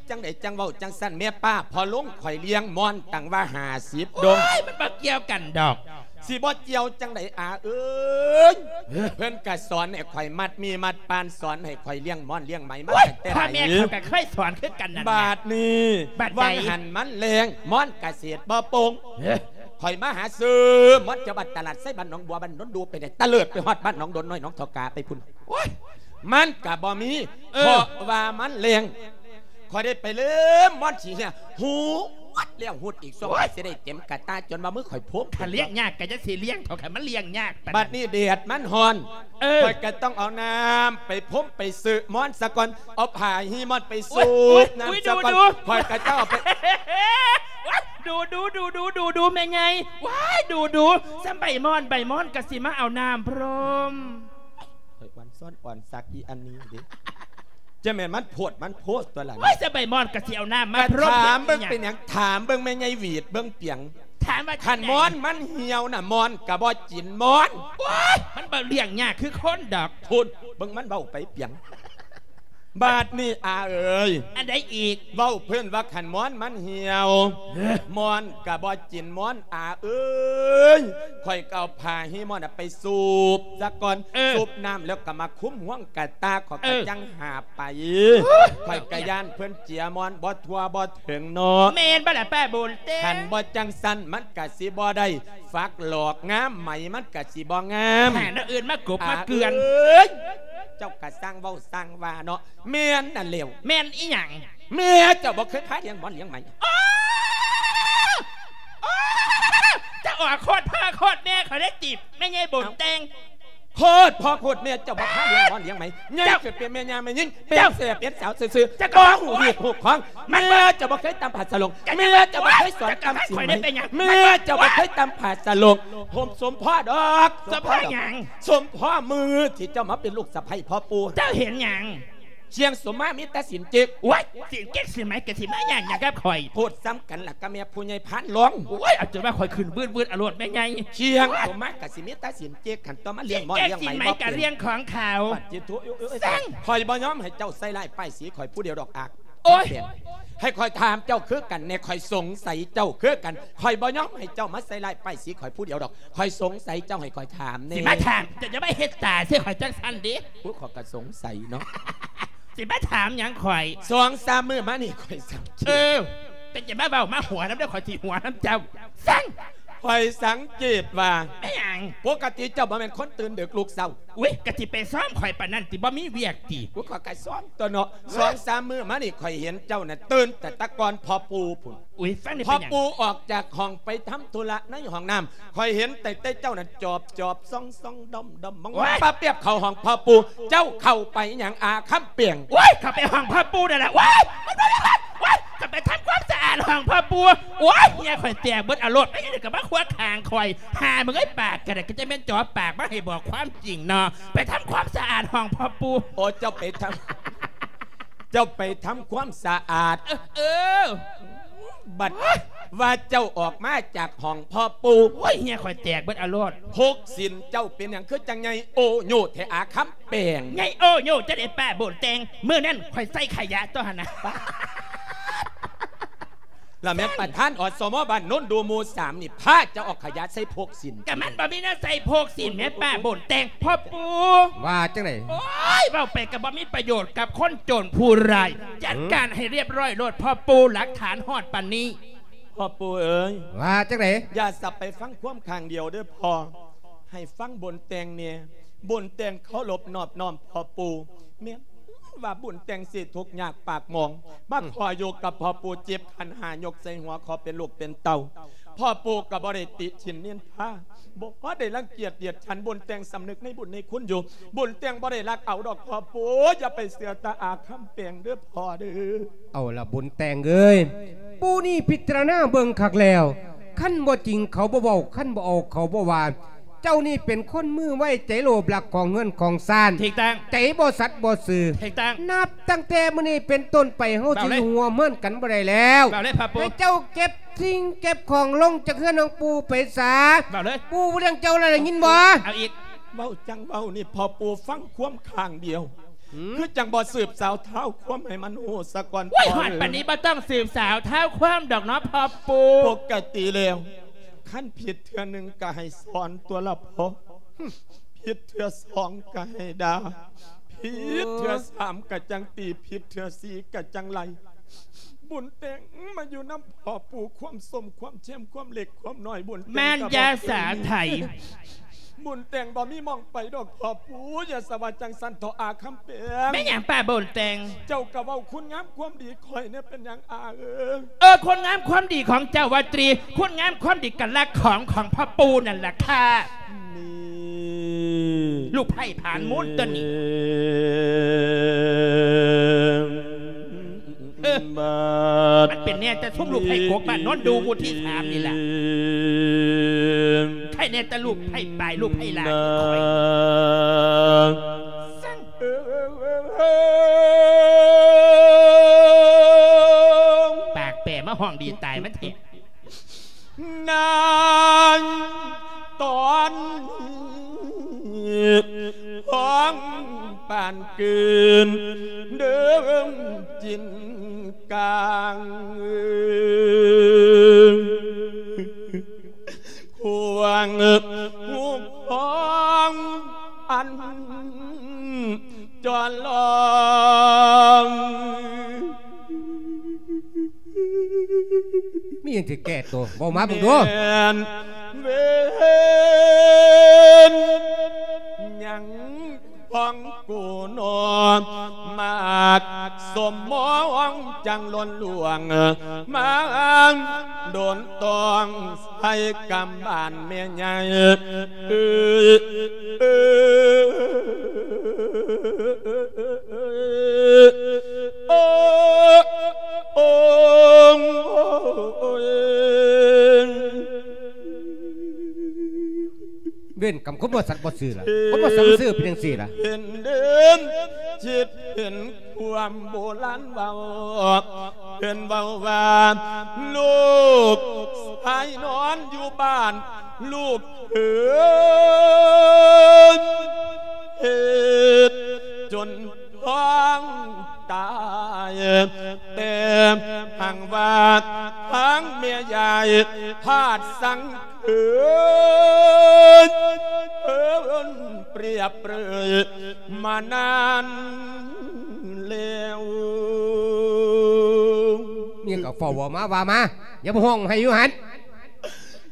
ຈັ່ງໃດຈັ່ງເວົ້າຈັ່ງຊັ້ນແມ່ປ້າ ພໍ່ລຸງຂ້ອຍລ້ຽງມ້ອນຕັ້ງວ່າຫ້າສິບດົງ. ໂອ້ຍ ມັນບໍ່ກ່ຽວກັນດອກ. ຊິບໍ່ກ່ຽວຈັ່ງໃດອາເອີຍ? ເພິ່ນກະສອນໃຫ້ຂ້ອຍມັດໝີ່ມັດປານ ສອນໃຫ້ຂ້ອຍລ້ຽງມ້ອນລ້ຽງໄໝມາ ໂອ້ຍ ຕັ້ງແຕ່ ພໍ່ແມ່ເຂົາກະເຄີຍສອນຄືກັນນັ້ນ. ບາດນີ້ ບາດໃດ? ວ່າງຫັ້ນມັນແລ້ງ ມ້ອນກະເສດບໍ່ໂປ່ງ. ເອີ ຂ້ອຍມາຫາຊື້ມ້ອນຈາກບ້ານຕະຫຼາດໄຊ ບ້ານໜອງບົວ ບ້ານໂນນດູ ໄປໄດ້ຕະເລີດໄປຮອດບ້ານໜອງດົນນ້ອຍ ໜອງທໍ່ກາໄປພຸ້ນ. ໂອ້ຍ ມັນກະບໍ່ມີ. ເອີ ເພາະວ່າມັນແລ້ງ ຂ້ອຍໄດ້ໄປເລີມມ່ອນຂີ້ເຫື່ອ ຫູ ແລ້ວຫຸດອີກ ຊ່ວງ ໂອ້ຍ ຊິໄດ້ເຕັມກະຕ່າ ຈົນວ່າມືຂ້ອຍໂພງ ຖ້າລ້ຽງຍາກກໍຈະຊິລ້ຽງເຖາະ ຄັນມັນລ້ຽງຍາກປານນັ້ນ ບັດນີ້ແດດມັນຮ້ອນ ເອີ ຂ້ອຍກໍຕ້ອງເອົານ້ຳໄປພົມໄປຊື້ໝອນສາກ່ອນ ເອົາຜ້າຮີໝອນໄປສູບ ໂອ້ຍ ນ້ຳ ໂອ້ຍ ສາກ່ອນ ດູໆ ຂ້ອຍກໍຕ້ອງເອົາໄປ ດູໆ ດູໆ ດູໆ ແມ່ໃຫຍ່ ວ້າຍ ດູໆ ສ່ຳໃບໝອນ ໃບໝອນກໍຊິມາເອົານ້ຳພົມ ຂ້ອຍອ່ອນຊ້ອນອ່ອນສັກອີ່ອັນນີ້ເດ້ ຈະແມ່ນມັນໂພດມັນໂພດຕົວະລະ ໂອ້ຍ ສະໃບໝອນກໍຊິເອົານ້ຳມາ ກະຖາມເບິ່ງ ເປັນຫຍັງ ຖາມເບິ່ງແມ່ໃຫຍ່ຫວີດເບິ່ງປຽງ ຖາມວ່າ ຄັນໝອນມັນຫ່ຽວນະ ໝອນກະບໍ່ກິນໝອນ ໂອ້ຍ ມັນບໍ່ລ້ຽງຍາກຄືຄົນດອກ ພຸ້ນ ເບິ່ງມັນເວົ້າໄປປຽງ ບາດນີ້ອາເອີຍ ອັນໃດອີກ ເວົ້າເພິ່ນວ່າຄັນໝອນມັນຫ່ຽວ ເອີ ໝອນກະບໍ່ກິນໝອນ ອາເອີຍ ຂ້ອຍກໍເອົາຜ້າຮີໝອນນະໄປສູບສາກ່ອນ ເອີ ສູບນ້ຳແລ້ວກໍມາຄຸມຮ່ວງກະຕ່າ ຂ້ອຍ ເອີ ກໍຈັ່ງຫາບໄປ ໂອ້ຍ ຂ້ອຍກໍຢ້ານເພິ່ນເຈຍໝອນບໍ່ທົ່ວບໍ່ເຖິງເນາະ ແມ່ນບໍ່ລະປ້າບຸນເຕັງ ຄັນບໍ່ຈັ່ງຊັ້ນມັນກະຊິບໍ່ໄດ້ ຝັກຫຼອກງາມ ໄໝມັນກະຊິບໍ່ງາມ ຫາແນວອື່ນມາກົບມາເກືອນ ອາເອີຍ ເຈົ້າກະຊ່າງເວົ້າຊ່າງວ່າເນາະ ແມ່ນນັ້ນແຫຼ້ວ ແມ່ນອີ່ຫຍັງ ແມ່ເຈົ້າບໍ່ເຄີຍພາລ້ຽງໝອນລ້ຽງໄໝ ໂອ້ ໂອ້ ເຈົ້າອອກໂຄດພໍ່ໂຄດແມ່ຂ້ອຍໄດ້ຕິບ ແມ່ໃຫຍ່ບຸນແຕ່ງ ໂຄດພໍ່ໂຄດແມ່ເຈົ້າບໍ່ພາລ້ຽງໝອນລ້ຽງໄໝ ໃຫຍ່ຂຶ້ນເປັນແມ່ຍ່າແມ່ຍິງ ເປັນເສື້ອເປັນສາວຊື່ໆ ເຈົ້າກໍບໍ່ຮູ້ຮີດຮູ້ຄອງ ແມ່ເຈົ້າບໍ່ເຄີຍຕຳຜ້າສາຫຼົງ ແມ່ເຈົ້າບໍ່ເຄີຍສອນຕຳສີໄໝ ແມ່ເຈົ້າບໍ່ເຄີຍຕຳຜ້າສາຫຼົງ ໂຮມສົມພໍດອກ ສົມພໍຫຍັງ ສົມພໍມື້ທີ່ເຈົ້າມາເປັນລູກສະໃພ້ພໍ່ປູ່ ເຈົ້າເຫັນຫຍັງ ຄຽງສົມມາມີແຕ່ສິນເຈັກ ໂອ້ຍ ສິນເຈັກສິນໄໝກໍຊິມາຫຍັງຫຍັງກັບຂ້ອຍ ໂພດສ່ຳກັນລະກັບແມ່ຜູ້ໃຫຍ່ພານຫຼວງ ໂອ້ຍ ເອົາຈົນວ່າຂ້ອຍຂຶ້ນວືດໆ ອາໂລດແມ່ໃຫຍ່ ຄຽງສົມມາກໍຊິມີແຕ່ສິນເຈັກ ຄັນຕໍ່ມາລ້ຽງໝອນລ້ຽງໄໝ ສິນເຈັກສິນໄໝກໍເລື່ອງຂອງເຂົາ ປະຕິໂທ ໂອ້ຍ ຂ້ອຍບໍ່ຍອມໃຫ້ເຈົ້າໃສ່ຮ້າຍປ້າຍສີຂ້ອຍຜູ້ດຽວດອກອາກ ໂອ້ຍ ໃຫ້ຂ້ອຍຖາມເຈົ້າຄືກັນແດ່ ຂ້ອຍສົງໄສເຈົ້າຄືກັນ ຂ້ອຍບໍ່ຍອມໃຫ້ເຈົ້າມາໃສ່ຮ້າຍປ້າຍສີຂ້ອຍຜູ້ດຽວດອກ ຂ້ອຍສົງໄສເຈົ້າ ໃຫ້ຂ້ອຍຖາມແດ່ ຊິມາຖາມ ເຈົ້າຢ່າມາເຮັດຕາໃສ່ຂ້ອຍຈັ່ງຊັ້ນເດ້ ໂອ້ຍ ຂ້ອຍກໍສົງໄສເນາະ ຊິມາຖາມຫຍັງຂ້ອຍ ສອງສາມມື້ມານີ້ຂ້ອຍສັງເກດ ເອີ ເຈົ້າຢ່າມາເວົ້າມາຫົວນຳເດີ ຂ້ອຍຊິຫົວນຳເຈົ້າ ສັ່ງ ຂ້ອຍສັງເກດວ່າ ແມ່ນຫຍັງ ປົກກະຕິເຈົ້າບໍ່ແມ່ນຄົນຕື່ນດຶກລຸກເຊົ້າ ອຸ້ຍ ກະຊິໄປຊອມຂ້ອຍປານນັ້ນຕິ ບໍ່ມີວຽກຕິ ໂອ້ຍ ຂ້ອຍກໍຊອມຕົວະເນາະ ສອງສາມມື້ມານີ້ຂ້ອຍເຫັນເຈົ້ານະຕື່ນແຕ່ຕະກ່ອນພໍ່ປູ່ພຸ້ນ ອຸ້ຍ ຟັງນີ້ ພໍ່ປູ່ອອກຈາກຫ້ອງໄປທຳທຸລະໃນຫ້ອງນ້ຳ ຂ້ອຍເຫັນແຕ່ ແຕ່ເຈົ້ານັ້ນຈອບໆ ສ່ອງໆ ດອມໆ ມອງໆ ໂອ້ຍ ປະປຽບເຂົ້າຫ້ອງພໍ່ປູ່ ເຈົ້າເຂົ້າໄປຫຍັງອາຄຳແປງ ໂອ້ຍ ເຂົ້າໄປຫ້ອງພໍ່ປູ່ນັ້ນລະ ໂອ້ຍ ໂອ້ຍ ເຂົ້າໄປທຳຄວາມສະອາດຫ້ອງພໍ່ປູ່ ໂອ້ຍ ເຫື່ອຂ້ອຍແຕກເບິດອາໂລດ ໄປຫຍັງກໍມາຂວາງຂ້າງຂ້ອຍ ຫາມຶງເອີຍ ປາກກໍໄດ້ ກໍຈະແມ່ນຈອບປາກມາໃຫ້ບອກຄວາມຈິງເນາະ ໄປທຳຄວາມສະອາດຫ້ອງພໍ່ປູ່ ໂອ້ ເຈົ້າໄປທຳ ເຈົ້າໄປທຳຄວາມສະອາດ ເອີ ເອີ ບັດວ່າເຈົ້າອອກມາຈາກຫ້ອງພໍ່ປູ່ ໂອ້ຍ ເຫື່ອຂ້ອຍແຕກເບິດອາໂລດ ພົກສິນເຈົ້າເປັນຫຍັງຄືຈັ່ງໃຫຍ່ໂອໂຍແທ້ອາຄຳແປງ ໃຫຍ່ໂອໂຍຈັ່ງໃດປ້າບຸນແຕ່ງ ມື້ນັ້ນຂ້ອຍໃສ່ຂະຫຍະຕົວຫັ້ນນະ ລະແມ່ນປະທານ ອສມ ບ້ານໂນນດູໝູ່ສາມນີ້ ພາເຈົ້າເອົາຂະຫຍະໃສ່ພົກສິນ ກະມັນບໍ່ມີແນວໃສ່ພົກສິນແໝ ປ້າບຸນແຕ່ງ ພໍ່ປູ່ ວ່າຈັ່ງໃດ ໂອ້ຍ ເວົ້າໄປກໍບໍ່ມີປະໂຫຍດກັບຄົນໂຈນຜູ້ຮ້າຍ ຈັດການໃຫ້ຮຽບຮ້ອຍໂລດພໍ່ປູ່ ຫຼັກຖານຮອດປານນີ້ ພໍ່ປູ່ເອີຍ ວ່າຈັ່ງໃດ ຢ່າສັບໄປຟັງຄວາມຂ້າງດຽວເດີພໍ່ ໃຫ້ຟັງບຸນແຕ່ງແດ່ ບຸນແຕ່ງເຄົາລົບນອບນ້ອມພໍ່ປູ່ ແມ່ນວ່າບຸນແຕ່ງຊິທຸກຍາກປາກໝອງ ມາຂໍຢູ່ກັບພໍ່ປູ່ ເຈັບຂັນຫ້າຍົກໃສ່ຫົວ ຂໍເປັນລູກເປັນເຕົ້າ ພໍ່ປູ່ກໍບໍ່ໄດ້ຕິຊິນນິນທາ ບໍ່ໄດ້ລັງກຽດດຽດສັນ ບຸນແຕ່ງສຳນຶກໃນບຸນໃນຄຸນຢູ່ ບຸນແຕ່ງບໍ່ໄດ້ລັກເອົາດອກພໍ່ປູ່ ຢ່າໄປເຊື່ອຕາອາຄຳແປງເດີພໍ່ເດີ. ເອົາລະບຸນແຕ່ງເອີຍ ປູ່ນີ້ພິຈາລະນາເບິ່ງຄັກແລ້ວ ຄັນບໍ່ຈິງເຂົາບໍ່ເວົ້າ ຄັນບໍ່ເອົາເຂົາບໍ່ວ່າ ເຈົ້ານີ້ເປັນຄົນມືໄວໃຈໂລບ ລັກຂອງເຮືອນຂອງຊານ ຖືກຕ້ອງ ໃຈບໍ່ສັດບໍ່ຊື່ ຖືກຕ້ອງ ນັບຕັ້ງແຕ່ມື້ນີ້ເປັນຕົ້ນໄປ ເຮົາຊິຢູ່ຮ່ວມເຮືອນກັນບໍ່ໄດ້ແລ້ວ ເວົ້າເລີຍພໍ່ປູ່ ໃຫ້ເຈົ້າເກັບສິ່ງເກັບຂອງລົງຈາກເຮືອນຂອງປູ່ໄປຊະ ເວົ້າເລີຍ ປູ່ບໍ່ລ້ຽງເຈົ້າແລ້ວ ໄດ້ຍິນບໍ່ ເອົາອີກ ເວົ້າຈັ່ງເວົ້ານີ້ ພໍ່ປູ່ຟັງຄວາມຂ້າງດຽວ ຄືຈັ່ງບໍ່ສືບສາວທ້າວຄວາມໃຫ້ມັນຮູ້ສາກ່ອນ ໂອ້ຍ ພໍ່ເອີຍ ຮອດປານນີ້ບໍ່ຕ້ອງສືບສາວທ້າວຄວາມດອກເນາະພໍ່ປູ່ ປົກກະຕິແລ້ວ ຄັນຜິດເທື່ອໜຶ່ງກໍໃຫ້ສອນຕົວະລະພໍ່ ຜິດເທື່ອສອງກໍໃຫ້ດ່າ ຜິດເທື່ອສາມກໍຈັ່ງຕີ ຜິດເທື່ອສີ່ກໍຈັ່ງໄລ່ ບຸນແຕ່ງມາຢູ່ນຳພໍ່ປູ່ ຄວາມສົ້ມຄວາມເຄັມ ຄວາມເລັກຄວາມນ້ອຍ ບຸນແຕ່ງ ແມ່ນ ກໍບໍ່ ຢ່າສາໄຖ ບຸນແຕ່ງບໍ່ມີໝ່ອງໄປດອກພໍ່ປູ່. ຢ່າສະວ່າຈັ່ງຊັ້ນເຖາະອາຄຳແປງ. ແມ່ນຫຍັງປ້າບຸນແຕ່ງ? ເຈົ້າກໍເວົ້າຄຸນງາມຄວາມດີຂ້ອຍແດ່ ເປັນຫຍັງອາເອີຍ? ເອີ ຄຸນງາມຄວາມດີຂອງເຈົ້າວ່າຕຣີ, ຄຸນງາມຄວາມດີກັນລະຂອງຂອງພໍ່ປູ່ນັ້ນລະຄ່ະ. ນີ້ ລູກໃພ້ຜານມູນຕົວນີ້ ເອີ ມັນເປັນແນ່ແຕ່ຊຸມລູກໃພ້ກົກບ້ານໂນນດູໝູ່ທີສາມນີ້ລະ. ໃຜແນ່ແຕ່ລູກໃພ້ປາຍ ລູກໃພ້ຫຼ້ານີ້ຂ້ອຍ ປາກແປມາຮ້ອງດີຕາຍມັນແທ້. ນາງຕອນ ຮ້ອງປານກືນເດີງຈິນກາງ ຄວາງຫູຂອງອັນຈອນລອງ. ມີຫຍັງຊິແກ້ໂຕ ເວົ້າມາເບິ່ງດູ. ແມ່ນເວນຫຍັງຂອງກູໜໍ ມາກສົມມອງຈັ່ງລົ້ນຫຼວງ ມາດົນຕອງໃສ່ກຳບ້ານແມ່ໃຫຍ່. ເອີ ເອີ ເອີ ໂອ້ ໂອ້ ເວນກຳຄົນບໍ່ສັດບໍ່ຊື່ລະ ຄົນບໍ່ສັດບໍ່ຊື່ເປັນຈັ່ງຊີ້ລະ. ເຫັນເດີນຈິດເຫັນຄວາມໂບລານເວົ້າ ເພິ່ນເວົ້າວ່າ ລູກຊາຍນອນຢູ່ບ້ານ ລູກເຂຍເຮັດຈົນທ້ອງຕາຍ ແຕ່ຫາກວ່າທາງແມ່ຍາຍທາດສັງເຂີນ ເພິ່ນປຽບເປີຍມານານແລ້ວ. ມີຫຍັງກໍເຝົ້າເວົ້າມາ ວ່າມາ ຢ່າມາຮ້ອງໄຫ້ຢູ່ຫັ້ນ.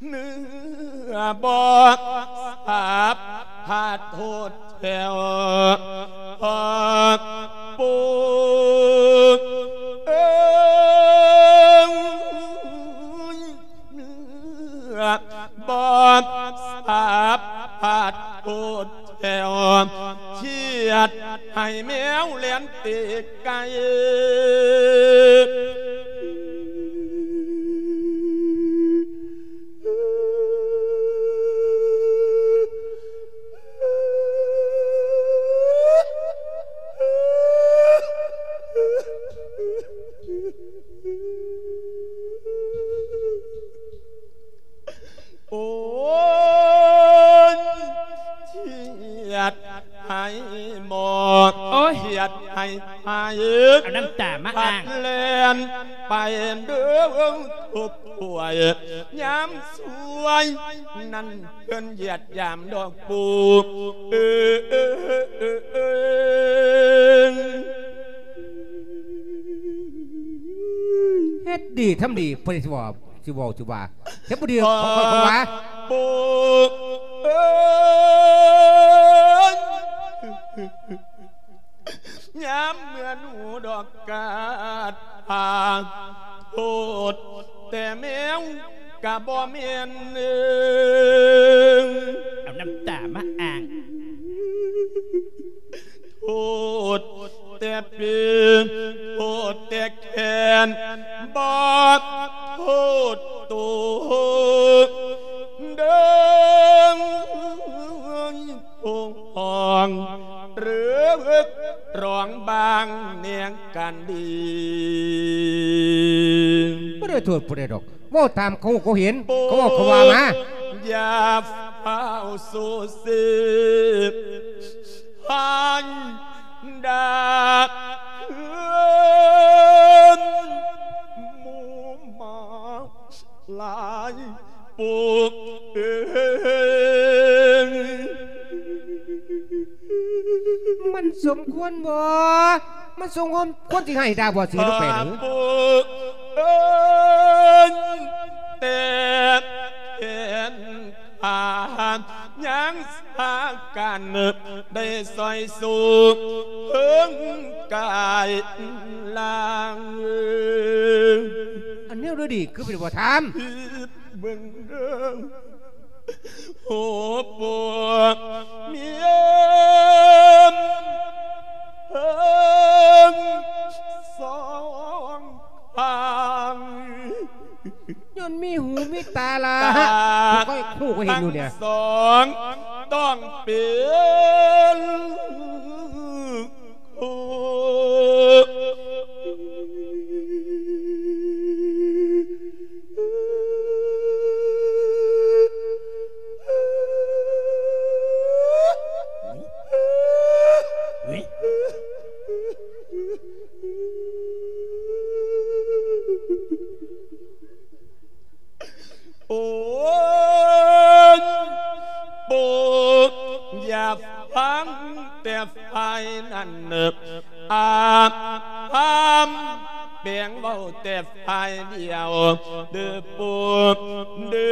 ເມື່ອບໍ່ສາບພາດໂທດແຖວ ພໍ່ປູ່ເອີຍ ເມື່ອບໍ່ສາບພາດໂທດແຖວ ຄຽດໃຫ້ແມວແລ່ນເຕະ ໄກ່ ໂອ້ຍ ຄຽດໃຫ້ໝໍ ໂອ້ຍ ຄຽດໃຫ້ໃຫ້ ເອົານ້ຳຕາມາອ້າງ ພັດແລ່ນໄປເດີທຸບຖ້ວຍ ຍາມສວຍນັ້ນເພິ່ນຢຽດຢາມດອກປູ່ ເອີ ເອີ ເອີ ເອີ ເອີ. ເຮັດດີທຳດີ ເພິ່ນຊິເວົ້າ ຊິເວົ້າ ຊິວ່າ ເຮັດບໍ່ດີ ເຂົາ ເຂົາວ່າ ປູ່ເອີຍ ຍາມເມື່ອໜູດອກກາດພາ ໂທດແຕ່ແມວກະບໍ່ແມ່ນເອີງ ເອົານ້ຳຕາມາອ້າງ ໂທດແຕ່ປີ ໂທດແຕ່ແຂນ ບໍ່ໂທດໂຕເດີ ໂອ້ ຫ້ອງເລິກຮ້ອງບາງແນງກັນດີ ບໍ່ໄດ້ໂທດຜູ້ໃດດອກ ເວົ້າຕາມເຂົາຮູ້ເຂົາເຫັນ ເຂົາເວົ້າເຂົາວ່າມາ ຢ່າຟ້າວສູ້ເສ ຜ່ານດາກເຮືອນໝູ່ໝາ ຫຼາຍປຸກເອີຍ ມັນສົມຄວນບໍ່? ມັນສົມຄວນ ຄວນຊິໃຫ້ດາບໍ່ຊິເຮັດລົງໄປເອີ? ປຸກເອີຍ ແຕ່ແຂນ ພາຍັງພາກັນໄດ້ຊ່ອຍສູ້ເພິງກາຍລາງ. ອັນແນວດີໆຄືເປັນບໍ່ຖາມ ເບິ່ງເດີ ໂຫ ໂປ ເມຍມ ເພິງສອງ ພັງ ຍ້ອນມີຫູມີຕາລະ ຕາ ຂ້ອຍຮູ້ ຂ້ອຍເຫັນຢູ່ນີ້ ທັງສອງຕ້ອງເປັນ ໂອ້ ໂອ້ຍ ໂປ ຢ່າຟັງແຕ່ຝ່າຍນັ້ນ ອາພາມແປງເວົ້າແຕ່ ຝ່າຍດຽວເດີ ໂປ ເດີ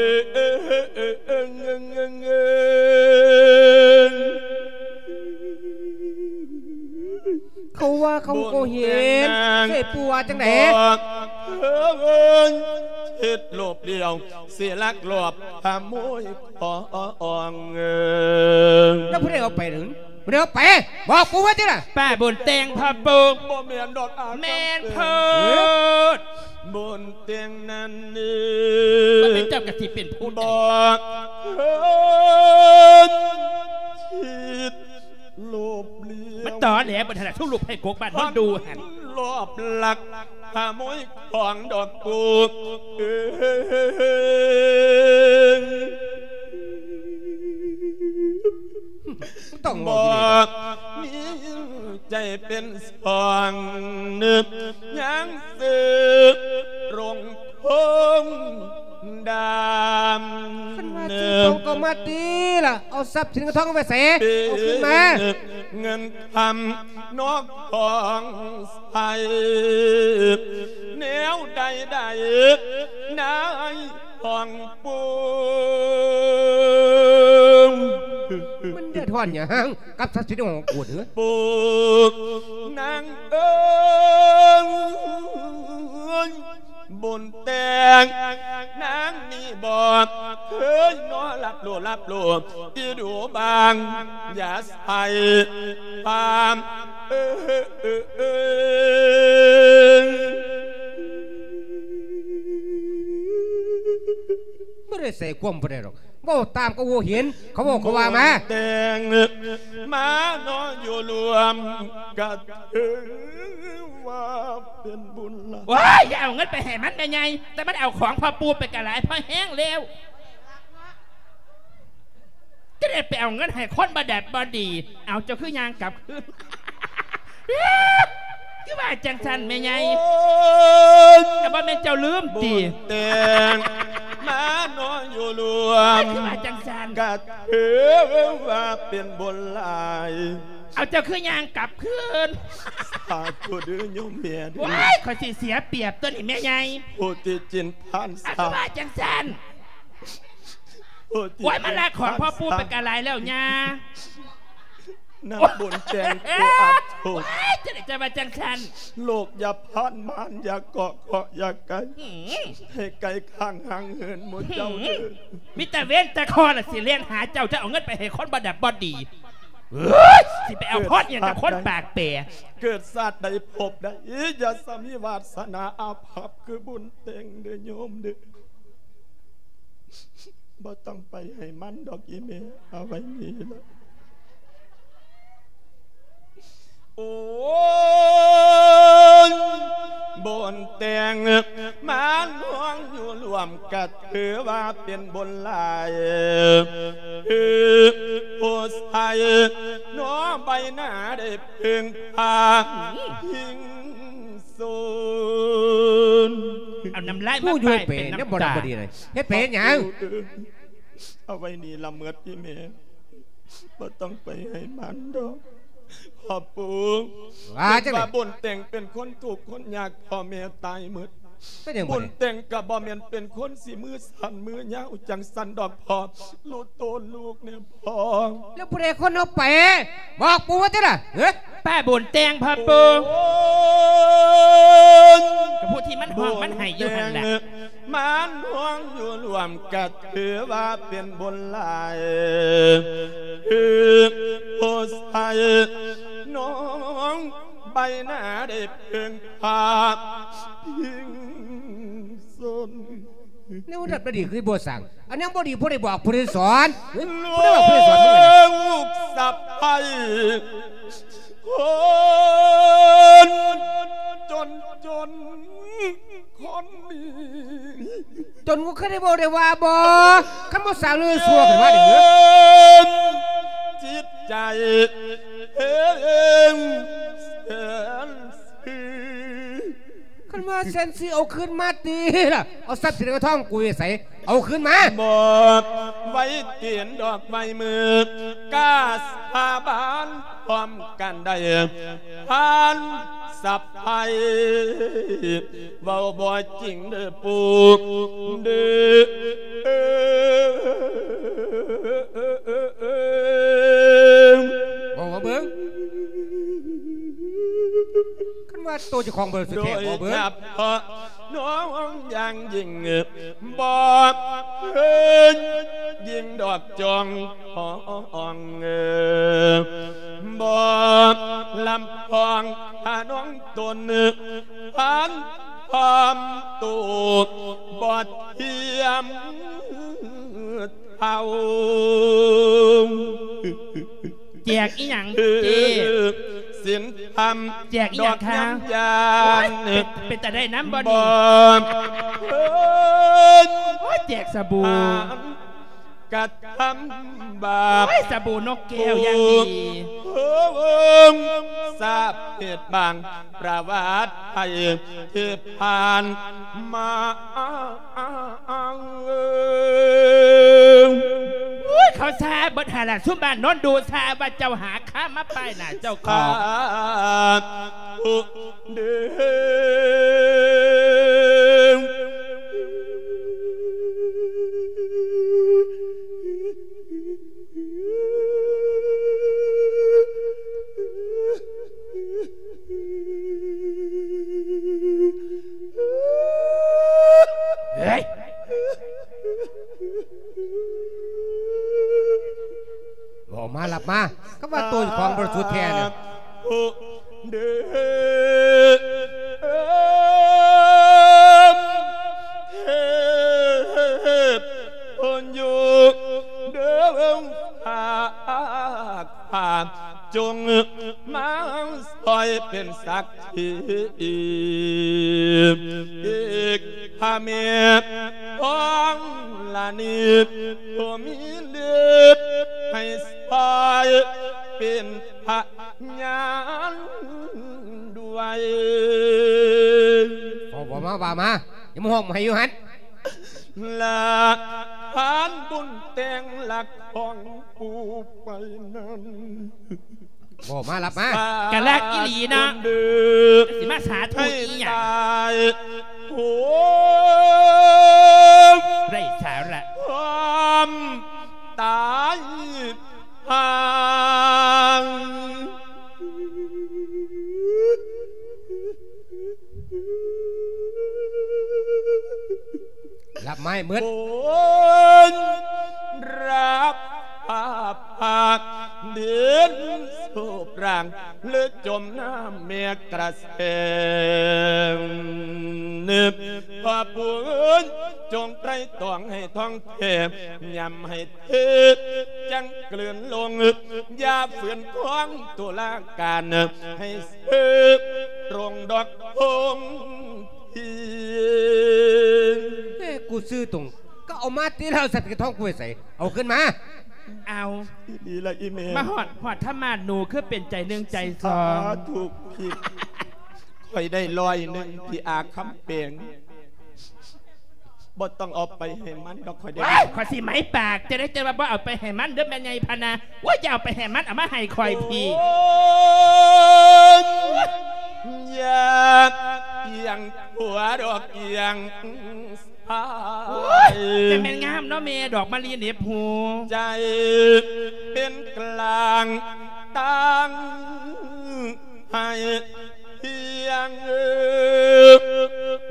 ເຂົາວ່າເຂົາກໍເຫັນ ເອີຍ ປູວ່າຈັ່ງໃດ? ເຮັດໂລບລ້ຽວ ຊິລັກລອບຂະໂມຍຂອງ ແລ້ວຜູ້ໃດເອົາໄປນັ້ນ? ບໍ່ໄດ້ເອົາໄປ ບອກກູມາຕິລະ. ປ້າບຸນແຕ່ງພໍ່ປູ່ ບໍ່ແມ່ນດອກ ແມ່ນໂພດ ບຸນແຕ່ງນັ້ນ ມັນເປັນເຈົ້າກະຊິເປັນຜູ້ໃດ ບອກເຮີ້ນ ຄິດໂລບລ້ຽວ ມັນຕອແຫຼເບິດຫັ້ນລະ ຊຸມລູກໃຫ້ກົກບ້ານມັນດູຫັ້ນ ລອບລັກຂະໂມຍຂອງດອກປູເອີຍ. ຕ້ອງເວົ້າດີໆ ບໍ່ມີໃຈເປັນສອງ ຍັງຊື້ລົງຄົງດຳ ຄັນວ່າຊື້ຂອງກໍມາຕິລະ ເອົາຊັບສິນເງິນທອງໄປໃສ? ເອົາຄືນມາ ເງິນຄຳນອກຂອງໃຊ້ ແນວໃດໄດ້ນາຍ ຂອງປູ ມັນເດືອດຮ້ອນຫຍັງກັບຊັບສິນຂອງກູເດີ ປູນາງເອີຍ ບຸນແຕ່ງນາງນີ້ບໍ່ເຄີຍນອນຫຼັບຫຼູ່ຫຼັບຫຼູ່ ທີ່ດູບາງ ຢ່າໃສ່ຄວາມ ເອີ ບໍ່ໄດ້ໃສ່ຄວາມຜູ້ໃດດອກ ເວົ້າຕາມກະຮູ້ເຫັນ ເຂົາເວົ້າເຂົາວ່າມາ ແຕ່ງມານອນຢູ່ລວມກະຖືວ່າເປັນບຸນຫຼາຍ. ໂອ້ຍ ຢ່າເອົາເງິນໄປໃຫ້ມັນແມ່ໃຫຍ່ ແຕ່ມັນເອົາຂອງພໍ່ປູໄປກະຫຼາຍພໍແຮງແລ້ວ. ຈະໄດ້ໄປເອົາເງິນໃຫ້ຄົນບໍ່ດັບບໍ່ດີ. ເອົາ ເຈົ້າຄືຍ່າງກັບຄືນ ຄືວ່າຈັ່ງຊັ້ນແມ່ໃຫຍ່? ໂອ້ຍ ແຕ່ບໍ່ແມ່ນເຈົ້າລືມຕິ? ບຸນແຕ່ງມານອນຢູ່ລວມ ຄືວ່າຈັ່ງຊັ້ນ ກະຖືວ່າເປັນບຸນຫຼາຍ. ເອົາ ເຈົ້າຄືຍ່າງກັບຄືນ? ສາທຸເດີໂຍມແມ່ເດີ. ໂອ້ຍ ຂ້ອຍຊິເສຍປຽບຕົວນີ້ແມ່ໃຫຍ່. ຜູ້ທີ່ຈິນພານ ເອົາ ຄືວ່າຈັ່ງຊັ້ນ? ໂອ້ຍ ມາລັກຂອງພໍ່ປູໄປກະຫຼາຍແລ້ວຍ່າ. ນາງບຸນແຕ່ງຜູ້ອັບທຸກ ໂອ້ຍ ຈະໄດ້ຈະວ່າຈັ່ງຊັ້ນ? ໂລກຢ່າພານມານ ຢ່າເກາະເຄາະຢ່າໄກ ໃຫ້ໄກຂ້າງຫ່າງເຫີນໝູ່ເຈົ້າເດີ. ມີແຕ່ເວນແຕ່ເຄາະລະຊິແລ່ນຫາເຈົ້າ ຈະເອົາເງິນໄປໃຫ້ຄົນບໍ່ດັບບໍ່ດີ. ເອີຍ ຊິໄປເອົາພອນຫຍັງກັບຄົນປາກແປ. ເກີດຊາດໃດພົບໃດ ຢ່າສະມີວາສະໜາອາພັບຄືບຸນແຕ່ງເດີໂຍມເດີ. ບໍ່ຕ້ອງໄປໃຫ້ມັນດອກອີ່ແມ່ ເອົາໄວ້ນີ້ລະ. ໂອ້ຍ ບຸນແຕ່ງມານອນຢູ່ລວມກະຖືວ່າເປັນບຸນຫຼາຍ. ຜູ້ຊາຍໜໍໃບໜ້າໄດ້ເພິ່ງພາພິງ ສູນ ເອົານ້ຳລາຍມາປ້າຍເປັນນ້ຳຕາ. ເຮັດໄປຫຍັງ? ເອົາໄວ້ນີ້ລະເໝິດອີ່ແມ່ ບໍ່ຕ້ອງໄປໃຫ້ມັນດອກ. ພໍ່ປູ ວ່າຈັ່ງໃດ? ຄິດວ່າບຸນແຕ່ງເປັນຄົນທຸກຄົນຍາກ ພໍ່ແມ່ຕາຍເໝິດ. ເປັນຫຍັງບັດນີ້? ບຸນແຕ່ງກໍບໍ່ແມ່ນເປັນຄົນຊິມືສັ້ນມືຍາວຈັ່ງຊັ້ນດອກພໍ່ ຮູ້ໂຕລູກແດ່ພໍ່. ແລ້ວຜູ້ໃດຄົນເອົາໄປ? ບອກປູວ່າຕິລະ ເອີ ປ້າບຸນແຕ່ງພໍ່ປູ່. ໂອ້ຍ ກໍຜູ້ທີ່ມັນຮ້ອງມັນໄຫ້ຢູ່ຫັ້ນແຫຼະ ບຸນແຕ່ງ ມັນຮ້ອງຢູ່ຮ່ວມກໍຖືວ່າເປັນບຸນຫຼາຍ ຄືຜູ້ຊາຍນ້ອງໃບໜ້າໄດ້ເພິ່ງພາພິງຊົນ. ແນວນັ້ນບໍ່ດີຄືບໍ່ສ້າງ ອັນນັ້ນບໍ່ດີ ຜູ້ໃດບອກຜູ້ໃດສອນ? ເອີ ຜູ້ໃດບອກຜູ້ໃດສອນ? ລູກສະໃພ້ຄົນຈົນໆ ຄົນນີ້ ຈົນກູຄືໄດ້ເວົ້າໄດ້ວ່າບໍ່? ຄັນບໍ່ສ້າງເລື່ອງຊົ່ວຂຶ້ນມານີ້ ເອີ ຈິດໃຈເອີງແສນ ຄັນວ່າແສນສີ່ເອົາຄືນມາຕິລະ ເອົາຊັບສິນເງິນທອງກູໄປໃສ? ເອົາຄືນມາ ບອກໄວ້ຕີນດອກໄວ້ມື ກ້າສາບານພ້ອມກັນໄດ້ ທ່ານສະໃພ້ ເວົ້າບໍ່ຈິງເດີປູ່ເດີ. ເວົ້າມາເບິ່ງ ຄັນວ່າໂຕເຈົ້າຂອງບໍລິສັດແທ້ ເວົ້າເບິ່ງ. ໂດຍສະເພາະນ້ອງຢ່າງຍິ່ງ ບໍ່ເຄີຍຍິ່ງດອກຈອງຂອງ ບໍ່ລຳພອງ ຖ້ານ້ອງຕົນ ພັນຄວາມໂຕ ບໍ່ທຽມເທົ່າ. ແຈກອີ່ຫຍັງເຈ້? ສິນທຳ ແຈກອີ່ຫຍັງຄະ? ດອກຍາມຢານ ໂອ້ຍ ເປັນ ເປັນຕາໄດ້ນຳບໍ່ນີ້? ບໍ່ ໂອ້ຍ ແຈກສະບູ່ ກະທຳບາບ ໂອ້ຍ ສະບູ່ນົກແກ້ວຢ່າງດີ ຜູ້ສາບເຫດບາງ ປະຫວັດໄທທີ່ຜ່ານມາ. ໂອ້ຍ ເຂົາຊາເບິດຫັ້ນລະ ຊຸມບ້ານໂນນດູຊາວ່າເຈົ້າຫາຄາມາປ້າຍໜ້າເຈົ້າຂອງ. ສາທຸເດີ. ເຮີ້ຍ ເວົ້າມາ ລັບມາ ຄຳວ່າໂຕເຈົ້າຂອງບໍລິສຸດແທ້ນີ້. ເດີ ເທບພົນຢູ່ເດີ ພາກພາ ຈົ່ງມາຊ່ອຍເປັນສັກຂີ ອີກພະແມ່ທອງລະນີ ຜູ້ມີເລີບໃຫ້ຊ່ອຍເປັນພະຍານດ້ວຍ. ເວົ້າ ເວົ້າມາ ວ່າມາ ຢ່າມາຮ້ອງໄຫ້ຢູ່ຫັ້ນ. ລະຜ່ານບຸນແຕ່ງລັກຂອງປູ່ໄປນັ້ນ ເວົ້າມາ ລັບມາ. ກະລັກອີ່ຫຼີເນາະ ຊິມາສາທຸອີ່ຫຍັງ ໂອ້ ໄຮ້ສາລະ ຄວາມຕາຍ ລັບໄມ້ໝົດ ຄົນຮັບພາກດິນສູບຮ່າງ ຫຼືຈົມນ້ຳແມ່ກະແສ ພໍ່ປູ່ເອີຍ ຈົ່ງໄຕຕອງໃຫ້ທ່ອງແທ້ ຍຳໃຫ້ ເທດຈັ່ງກືນລົງ ຢ່າຝືນຂວາງຕຸລາການ ໃຫ້ເສີບຕຣົງດອກຄົງທີ. ເອີ ກູຊື້ຕົງ ກໍເອົາມາຕິລະ ສັດກະທອງກູໄປໃສ? ເອົາຄືນມາ. ເອົາ ອີ່ຫຼີລະອີ່ແມ່ ມາຮອດ ຮອດທຳມາດໜູ ຄືເປັນໃຈໜຶ່ງໃຈສອງ. ສາທຸ ພີ່ ຂ້ອຍໄດ້ຮ້ອຍໜຶ່ງ ພີ່ອາຄຳແປງ. ບໍ່ຕ້ອງເອົາໄປໃຫ້ມັນດອກ ຂ້ອຍໄດ້ ວ້າຍ ຂ້ອຍຊິໄໝປາກ ຈະໄດ້ ຈະວ່າບໍ່ເອົາໄປໃຫ້ມັນເດີແມ່ໃຫຍ່ພະນາ. ໂອ້ຍ ຢ່າເອົາໄປໃຫ້ມັນ ເອົາມາໃຫ້ຂ້ອຍພີ້. ໂອ້ຍ ຢາກ ຽງຂົວດອກກຽງຊ້າຍ. ໂອ້ຍ ຈະແມ່ນງາມເນາະແມ່ ດອກມະລີເໜັບຫູ. ໃຈເປັນກລາງຕັ້ງໃຫ້ພຽງ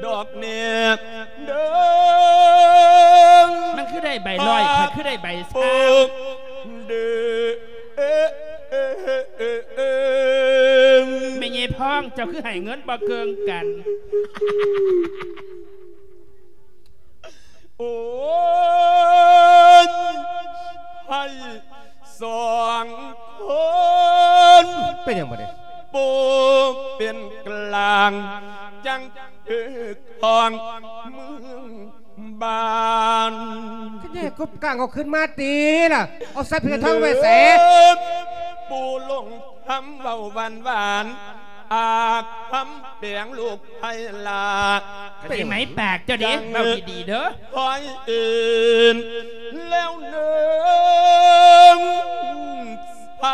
ດອກແນບເດີງ. ມັນຄືໄດ້ໃບຮ້ອຍ ຂ້ອຍຄືໄດ້ໃບຊາວ. ເດີ ແມ່ໃຫຍ່ພອງ ເຈົ້າຄືໃຫ້ເງິນບໍ່ເກີງກັນ? ໂອ້ຍ ໃຫ້ສອງຄົນ ເປັນຫຍັງບັດນີ້? ໂປເປັນກລາງ ຈັ່ງຖືກຄອງເມືອງ ບ້ານ ຄືແຍກກົບກາງເອົາຂຶ້ນມາຕິລະ ເອົາໃສ່ເຜທອງໄວ້ໃສ? ເອີ ປູລົງຄຳເວົ້າຫວານໆ ອາຄຳແປງລູກໄພລາ ກະຊິໄໝປາກເຈົ້າເດ້ ເວົ້າດີໆເດີ ຄອຍເອີນແລ້ວເນີງ ໃຜ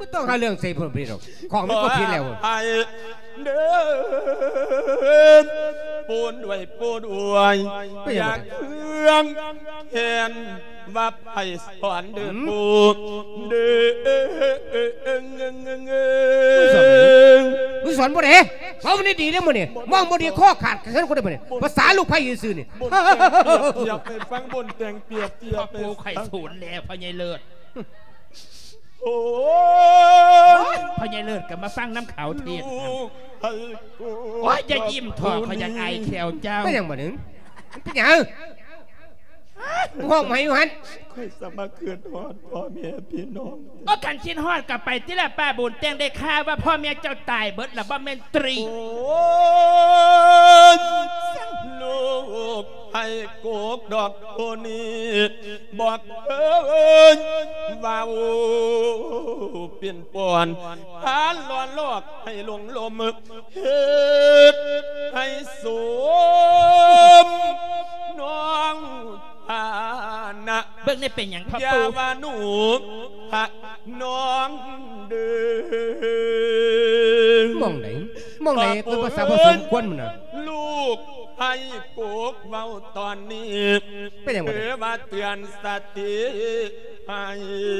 ບໍ່ຕ້ອງຫາເລື່ອງໃສ່ເພິ່ນດອກ ຂອງມັນກໍຜິດແລ້ວ ໃຜ ເດີ ປູນດ້ວຍ ປູດ້ວຍ ເປັນຫຍັງ ຢາກເຄືອງແຄ້ນວ່າໃຜສອນເດີ ອືມ ປູເດີ. ມຶງສອນບໍ່ເດ້ ເວົ້າດີໆເດ້ມື້ນີ້ ເວົ້າບໍ່ດີຄໍຂາດກັນຄົນເດ້ມື້ນີ້ ພາສາລູກໃຜຊື່ໆນີ້ ບົນແຕ່ງປຽບທຽບໃຫ້ຟັງ ບົນແຕ່ງປຽບທຽບໃຫ້ຟັງ ພໍ່ປູຂ້ອຍສູນແລ້ວ ພໍ່ໃຫຍ່ເລີດ. ໂອ້ຍ ພໍ່ໃຫຍ່ເລີດກໍມາຟັງນຳເຂົາເທດນຳ. ໂອ້ຍ ຢ່າຍິ້ມເຖາະ ຂ້ອຍຢາກອາຍແຂ້ວເຈົ້າ. ເປັນຫຍັງບັດນີ້? ມັນເປັນຫຍັງ? ຮ້ອງໃໝ່ຢູ່ຫັ້ນ. ຂ້ອຍສະມາຄິດຮອດພໍ່ແມ່ພີ່ນ້ອງ. ໂອ້ ຄັນຄິດຮອດກໍໄປຕິລະ ປ້າບຸນແຕ່ງ. ໄດ້ຂ່າວວ່າພໍ່ແມ່ເຈົ້າຕາຍເບິດລະບໍ່ແມ່ນຕິ? ໂອ້ຍ ລູກ ໃຫ້ໂກກດອກໂພນີ້ ບອກເອີຍ ເວົ້າປິ່ນປ່ອນ ພານລ້ອນລອກໃຫ້ຫຼົງລົມ ເຮັດໃຫ້ສົມນ້ອງຖານະ. ເບິ່ງແນ່ເປັນຫຍັງພໍ່ ຢ່າ ປູ່ ວ່າໜູພະນ້ອງເດີ. ໝ່ອງໃດ ໝ່ອງໃດເປັນພາສາບໍ່ສົມຄວນຫັ້ນນະ? ລູກໃຫ້ໂກກເວົ້າຕອນນີ້ ເປັນຫຍັງບັດນີ້? ເອີ ວ່າເຕືອນສະຕິໃຫ້.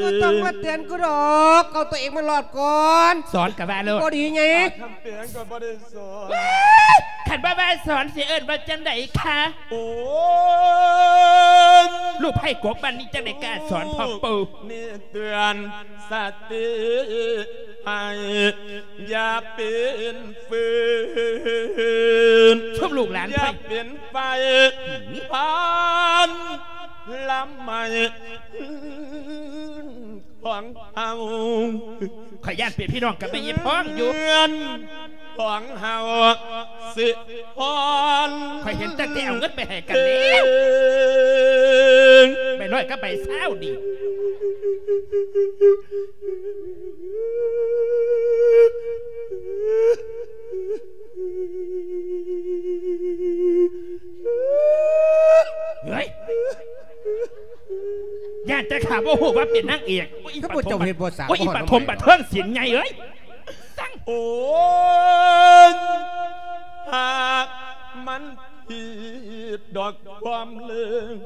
ບໍ່ຕ້ອງມາເຕືອນກູດອກ ເອົາຕົວເອງມາລອດກ່ອນ. ສອນກະວ່າໂລດ ບໍ່ດີໃຫຍ່. ຄຳແປງກໍບໍ່ໄດ້ສອນ. ເອີຍ ຄັນບໍ່ວ່າສອນຊິເອີ້ນວ່າຈັ່ງໃດຄະ? ໂອ້ຍ ລູກໃຫ້ໂກກບ້ານນີ້ຈັ່ງໃດກະສອນພໍ່ປູ່ນີ້ ເຕືອນ ສະຕິໃຫ້ ຢ່າເປັນຟືນ ຊຸມລູກຫຼານ ຢ່າເປັນໄຟ ອືມ ພານລຳໄໝ້ຂອງເຮົາ. ຂ້ອຍຢ້ານເປັນພີ່ນ້ອງກັບແມ່ຍາຍພອງຢູ່ ເຮືອນຂອງເຮົາ ຊິຮອນ ຂ້ອຍເຫັນຕັ້ງແຕ່ເອົາເງິນໄປໃຫ້ກັນແລ້ວ ເອີງ ໃບຮ້ອຍກັບໃບຊາວນີ້. ເຮີ້ຍ ຢ້ານແຕ່ຂ້າບໍ່ຮູ້ວ່າເປັນນາງເອກ. ໂອ້ຍ ຄືພວກເຈົ້າເຮັດບໍ່ສາ ໂອ້ຍ ອີປະຖົມປະເທີງສິນໃຫຍ່ເອີຍ. ໂອ້ຍ ຫາກມັນຜິດດອກຄວາມເລີງ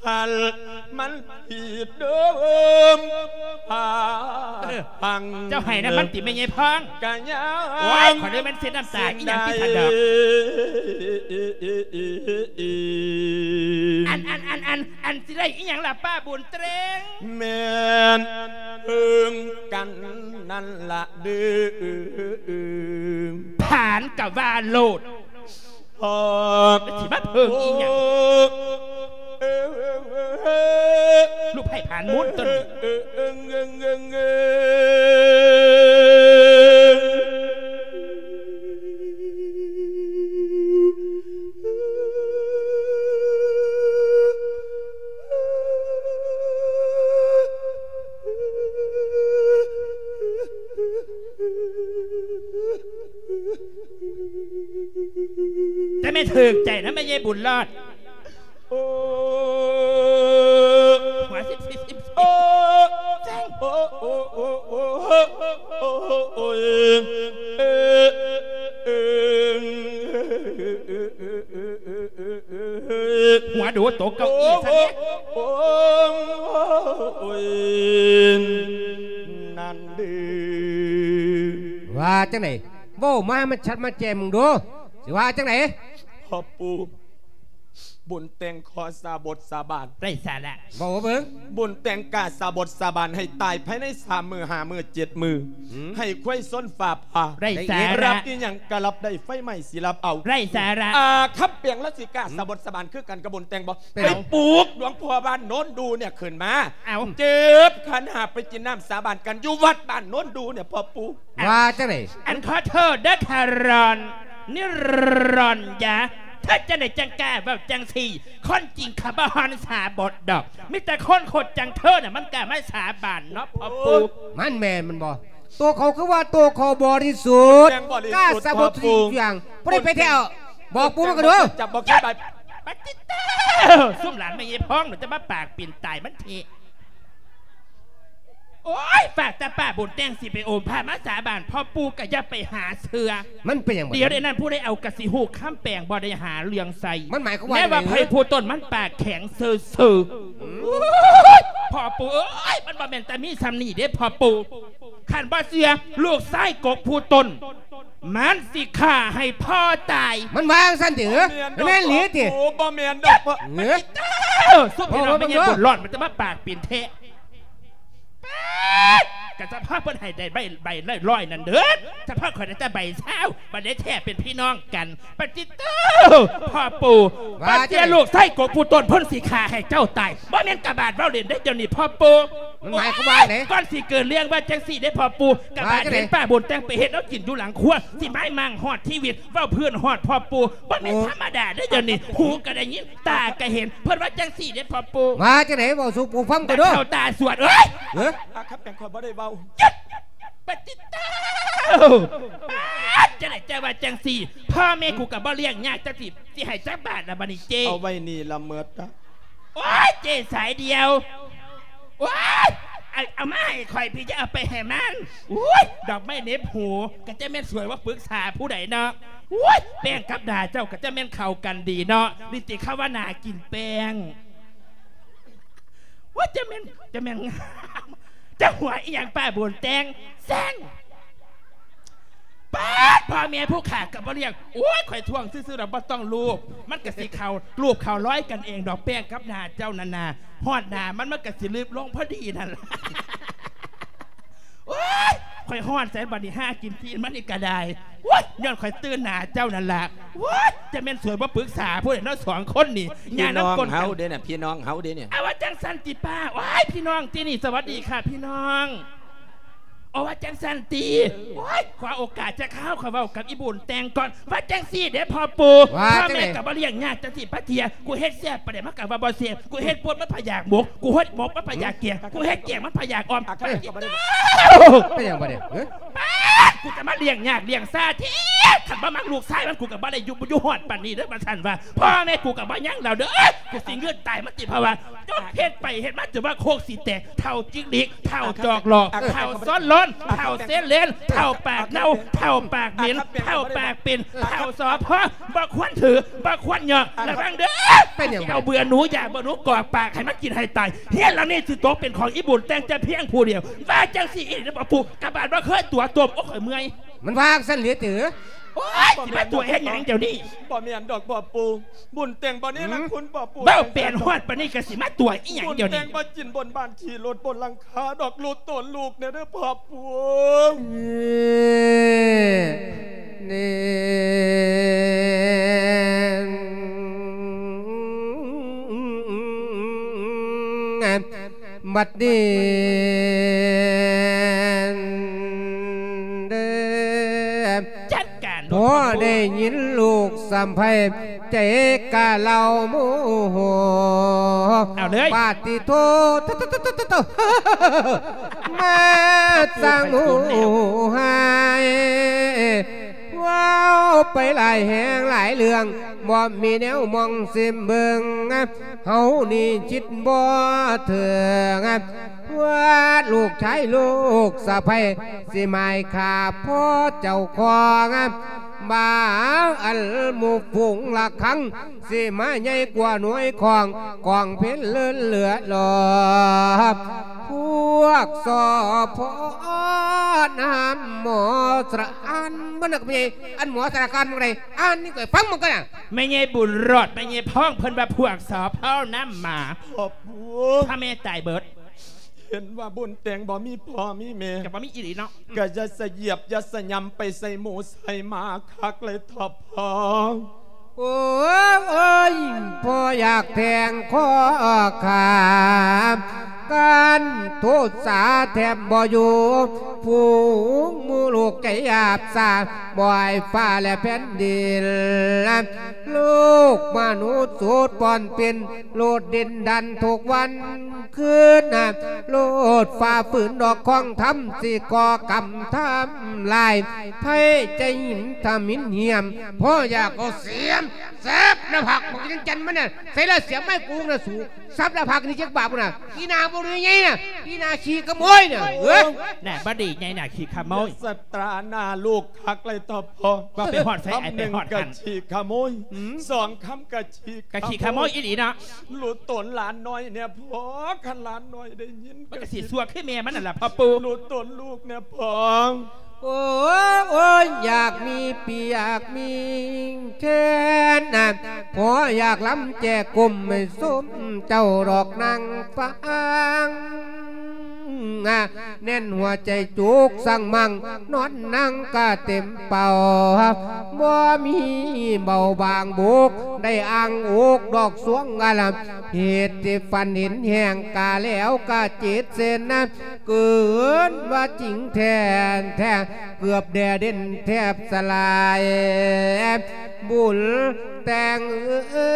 ຄັນມັນຜິດເດີມ ພາ ເອີ ພັງ ເຈົ້າໃຫ້ນຳມັນຕິແມ່ຍາຍພອງ? ກະຍັງ ໂອ້ຍ ຂ້ອຍເລີຍແມ່ນເຊັດນ້ຳຕາອີ່ຫຍັງຕິສະດອກ. ອັນ ອັນ ອັນ ອັນ ອັນ ຊິໄດ້ອີ່ຫຍັງລະປ້າບຸນເຕງ? ແມ່ນເພິ່ງກັນນັ້ນລະເດີ ຜານກະວ່າໂລດ ແລ້ວຊິມາເພິ່ງອີ່ຫຍັງ? ລູກໃພ້ຜານມູນຕົນນີ້. ແຕ່ແມ່ນຖືກໃຈນະແມ່ຍາຍບຸນລອດ. ໂອ້ ຫົວສິບສິບສິບສິບ ໂອ້ ໂອ້ ໂອ້ ໂອ້ ໂອ້ ໂອ້ ໂອ້ຍ ເອີ ໂອ້ຍ ນັ້ນເດີ. ວ່າຈັ່ງໃດ? ເວົ້າມາໃຫ້ມັນຊັດມາແຈ້ມເບິ່ງດູ ຊິວ່າຈັ່ງໃດ? ພໍ່ປູ່ ບຸນແຕ່ງຂໍສາບົດສາບານ. ໄຮ້ສາລະ. ເວົ້າມາເບິ່ງ. ບຸນແຕ່ງກ້າສາບົດສາບານໃຫ້ຕາຍພາຍໃນສາມມື້ ຫ້າມື້ ເຈັດມື້. ອືມ. ໃຫ້ຄວາຍຊົນຟ້າຜ່າ. ໄຮ້ສາລະ. ລັບອີ່ຫຍັງກະລັບໄດ້ ໄຟໄໝ້ຊິລັບເອົາ. ໄຮ້ສາລະ. ອາ ຄຳແປງລາວຊິກ້າສາບົດສາບານຄືກັນກັບບຸນແຕ່ງບໍ່? ເປັນຫຍັງ? ໄປປຸກຫຼວງພໍ່ບ້ານໂນນດູ່ເນຍຂຶ້ນມາ. ເອົາ. ເຈັບຂັນຫ້າໄປກິນນ້ຳສາບານກັນຢູ່ວັດບ້ານໂນນດູ່ເນຍ ພໍ່ປູ່. ວ່າຈັ່ງໃດ? ອັນຂໍໂທດເດີ ຄາຣອນ ນິຣອນຢາ ເທີຈັ່ງໃດຈັ່ງກ້າເວົ້າຈັ່ງຊີ້? ຄົນຈິງເຂົາບໍ່ຮ້ອນສາບົດດອກ ມີແຕ່ຄົນຄົດຈັ່ງເທີນະ ມັນກ້າມາສາບານເນາະ ພໍ່ປູ່. ມັນແມ່ນມັນບໍ່? ໂຕເຂົາຄືວ່າໂຕເຂົາບໍລິສຸດ ແມ່ນບໍລິສຸດ ກ້າສາບົດທຸກຢ່າງ. ຜູ້ໃດໄປແທ້? ບອກປູ່ມາກະດູ. ຈັບບໍ່ຄືໃບ. ປະຕິດເຕີ ຊຸມຫຼານແມ່ຍາຍພອງ ຈະມາປາກປິ່ນຕາຍມັນເທະ. ໂອ້ຍ ຝາກແຕ່ປ້າບຸນແຕ່ງຊິໄປໂອມພະມາສາບານ ພໍ່ປູ່ກະຢ່າໄປຫາເຊື່ອ. ມັນເປັນຫຍັງ? ດຽວໃດນັ້ນຜູ້ໃດເອົາກະຊິຮູ້ຄຳແປງ ບໍ່ໄດ້ຫາເລື່ອງໃສ່. ມັນໝາຍຄວາມວ່າ ແນວ່າໃຜຜູ້ຕົນມັນປາກແຂງເຊີໆ. ອືມ. ໂອ້ຍ ພໍ່ປູ່ເອີຍ ມັນບໍ່ແມ່ນແຕ່ມີສ່ຳນີ້ເດ້ພໍ່ປູ່. ຄັນບໍ່ເຊື່ອ ລູກຊາຍກົກຜູ້ຕົນ ມັນຊິຂ້າໃຫ້ພໍ່ຕາຍ. ມັນວ່າຈັ່ງຊັ້ນຕິ? ບໍ່ແມ່ນດອກ ແມ່ນອີ່ຫຼີຕິ? ພໍ່ປູ່ ບໍ່ແມ່ນດອກພໍ່. ເອີ ຊຸມພີ່ນ້ອງແມ່ຍາຍບຸນຫຼອດ ມັນຈະມາປາກປິ່ນແທ້. ປາດ ກະສະເພາະເພິ່ນໃຫ້ໄດ້ໃບ ໃບລະຮ້ອຍນັ້ນເດີ ສະເພາະຂ້ອຍໄດ້ແຕ່ໃບຊາວ ບັດໃດແທ້ເປັນພີ່ນ້ອງກັນ. ປະຕິດເຕີ ພໍ່ປູ່ ວ່າ ປະເທດ ຈັ່ງໃດ? ລູກຊາຍກົກຜູ້ຕົນເພິ່ນຊິຂ້າໃຫ້ເຈົ້າຕາຍ. ບໍ່ແມ່ນກະບາດເວົ້າຫຼິ້ນເດ້ ດຽວນີ້ພໍ່ປູ່. ມັນໝາຍຄວາມວ່າໃດ? ໂອ້ຍ ກ່ອນຊິເກີດເລື່ອງວ່າຈັ່ງຊີ້ເດ້ພໍ່ປູ່ ກະບາດ ວ່າຈັ່ງໃດ? ເຫັນປ້າບຸນແຕ່ງໄປເຮັດແນວກິນຢູ່ຫຼັງຄົວ ຊິມາໝັ້ງຮອດຊີວິດ ເວົ້າພື້ນຮອດພໍ່ປູ່. ບໍ່ແມ່ນ ໂອ້ ທຳມະດາເດ້ ດຽວນີ້ ຫູກະໄດ້ຍິນ ຕາກະເຫັນ ເພິ່ນວ່າຈັ່ງຊີ້ເດ້ພໍ່ປູ່. ວ່າຈັ່ງໃດ? ເວົ້າສູ່ປູ່ຟັງກະດູ. ຕາເຖົ້າຕາສວດເອີຍ. ເອີ ອາ ຄຳແປງຂ້ອຍບໍ່ໄດ້ເວົ້າ. ຢຸດ! ປະຕິດເຕີ ປາດ ຈັ່ງໃດເຈົ້າວ່າຈັ່ງຊີ້? ພໍ່ແມ່ກູກະບໍ່ລ້ຽງຍາກ ເຈົ້າຊິ ຊິໃຫ້ຈັກບາດລະບາດນີ້ເຈ້? ເອົາໄວ້ນີ້ລະເໝິດ. ໂອ້ຍ ເຈ້ສາຍດຽວ. ໂອ້ຍ ເອົາ ເອົາມາໃຫ້ຂ້ອຍພີ່ ຢ່າເອົາໄປໃຫ້ມັນ. ໂອ້ຍ ດອກໄມ້ເໜັບຫູ ກະຈະແມ່ນສວຍວ່າປຶກສາຜູ້ໃດເນາະ. ໂອ້ຍ ແປ້ງກັບໜ້າເຈົ້າກະຈະແມ່ນເຂົ້າກັນດີເນາະ. ນີ້ຕິເຂົາວ່າໜ້າກິນແປ້ງ. ໂອ້ຍ ຈະແມ່ນ ຈະແມ່ນງາມ. ເຈົ້າຫົວອີ່ຫຍັງປ້າບຸນແຕ່ງ? ແຊງ. ປາດ ພໍ່ແມ່ຜູ້ຂ້າກະບໍ່ລ້ຽງ. ໂອ້ຍ ຂ້ອຍທ້ວງຊື່ໆດອກ ບໍ່ຕ້ອງລູບ ມັນກະຊິເຂົ້າ ລູບເຂົ້າລອຍກັນເອງດອກ. ແປ້ງກັບໜ້າເຈົ້ານັ້ນນະ ຮອດໜ້າມັນ ມັນກະຊິລຶບລົງພໍດີນັ້ນລະ. ໂອ້ຍ ຂ້ອຍຮ້ອນໃສບັດນີ້ ຫາກິນຕີນມັນນີ້ກະໄດ້. ໂອ້ຍ ຍ້ອນຂ້ອຍຕື່ນໜ້າເຈົ້ານັ້ນລະ. ໂອ້ຍ ຈະແມ່ນສວຍບໍ່ປຶກສາຜູ້ໃດເນາະ ສອງຄົນນີ້. ພີ່ນ້ອງເຮົາເດ້ນະ ພີ່ນ້ອງເຮົາເດ້ນີ້. ເອົາ ວ່າຈັ່ງຊັ້ນຕິປ້າ? ໂອ້ຍ ພີ່ນ້ອງຕິນີ້. ສະຫວັດດີຄ່ະພີ່ນ້ອງ. ໂອ້ ວ່າຈັ່ງຊັ້ນຕິ? ໂອ້ຍ ຂໍໂອກາດຈັກຄາວ ຂໍເວົ້າກັບອີ່ບຸນແຕ່ງກ່ອນ. ວ່າຈັ່ງຊີ້ເດ້ພໍ່ປູ່ ວ່າຈັ່ງໃດ? ພໍ່ແມ່ກະບໍ່ລ້ຽງຍາກຈັ່ງຊີ້ປະເທຍ. ກູເຮັດແຊບປານໃດມັນກະວ່າບໍ່ແຊບ. ກູເຮັດປົ່ນມັນພະຢາກໝົກ ກູເຮັດໝົກມັນພະຢາກແກງ ກູເຮັດແກງມັນພະຢາກອ່ອມ. ເປັນຫຍັງບາດນີ້? ປາດ ກູຈະມາລ້ຽງຍາກລ້ຽງຊາແທ້. ຄັນບໍ່ມັກລູກຊາຍມັນ ກູກະບໍ່ໄດ້ຢູ່ ຢູ່ຮອດປານນີ້ເດີ ວ່າຊັ້ນວ່າ. ພໍ່ແມ່ກູກະບໍ່ຍັງແລ້ວເດີ ກູຊິງືດຕາຍມັນຕິ ເພາະວ່າ ຈົນເຮັດໄປເຮັດມາ ຈົນວ່າໂຄກຊິແຕກ ເຖົ້າຈິກລິກ ເຖົ້າຈອກຫຼອກ ເຖົ້າຊ້ອນລ້ອນ ເຖົ້າເຊເລນ ເຖົ້າປາກເນົ່າ ເຖົ້າປາກເໝັນ ເຖົ້າປາກເປັນ ເຖົ້າສອພ ບໍ່ຄວນຖື ບໍ່ຄວນຍອມ. ລະວັງເດີ ເອົາເບື່ອໜູ ຢາເບື່ອໜູກອກປາກໃຫ້ມັນກິນໃຫ້ຕາຍ. ເຮືອນຫຼັງນີ້ຊິຕົກເປັນຂອງອີ່ບຸນແຕ່ງແຕ່ພຽງຜູ້ດຽວ. ວ່າຈັ່ງຊີ້ອີ່ຫຼີບໍ່ປູ່ ກະບາດບໍ່ເຄີຍຕົວະຕົວະ. ໂອ້ຍ ຂ້ອຍເມື່ອຍ. ມັນວ່າຈັ່ງຊັ້ນເລີຍຕິ? ໂອ້ຍ ຊິມາຕົວະເຮັດຫຍັງດຽວນີ້? ບໍ່ແມ່ນດອກພໍ່ປູ່ ບຸນແຕ່ງບໍ່ເນລະຄຸນພໍ່ປູ່. ເວົ້າແປນຮອດປານນີ້ກະຊິມາຕົວະອີ່ຫຍັງດຽວນີ້? ບຸນແຕ່ງບໍ່ກິນບົນບ້ານຂີ່ລົດບົນຫຼັງຄາດອກ ລູກໂຕນລູກແດ່ເດີພໍ່ປູ່. ເອີ ເນ ບັດນີ້ເດີ ຈັດການໂລດ ພໍໄດ້ຍິນລູກສຳໃພ້ ໃຈກະເລົ່າໂມໂຫ. ເອົາເລີຍ ປາຕິໂທ ໂຕ ໂຕ ໂຕ ໂຕ ໂຕ ມາສ້າງໂມໂຫຮ້າຍ. ເວົ້າໄປຫຼາຍແຫ່ງຫຼາຍເລື່ອງ ບໍ່ມີແນວມອງຊິມເບິ່ງ ເຮົານີ້ຄິດບໍ່ເຖິງ ວ່າລູກຊາຍລູກສະໃພ້ ຊິໝາຍຂ້າພໍ່ເຈົ້າຂອງ ມາອັນໝູ່ຝູງລະຄັງ ຊິມາໃຫຍ່ກວ່າໜ່ວຍຂອງ ກອງເພັນເລີນເຫຼືອຫຼອບ ພວກສອພ ນຳໝໍສະອານ ມັນນະ ແມ່ໃຫຍ່ ອັນໝໍສາລະການໝ່ອງໃດ ອ່ານນີ້ຂ້ອຍຟັງມັນກ່ອນນະ. ແມ່ໃຫຍ່ບຸນລອດ ແມ່ໃຫຍ່ພອງ ເພິ່ນວ່າພວກສອພ ນຳໝໍ ພໍ່ປູ່ ພະແມ່ຕາຍເບິດ. ເຫັນວ່າບຸນແຕ່ງບໍ່ມີພໍ່ມີແມ່ ກໍບໍ່ມີອີ່ຫຼີເນາະ ກໍຢ່າສະຢຽບ ຢ່າສະຫຍຳໄປໃສ່ໝູ່ໃສ່ໝາຄັກເລີຍເຖາະພໍ່. ໂອ້ຍ ພໍ່ຢາກແທງຄໍຂ້າ ການໂທດສາແທບບໍ່ຢູ່ ຝູງໝູ່ລູກໃຈຫຍາບສາ ບໍ່ອາຍຟ້າແລະແຜ່ນດິນ ລູກມະນຸດສູດປ່ອນປິ່ນ ໂລດດິນດັນທຸກວັນຄືນນະ ໂລດຝ່າຝືນດອກຂອງທຳ ຊິກໍ່ກຳທຳລາຍ ໄພໃຈຫິນທຳມິນຫຽມ ພໍ່ຢາກເອົາສຽມ ສັບໜ້າຜາກບັກຈັນຈັນມັນນະ ໃສ່ລະສຽມໄມ້ກູນະສູ ສັບໜ້າຜາກນີ້ຈັກບາດພຸ້ນນະ ອີ່ໜ້າບໍ່ໄດ້ໃຫຍ່ນະ ອີ່ໜ້າຂີ້ຂະໂມຍນະ ເອີຍ ໜ້າບໍ່ດີໃຫຍ່ ໜ້າຂີ້ຂະໂມຍ ສະຕາໜ້າລູກຄັກເລີຍເຖາະພໍ່. ວ່າໄປຮອດໃສ ໄອ້ໄປຮອດຫັ້ນ ຄຳໜຶ່ງກໍຂີ້ຂະໂມຍ ອືມ ສອງຄຳກໍຂີ້ ກໍຂີ້ຂະໂມຍອີ່ຫຼີເນາະ ຮູ້ຕົນຫຼານນ້ອຍແດ່ພໍ່ ຄັນຫຼານນ້ອຍໄດ້ຍິນ ມັນກໍຊິຊົ່ວຄືແມ່ມັນນັ້ນລະພໍ່ປູ່ ຮູ້ຕົນລູກແດ່ພໍ່. ໂອ້ຍ ຢາກມີປຽກມີແຄນນະ ພໍ່ຢາກລຳແຈກົມໃຫ້ຊົມເຈົ້າດອກນາງຟັງ ແໜ້ນຫົວໃຈຈຸກສັງມັງ ນອນນັ່ງກະເຕັມເປົາ ບໍ່ມີເບົາບາງບຸກ ໄດ້ອ້າງອົກດອກສວງອາລາມ ເຫດທີ່ຝັນເຫັນແຮງກາແລ້ວກະເຈັດເສັ້ນນະ ເກີນວ່າຈິງແທ້ແທ້ ເກືອບແດ່ເດັ່ນແທບສະຫຼາຍ ບຸນແຕ່ງເອີ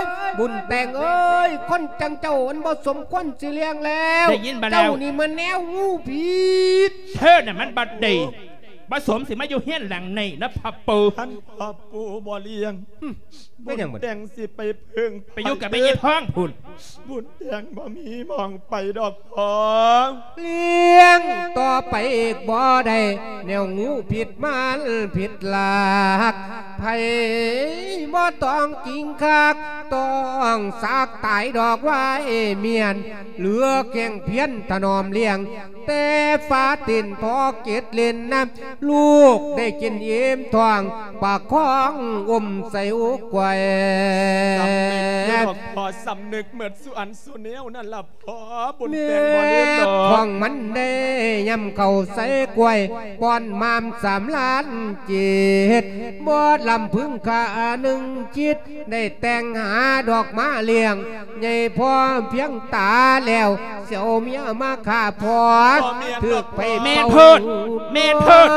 ຍ ບຸນແຕ່ງເອີຍ ຄົນຈັ່ງເຈົ້າມັນບໍ່ສົມຄວນຊິລ້ຽງແລ້ວ ໄດ້ຍິນບໍ່ແລ້ວ ເຈົ້ານີ້ມັນແນວຫູຜິດ ເທີນະມັນບໍ່ດີ ບໍ່ສົມຊິມາຢູ່ເຮືອນຫຼັງນີ້ນະພໍ່ປູ່ ຄັນພໍ່ປູ່ບໍ່ລ້ຽງ ເປັນຫຍັງບັດນີ້ ບຸນແຕ່ງຊິໄປເພິ່ງ ໄປຢູ່ກັບແມ່ຍາຍພອງພຸ້ນ ບຸນແຕ່ງບໍ່ມີໝ່ອງໄປດອກພໍ່ ລ້ຽງຕໍ່ໄປອີກບໍ່ໄດ້ ແນວຫູຜິດມັນຜິດຫຼັກ ໃຜບໍ່ຕ້ອງຈິງຄັກ ຕ້ອງສັກຕາຍດອກວາຍມຽນ ເຫຼືອແຂ້ງພຽນຖະໜອມລ້ຽງ ແຕ່ຝາຕີນພໍເກັດຫຼິ້ນນະ ລູກໄດ້ກິນອີ່ມທ້ອງ ປະຄອງອຸ້ມໃສ່ອົກໄວ້ ສຳນຶກຢູ່ດອກພໍ່ ສຳນຶກໝົດສູ່ອັນສູ່ແນວນັ້ນລະພໍ່ ບຸນແຕ່ງບໍ່ລືມດອກ ແມ່ຂອງມັນໄດ້ຍ່ຳເຂົ້າໃສ່ກ້ວຍ ປ້ອນມາມສາມລ້ານເຈັດ ບໍ່ລຳພຶງຂ້າໜຶ່ງຈິດ ໄດ້ແຕ່ງຫາດອກມາລ້ຽງ ໃຫຍ່ພໍພຽງຕາແລ້ວ ຊິເອົາເມຍມາຂ້າພໍ່ ບໍ່ແມ່ນດອກ ຖືກໄປ ແມ່ນໂພດ ເຜົາ ແມ່ນໂພດ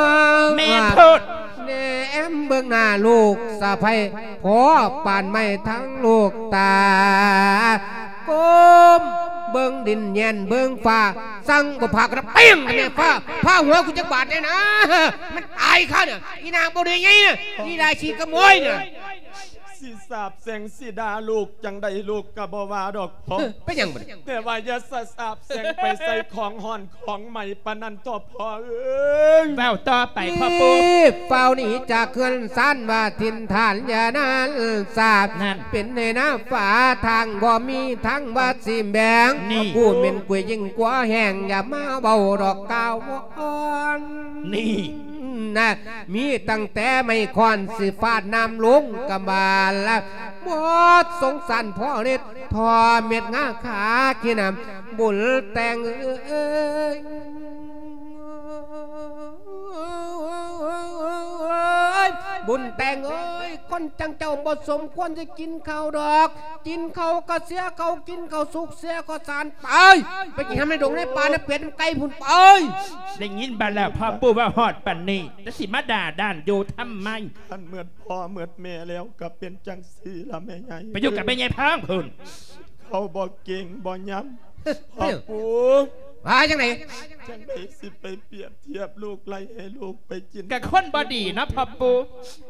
ແມ່ນໂພດ ແນມເບິ່ງໜ້າລູກສະໃພ້ ພໍປານໄມ້ທັງລູກຕາ ກົ້ມເບິ່ງດິນແຍນເບິ່ງຟ້າ ສັ່ງບໍ່ພາກັນເປັ້ງແມ່ຟ້າ ພາຫົວກູຈັກບາດແດ່ນະ ມັນຕາຍຄານະ ອີ່ນາງບໍ່ໄດ້ໃຫຍ່ນະ ອີ່ລາຂີ້ຂະໂມຍນະ ຊິສາບແຊ່ງຊິດ່າລູກຈັ່ງໃດລູກກໍບໍ່ວ່າດອກພໍ່ ເອີ ເປັນຫຍັງບັດນີ້ ແຕ່ວ່າຢ່າສະສາບແຊ່ງໄປໃສ່ຂອງຮ້ອນຂອງໄໝປານນັ້ນເຖາະພໍ່ເອີຍ ເວົ້າຕໍ່ໄປພໍ່ປູ່ ຟ້າວໜີຈາກເຮືອນຊານວ່າຖິ່ນຖານຢ່ານັ້ນສາບ ນັ້ນ ເປັນໃນນາຟ້າທາງບໍ່ມີທາງວ່າຊິແບ່ງ ນີ້ ຜູ້ເໝັນກຸຍຍິ່ງກວ່າແຫ້ງ ຢ່າມາເວົ້າດອກກ່າວວອນ ນີ້ ນະ ມີຕັ້ງແຕ່ໄມ້ຄ້ອນຊິຟາດນ້ຳລົງກະບາລະ ໝົດສົງສານພໍ່ເລັດ ທໍ່ເມັດງາຂາຂີ້ນ້ຳ ບຸນແຕ່ງເອີຍ ບຸນແຕ່ງເອີຍ ຄົນຈັ່ງເຈົ້າບໍ່ສົມຄວນຈະກິນເຂົ້າດອກ ກິນເຂົ້າກໍເສຍເຂົ້າ ກິນເຂົ້າສຸກເສຍກໍສານ ໄປ ໄປກິນໃນດອງໃນປ່າໃນເປັດໃນໄກ່ພຸ້ນ ໄປ ໄດ້ຍິນບັດແລ້ວ ພໍ່ປູ່ເວົ້າຮອດປານນີ້ ຈະຊິມາດ່າດ້ານຢູ່ທຳໄມ ຄັນໝົດພໍ່ໝົດແມ່ແລ້ວກໍເປັນຈັ່ງຊີ້ລະແມ່ໃຫຍ່ ໄປຢູ່ກັບແມ່ໃຫຍ່ພອງພຸ້ນ ເຂົາບໍ່ເກັ່ງບໍ່ຍຳ ພໍ່ປູ່ ວ່າຈັ່ງໃດ ຈັ່ງໃດຊິໄປປຽບທຽບລູກໄລ່ໃຫ້ລູກໄປກິນ ກະຄົນບໍ່ດີເນາະພໍ່ປູ່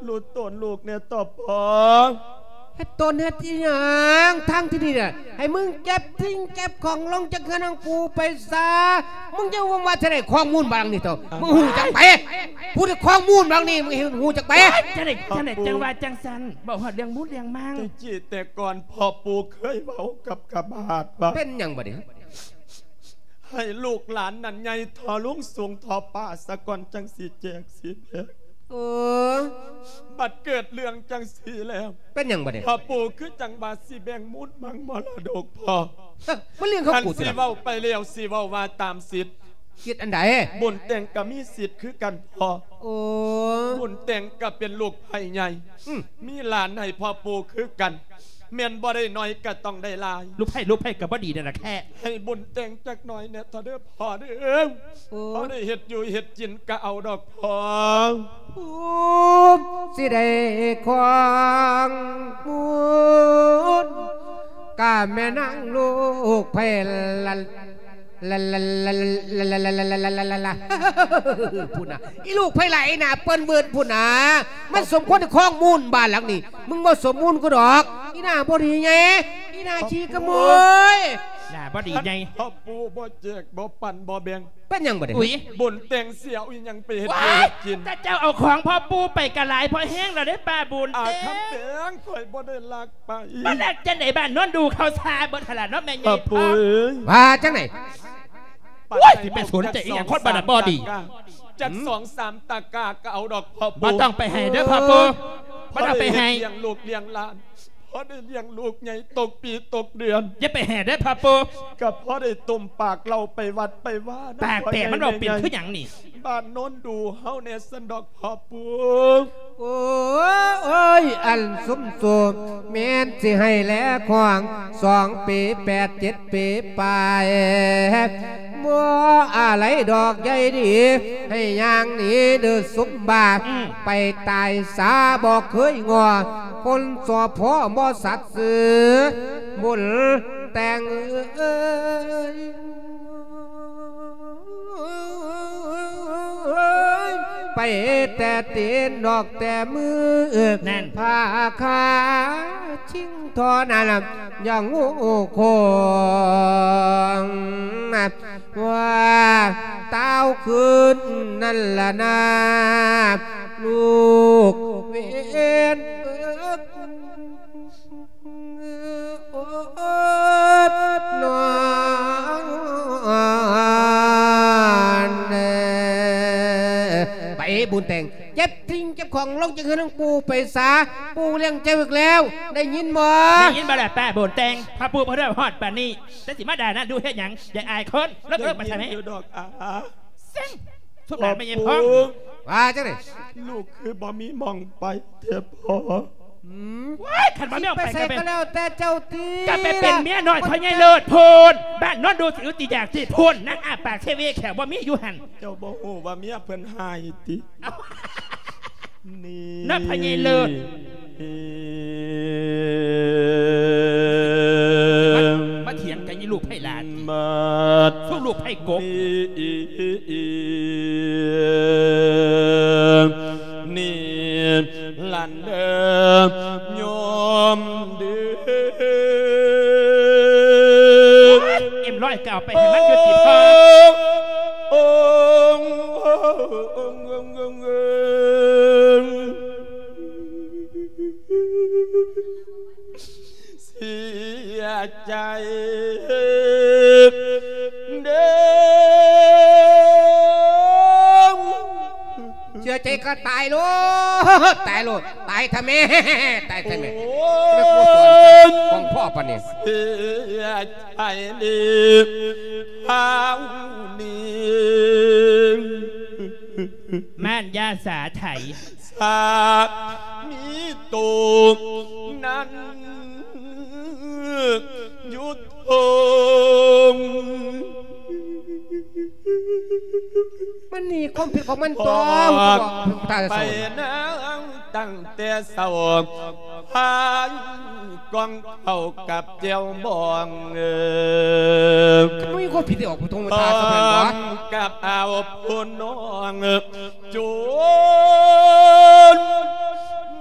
ຮູ້ຕົນລູກແດ່ຕໍ່ພໍ່ ຕົນເຮັດອີ່ຫຍັງທາງທີ່ນີ້ນະ? ໃຫ້ມຶງເກັບສິ່ງເກັບຂອງລົງຈາກເຮືອນຂອງປູໄປຊະ. ມຶງຈະວ່າ ວ່າຈະໄດ້ຂອງມູນບາດຫຼັງນີ້ເຖາະ ມຶງຮູ້ຈັກໄປ? ຜູ້ໃດຂອງມູນບາດຫຼັງນີ້ ມຶງເຫັນຮູ້ຈັກໄປ? ຈັ່ງໃດ ຈັ່ງໃດ ຈັ່ງວ່າຈັ່ງຊັ້ນ ເວົ້າຮອດເລື່ອງມູນເລື່ອງມັງ. ແຕ່ກີ້ແຕ່ກ່ອນພໍ່ປູເຄີຍເວົ້າກັບຂ້າບາດວ່າ ເປັນຫຍັງບາດນີ້? ໃຫ້ລູກຫຼານນັ້ນໃຫຍ່ທໍ່ສູງທໍ່ຟ້າສາກ່ອນ ຈັ່ງຊິແຈກຊິແບ່ງ. ເອີ ບັດເກີດເລື່ອງຈັ່ງຊີ້ແລ້ວ ເປັນຫຍັງບາດນີ້? ພໍ່ປູຄືຈັ່ງວ່າຊິແບ່ງມູນມັງມໍລະດົກພໍ່. ເອີ ມັນເລື່ອງຂອງກູຕິລະ. ຄັນຊິເວົ້າໄປແລ້ວ ຊິເວົ້າວ່າຕາມສິດ. ສິດອັນໃດ? ບຸນແຕ່ງກໍມີສິດຄືກັນພໍ່. ໂອ້ ບຸນແຕ່ງກໍເປັນລູກໃພ້ໃຫຍ່ ອືມ ມີຫຼານໃຫ້ພໍ່ປູຄືກັນ. ແມ່ນບໍ່ໄດ້ໜ້ອຍກໍຕ້ອງໄດ້ຫຼາຍ. ລູກໃພ້ ລູກໃພ້ກໍບໍ່ດີນັ້ນລະແຄ່. ໃຫ້ບຸນແຕ່ງຈັກໜ້ອຍແດ່ເຖາະເດີພໍ່ເດີ. ໂອ້ ພໍໄດ້ເຮັດຢູ່ເຮັດກິນກໍເອົາດອກພໍ່. ໂອ້ ຊິໄດ້ຂອງມູນ ກະແມ່ນນາງລູກໃພ້ລະ ລະ ລະ ລະ ພຸ້ນນະ ອີລູກໃພ້ຫຼາຍໜ້າເປີ້ນເວີນພຸ້ນນະ. ມັນສົມຄວນໄດ້ຄອງມູນບ້ານຫຼັງນີ້. ມຶງບໍ່ສົມມູນກູດອກ ອີໜ້າບໍ່ດີໃຫຍ່ ອີໜ້າຂີ້ຂະໂມຍ ໜ້າບໍ່ດີໃຫຍ່. ພໍ່ປູບໍ່ແຈກ ບໍ່ປັນ ບໍ່ແບ່ງ ເປັນຫຍັງບາດນີ້? ອຸ້ຍ ບຸນແຕ່ງຊິເອົາອີ່ຫຍັງໄປເຮັດຢູ່ເຮັດກິນ? ແຕ່ເຈົ້າເອົາຂອງພໍ່ປູໄປກະຫຼາຍພໍແຮງແລ້ວເດ້ປ້າບຸນ. ອາຄຳແປງ ຂ້ອຍບໍ່ໄດ້ລັກ ໄປ ມາແລກຈັ່ງໃດ ບ້ານໂນນດູເຂົາຊາເບິດຫັ້ນລະເນາະແມ່ໃຫຍ່ພໍ່ປູເອີຍ. ວ່າຈັ່ງໃດ? ໂອ້ຍ ຊິໄປສົນໃຈອີ່ຫຍັງ ຄົນບ້ານນັ້ນບໍ່ດີ. ຈັກສອງສາມຕະກາກໍເອົາດອກພໍ່ປູ. ບໍ່ຕ້ອງໄປໃຫ້ເດີພໍ່ປູ ບໍ່ຕ້ອງໄປໃຫ້. ລ້ຽງລູກລ້ຽງຫຼານ ພໍໄດ້ລ້ຽງລູກໃຫຍ່ຕົກປີຕົກເດືອນ. ຢ່າໄປໃຫ້ເດີພໍ່ປູ. ກໍພໍໄດ້ຕົ້ມປາກເລົ່າໄປວັດໄປວານຳ. ປາກແຕກ ມັນເວົ້າເປັນຄືຫຍັງນີ້? ບ້ານໂນນດູເຮົາແດ່ຊັ້ນດອກພໍ່ປູ. ໂອ້ຍ ອັນສົມໂສມແມ່ນຊິໃຫ້ແລຂອງ ສອງປີແປດ ເຈັດປີປາຍ ບໍ່ອາໄລດອກໃຫຍ່ດີ ໃຫ້ຍ່າງໜີເດີສົມບາດ. ອືມ ໄປຕາຍສາບໍ່ເຄີຍງໍ ຄົນສອບພໍບໍ່ສັດຊື່ ບຸນແຕ່ງເອີຍ. ໄປແຕ່ຕີນດອກແຕ່ມື ນັ້ນ ພາຄາຊິງທໍ່ນັ້ນ ຢ່າງໂງ່ຄົງ ວ່າຕ່າວຄືນນັ້ນລະນາ ລູກເວນເອີກ. ໂອດນອນເດີ ໄປບຸນແຕ່ງ ເກັບສິ່ງເກັບຂອງລົງຈາກເຮືອນຂອງປູໄປຊາ. ປູລ້ຽງເຈົ້າອີກແລ້ວ ໄດ້ຍິນບໍ່? ໄດ້ຍິນບໍ່ລະປ້າບຸນແຕ່ງ? ພະປູບໍ່ໄດ້ຮອດປານນີ້ ແຕ່ຊິມາດ່ານາດູເຮັດຫຍັງ? ຢ່າອາຍຄົນ ລົບໆໄປຊະແມ່. ໄດ້ຍິນຢູ່ດອກອາ. ເສັງ ສົມໜ້າແມ່ໃຫຍ່ພອງ. ວ່າຈັ່ງໃດ? ລູກຄືບໍ່ມີໝ່ອງໄປແທ້ພໍ່. ອືມ ວ້າຍ ຄັນບໍ່ມີໝ່ອງໄປ ຊິໄປໃສກໍແລ້ວແຕ່ເຈົ້າຕິ ກໍໄປເປັນເມຍນ້ອຍພໍ່ໃຫຍ່ເລີດພຸ້ນ. ບ້ານໂນນດູຊິອຶດຊິຢາກຕິພຸ້ນ ນາງອ້າປາກເຊເວແຂ້ວບໍ່ມີຢູ່ຫັ້ນ. ເຈົ້າບໍ່ຮູ້ວ່າເມຍເພິ່ນຮ້າຍຕິ? ເອົ້າ ນີ້ ນະ ພໍ່ໃຫຍ່ເລີດ. ມາ ມາຖຽງກັນອີລູກໄພຫຼານ ມາ ສູ້ລູກໄພກົບ ນີ້ຫຼານເດີ ໂຍມເດີ. ເອັມຮ້ອຍ ກໍເອົາໄປໃຫ້ມັນຢູ່ຕິພໍ່. ໂອ້ ໂອ້ ໂອ້ ໂອ້ ໂອ້ ໂອ້ ເສຍໃຈເດີ. ເສຍໃຈກໍຕາຍໂລດ ຕາຍໂລດ ຕາຍທະແມ່ ຕາຍທະແມ່. ໂອ້ຍ ຂອງພໍ່ປານນີ້ ເສຍໃຈເດີ ເຮົານີ້ ມ່ານຢາສາໄຖ ສາມີໂຕນັ້ນຢູ່ທົ່ງ ມັນໜີຄວາມຜິດຂອງມັນຕົວະ ຕາຍ ໄປນາງຕັ້ງແຕ່ເຊົ້າ ພາຍກ່ອງເຂົ້າກັບແຈ່ວບອງ ເອີ ມັນມີຄວາມຜິດທີ່ອອກຜູ້ຕົງມາທາສະເພິ່ນບໍ່ ກັບອາວຜູ້ນ້ອງ ຈົນ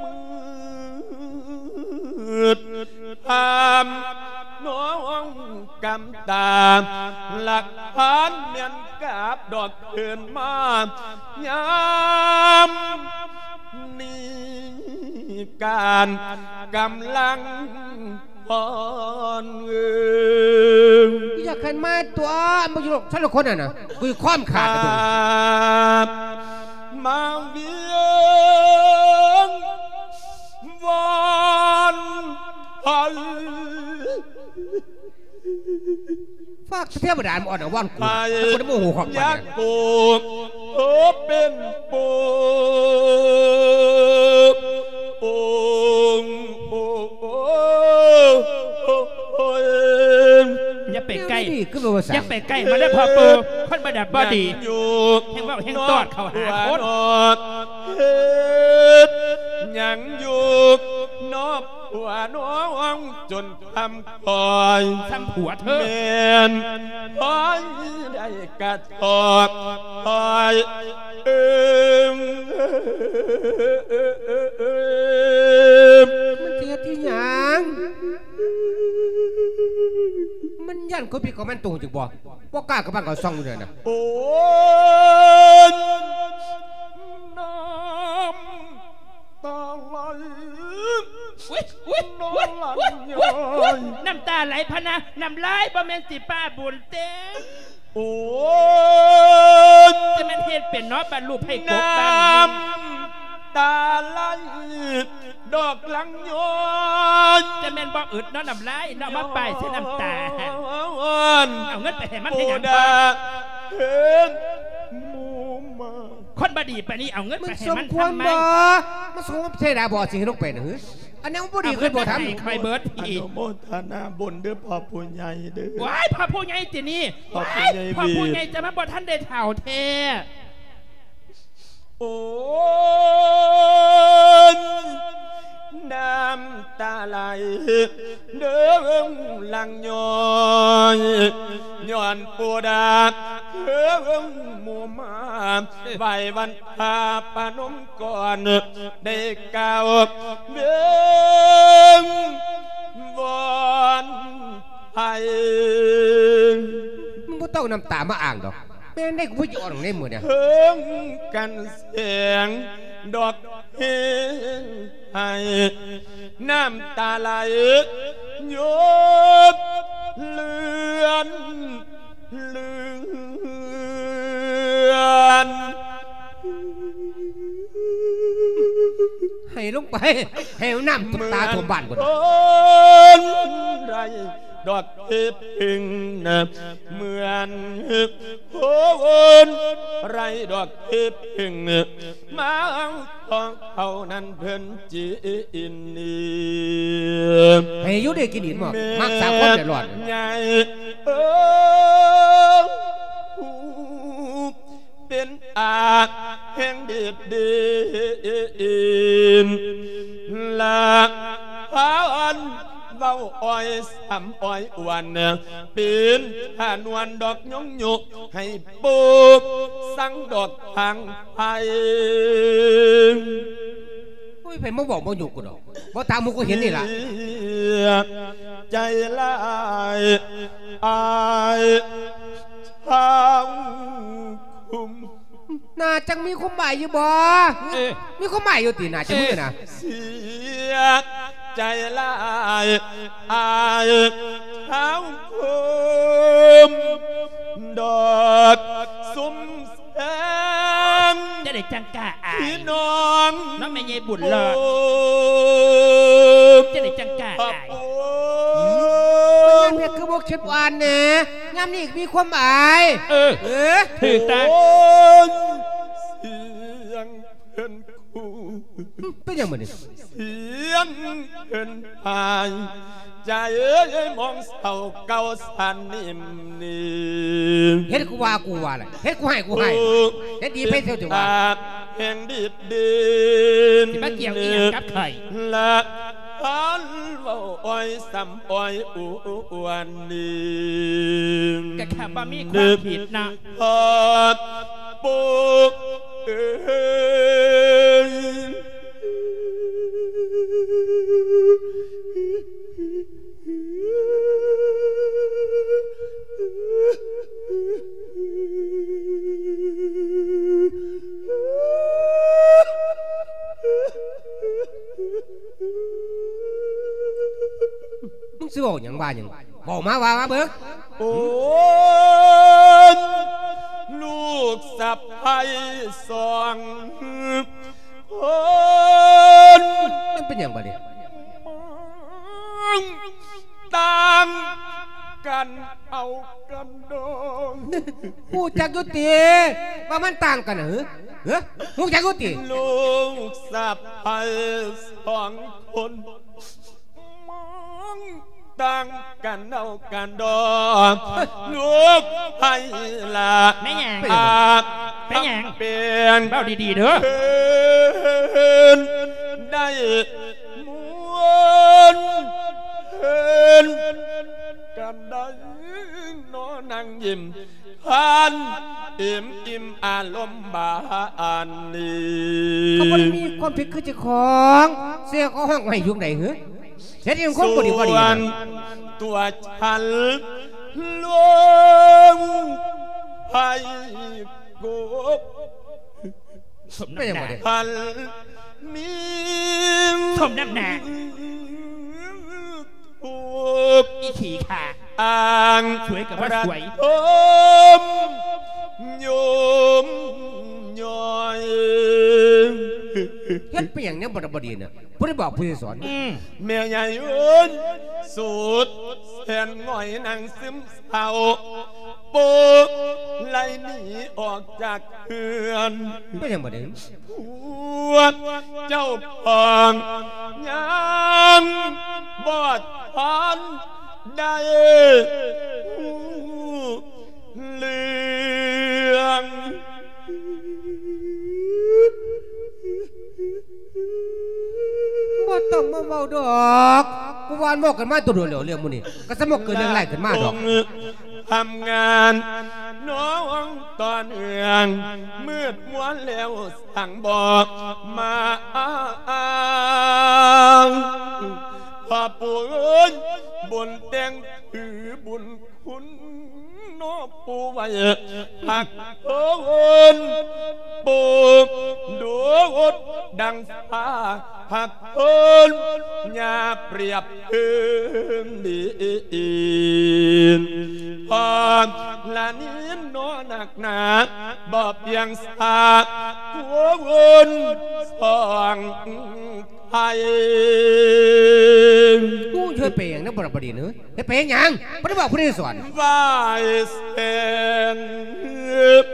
ມື້ ຖາມນ້ອງກຳຕາ ຫຼັກຖານແມ່ນກາບດອກເພິ່ນມາ ຍາມນີ້ການກຳລັງ ອ່ອນເອີ ຢາກຂຶ້ນມາຕົວະ ບໍ່ຢູ່ດອກ ຊັ້ນລະຄົນນັ້ນນະ ກູຄວາມຂາດນະເບິ່ງ ມາວຽງວອນໄພ ຝາກເທວະດາມາອອນອາວອນກູ ໃຫ້ ຖ້າກູໄດ້ໂມໂຫຂອງມັນ ຢາກກູໂຕເປັນປູ ໂອ້ ໂອ້ ໂອ້ ໂອ້ຍ ຢ່າໄປໃກ້ ແນວນີ້ຄືບໍ່ວ່າ ຢ່າໄປໃກ້ມາເດີພໍ່ປູ່ ຄົນບໍ່ດຳບໍ່ດີ ແຮງເວົ້າແຮງຕອດເຂົ້າຫາຄົນ ເຮັດຫຍັງຢູ່ນອກຫົວນ້ອງຈົນ ຄຳຄອຍ ຊ້ຳຜົວເທີ ແມ່ນຄອຍໄດ້ກະທອກຄອຍ ເອີມ ມັນຊິເຮັດອີຫຍັງ? ມັນຢ້ານຄົນຜິດຂອງມັນຕົວຈັ່ງບໍ່? ບໍ່ກ້າກະບັງເຂົາຊ່ອງຢູ່ນັ້ນນະ ໂອ້ຍ ນ້ຳ ຕາໄຫຼ ອຸ້ຍ ອຸ້ຍ ອຸ້ຍ ອຸ້ຍ ນ້ຳຕາໄຫຼພະນະ ນ້ຳລາຍ ບໍ່ແມ່ນຊິປ້າບຸນເຕະ ໂອ້ຍ ຈະແມ່ນເຮັດເປັນເນາະ ບາດລູກໃຫ້ກົບບ້ານ ນ້ຳຕາໄຫຼ ດອກລັງຍ້ອນ ຈະແມ່ນບໍ່ອຶດເນາະ ນ້ຳລາຍເນາະ ມາປ້າຍໃສ່ນ້ຳຕາ ເອົາເງິນໄປໃຫ້ມັນເຮັດຫຍັງ ເຫັນໝູ່ມາ ຄົນບໍ່ດີປານນີ້ ເອົາເງິນໄປໃຫ້ມັນທຳໄມ ມັນສົມຄວນບໍ່? ມັນສົມຄວນເທວະດາບໍ່ ສິ່ງທີ່ລົງໄປນະ ຫື? ອັນນັ້ນມັນບໍ່ດີຂຶ້ນບໍ່ທຳ ເອົາເງິນໄປໃຫ້ຂ້ອຍເບິດ ອະນຸໂມທະນາບຸນເດີພໍ່ຜູ້ໃຫຍ່ເດີ ວ້າຍ ພໍ່ຜູ້ໃຫຍ່ຕິນີ້ ພໍ່ຜູ້ໃຫຍ່ ວ້າຍ ພໍ່ຜູ້ໃຫຍ່ ຈະມາບໍ່ທັນໄດ້ເຖົ້າແທ້ ໂອ້ຍ ນ້ຳຕາໄຫຼ ເດີງຫຼັງຍ້ອຍ ຍ້ອນປູດາເທີງໝູ່ມາ ໄຫວ້ວັນພາປະນົມກ່ອນ ໄດ້ກ່າວເບິ່ງວອນໃຫ້ ມຶງບໍ່ຕ້ອງນ້ຳຕາມາອ້າງດອກ ແມ່ນໄດ້ກູບໍ່ຊິອອກໃນມື້ນີ້ ເທິງກັນແສງດອກເຮງ ໃຫ້ນ້ຳຕາໄຫຼ ຍົດເລືອນເລືອນ ໃຫ້ລົງໄປ ໃຫ້ນ້ຳຕົກຕາຖ້ວມບ້ານພຸ້ນ ຄົນໄຮ້ດອກເຫັບເພິ່ງ ເໝືອນຄົນໄຮ້ດອກເຫັບເພິ່ງ ມາ ຂອງເຂົານັ້ນເພິ່ນຈິນດີ ໃຫ້ຢູ່ດີກິນດີເນາະ ມັກສາຄົນແດດຮ້ອນ ແມ່ນໃຫຍ່ເອີ ເປັນອາແຫ່ງດີດດີນ ລະພານເວົ້າອ້ອຍຊ້ຳອ້ອຍອວນ ເປັນທານວນດອກຍົງໂຍ ໃຫ້ປູກສັງດອກທາງໄພ ໂອ້ຍ ໃຜມາເວົ້າບໍ່ຫຍຸກກູດອກ ບໍ່ຕາມໝູ່ກູເຫັນນີ້ລະ ໃຈຫຼາຍ ອາຍທາງຄຸມ ໜ້າຈັກມີຄວາມໝາຍຢູ່ບໍ່? ເອີ ມີຄວາມໝາຍຢູ່ຕິ ໜ້າຈັກມື້ນະ ເສຍໃຈຫຼາຍ ອາຍເຮົາຄົມດອກຊຸມແສງ ຈັ່ງໃດຈັ່ງກ້າອາຍ ພີ່ນ້ອງ ເນາະ ແມ່ໃຫຍ່ບຸນເລີດ ຈັ່ງໃດຈັ່ງກ້າອາຍ ຍາມເຮັດຄືບໍ່ຄິດວ່າແດ່ ຍາມນີ້ມີຄວາມອາຍ ເອີ ເອີ ຖືກຕາ ໂອ້ຍ ສຽງເພິ່ນ ເປັນຫຍັງບັດນີ້? ສຽງເພິ່ນພາຍ ໃຈເອີຍ ມອງເສົ້າເກົ່າສັນນິມນີ ເຮັດກູວ່າກູວ່າລະ ເຮັດກູໃຫ້ກູໃຫ້ ເຮັດດີໄປເທື່ອຖືວ່າ ແຫ່ງດີດດີນ ຊິມາກ່ຽວອີ່ຫຍັງກັບຂ້ອຍ? ລະ ອັນເວົ້າອ້ອຍຊ້ຳອ້ອຍອວນນີ້ ກະຂ້າບໍ່ມີຄວາມຜິດນະ ພໍ່ປູເອີຍ ຊິເວົ້າຫຍັງວ່າຫຍັງ ເວົ້າມາ ວ່າມາເບິ່ງ. ໂອ້ຍ ລູກສະໃພ້ສອງຄົນ ມັນເປັນຫຍັງບາດນີ້? ຕ່າງກັນເອົາກັນດອງ. ຮູ້ຈັກຢູ່ຕິວ່າມັນຕ່າງກັນ? ຫື ຫື ຮູ້ຈັກຢູ່ຕິ? ລູກສະໃພ້ສອງຄົນ ຕ່າງກັນເອົາກັນດອງ ລູກໃຜລະ ແມ່ນຫຍັງ? ເປັນຫຍັງ? ເປັນຫຍັງ? ເວົ້າດີໆເດີ ເພິ່ນໄດ້ມ່ວນ ເພິ່ນກັນໄດ້ ນອນນັ່ງຍິ້ມ ພັນອີ່ມອີ່ມອາລົມບານນີ້ ເຂົາບໍ່ໄດ້ມີຄວາມຜິດຄືເຈົ້າຂອງ ເສຍເຂົາຮ້ອງໄຫ້ຢູ່ໃດຫື? ເຮັດອີ່ຫຍັງຄົນບໍ່ດີບໍ່ດີ ສ່ວນຕົວສັນລົງໄພກົບ ສົມນ້ຳໜ້າ ພັນມີ ສົມນ້ຳໜ້າ ທຸກ ອີຂີ້ຂ້າ ອ້າງ ສວຍກໍບໍ່ສວຍ ລະທົມຍົມຍ້ອຍ ເຮັດໄປຫຍັງແນວບໍ່ດີນະ? ຜູ້ໃດບອກ ຜູ້ໃດສອນ? ອືມ ແມ່ໃຫຍ່ເອີຍ ສຸດແສນຫງອຍນັ່ງຊຶມເສົ້າ ໂປະໄລ່ໜີອອກຈາກເຮືອນ ເປັນຫຍັງບາດນີ້? ຜົວເຈົ້າຂອງຍັງບໍ່ທັນໄດ້ຮູ້ເລື່ອງ. ບໍ່ຕ້ອງມາເວົ້າດອກ ກູວ່າເວົ້າກັນມາແຕ່ດົນແລ້ວ ເລື່ອງໝູ່ນີ້ ກໍສະໝົກເກີດເລື່ອງຫຼາຍຂຶ້ນມາດອກ. ທຳງານນ້ອງຕໍ່ເນື່ອງ ມືດມົວແລ້ວ ສັງບອກມາອ້າງ ພໍ່ປູ່ເອີຍ ບຸນແຕ່ງຖືບຸນຄຸນ ເນາະປູ່ໄວ້ ຮັກເພິ່ນປູ່ໂດດດັ່ງຟ້າ ຮັກເພິ່ນຍ່າປຽບເທີງດີ ພໍ່ລະນີນເນາະນັກໜາ ບໍ່ພຽງສາກຄົນສອງ ໄທ ກູເຮັດໄປຫຍັງນະ ບໍ່ລະບໍ່ດີນເອີຍ ເຮັດໄປຫຍັງ? ບໍ່ໄດ້ບອກຜູ້ໃດສອນ ວາຍແສນ ເອີຍ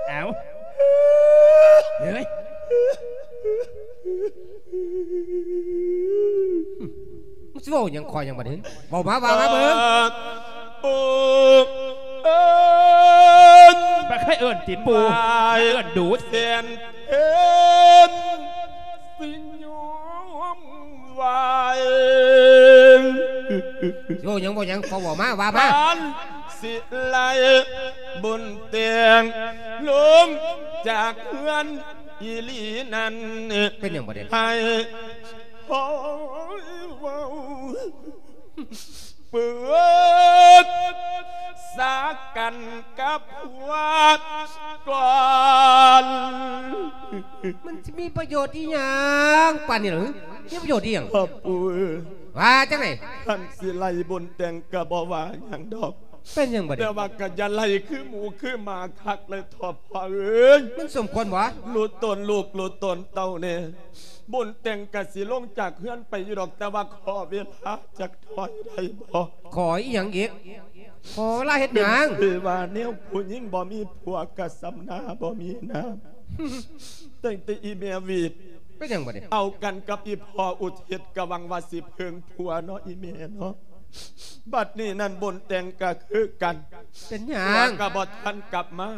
ເອົາ ເອີຍ ມັນຊິເວົ້າຫຍັງຂ້ອຍຫຍັງບາດນີ້? ເວົ້າມາ ເວົ້າມາເບິ່ງ. ບໍ່ເອີ້ນຕິປູ່ ເອີ້ນດູດ ແສນເພັນ ຊິຍອມວາຍ ຊິເວົ້າຫຍັງ ເວົ້າຫຍັງ ເວົ້າມາ ວ່າມາ. ຄັນຊິໄລ່ບຸນແຕ່ງລົງຈາກເຮືອນອີ່ຫຼີນັ້ນ ເປັນຫຍັງບາດນີ້? ໃຫ້ ໂອ້ຍ ເວົ້າປຶກສາກັນກັບຜົວກ່ອນ. ມັນຊິມີປະໂຫຍດອີ່ຫຍັງປານນີ້ລະ? ມີປະໂຫຍດອີ່ຫຍັງ? ພໍ່ປູ່ເອີຍ ວ່າຈັ່ງໃດ? ຄັນຊິໄລ່ບຸນແຕ່ງກໍບໍ່ວ່າຫຍັງດອກ. ເປັນຫຍັງບາດນີ້? ແຕ່ວ່າກໍຢ່າໄລ່ຄືໝູຄືໝາຄັກເລີຍ ພໍ່ພໍ່ເອີຍ. ມັນສົມຄວນບໍ່? ຮູ້ຕົນລູກຮູ້ຕົນເຕົ້າແດ່. ບຸນແຕ່ງກະຊິລົງຈາກເຮືອນໄປຢູ່ດອກ ແຕ່ວ່າຂໍເວລາຈັກໜ້ອຍໄດ້ບໍ່? ຂໍອີ່ຫຍັງອີກ? ຂໍເວລາເຮັດຫຍັງ? ເປັນຄືວ່າແນວຜູ້ຍິງບໍ່ມີຜົວກະຊຳນາບໍ່ມີນາມ. ຕັ້ງແຕ່ອີ່ແມ່ຫວີດ ເປັນຫຍັງບາດນີ້? ເອົາກັນກັບອີ່ພໍ່ອຸທິດ ກະຫວັງວ່າຊິເພິ່ງຜົວເນາະ ອີ່ແມ່ເນາະ. ບັດນີ້ນັ້ນບຸນແຕ່ງກະຄືກັນ ເປັນຫຍັງ? ຜົວກະບໍ່ທັນກັບມາ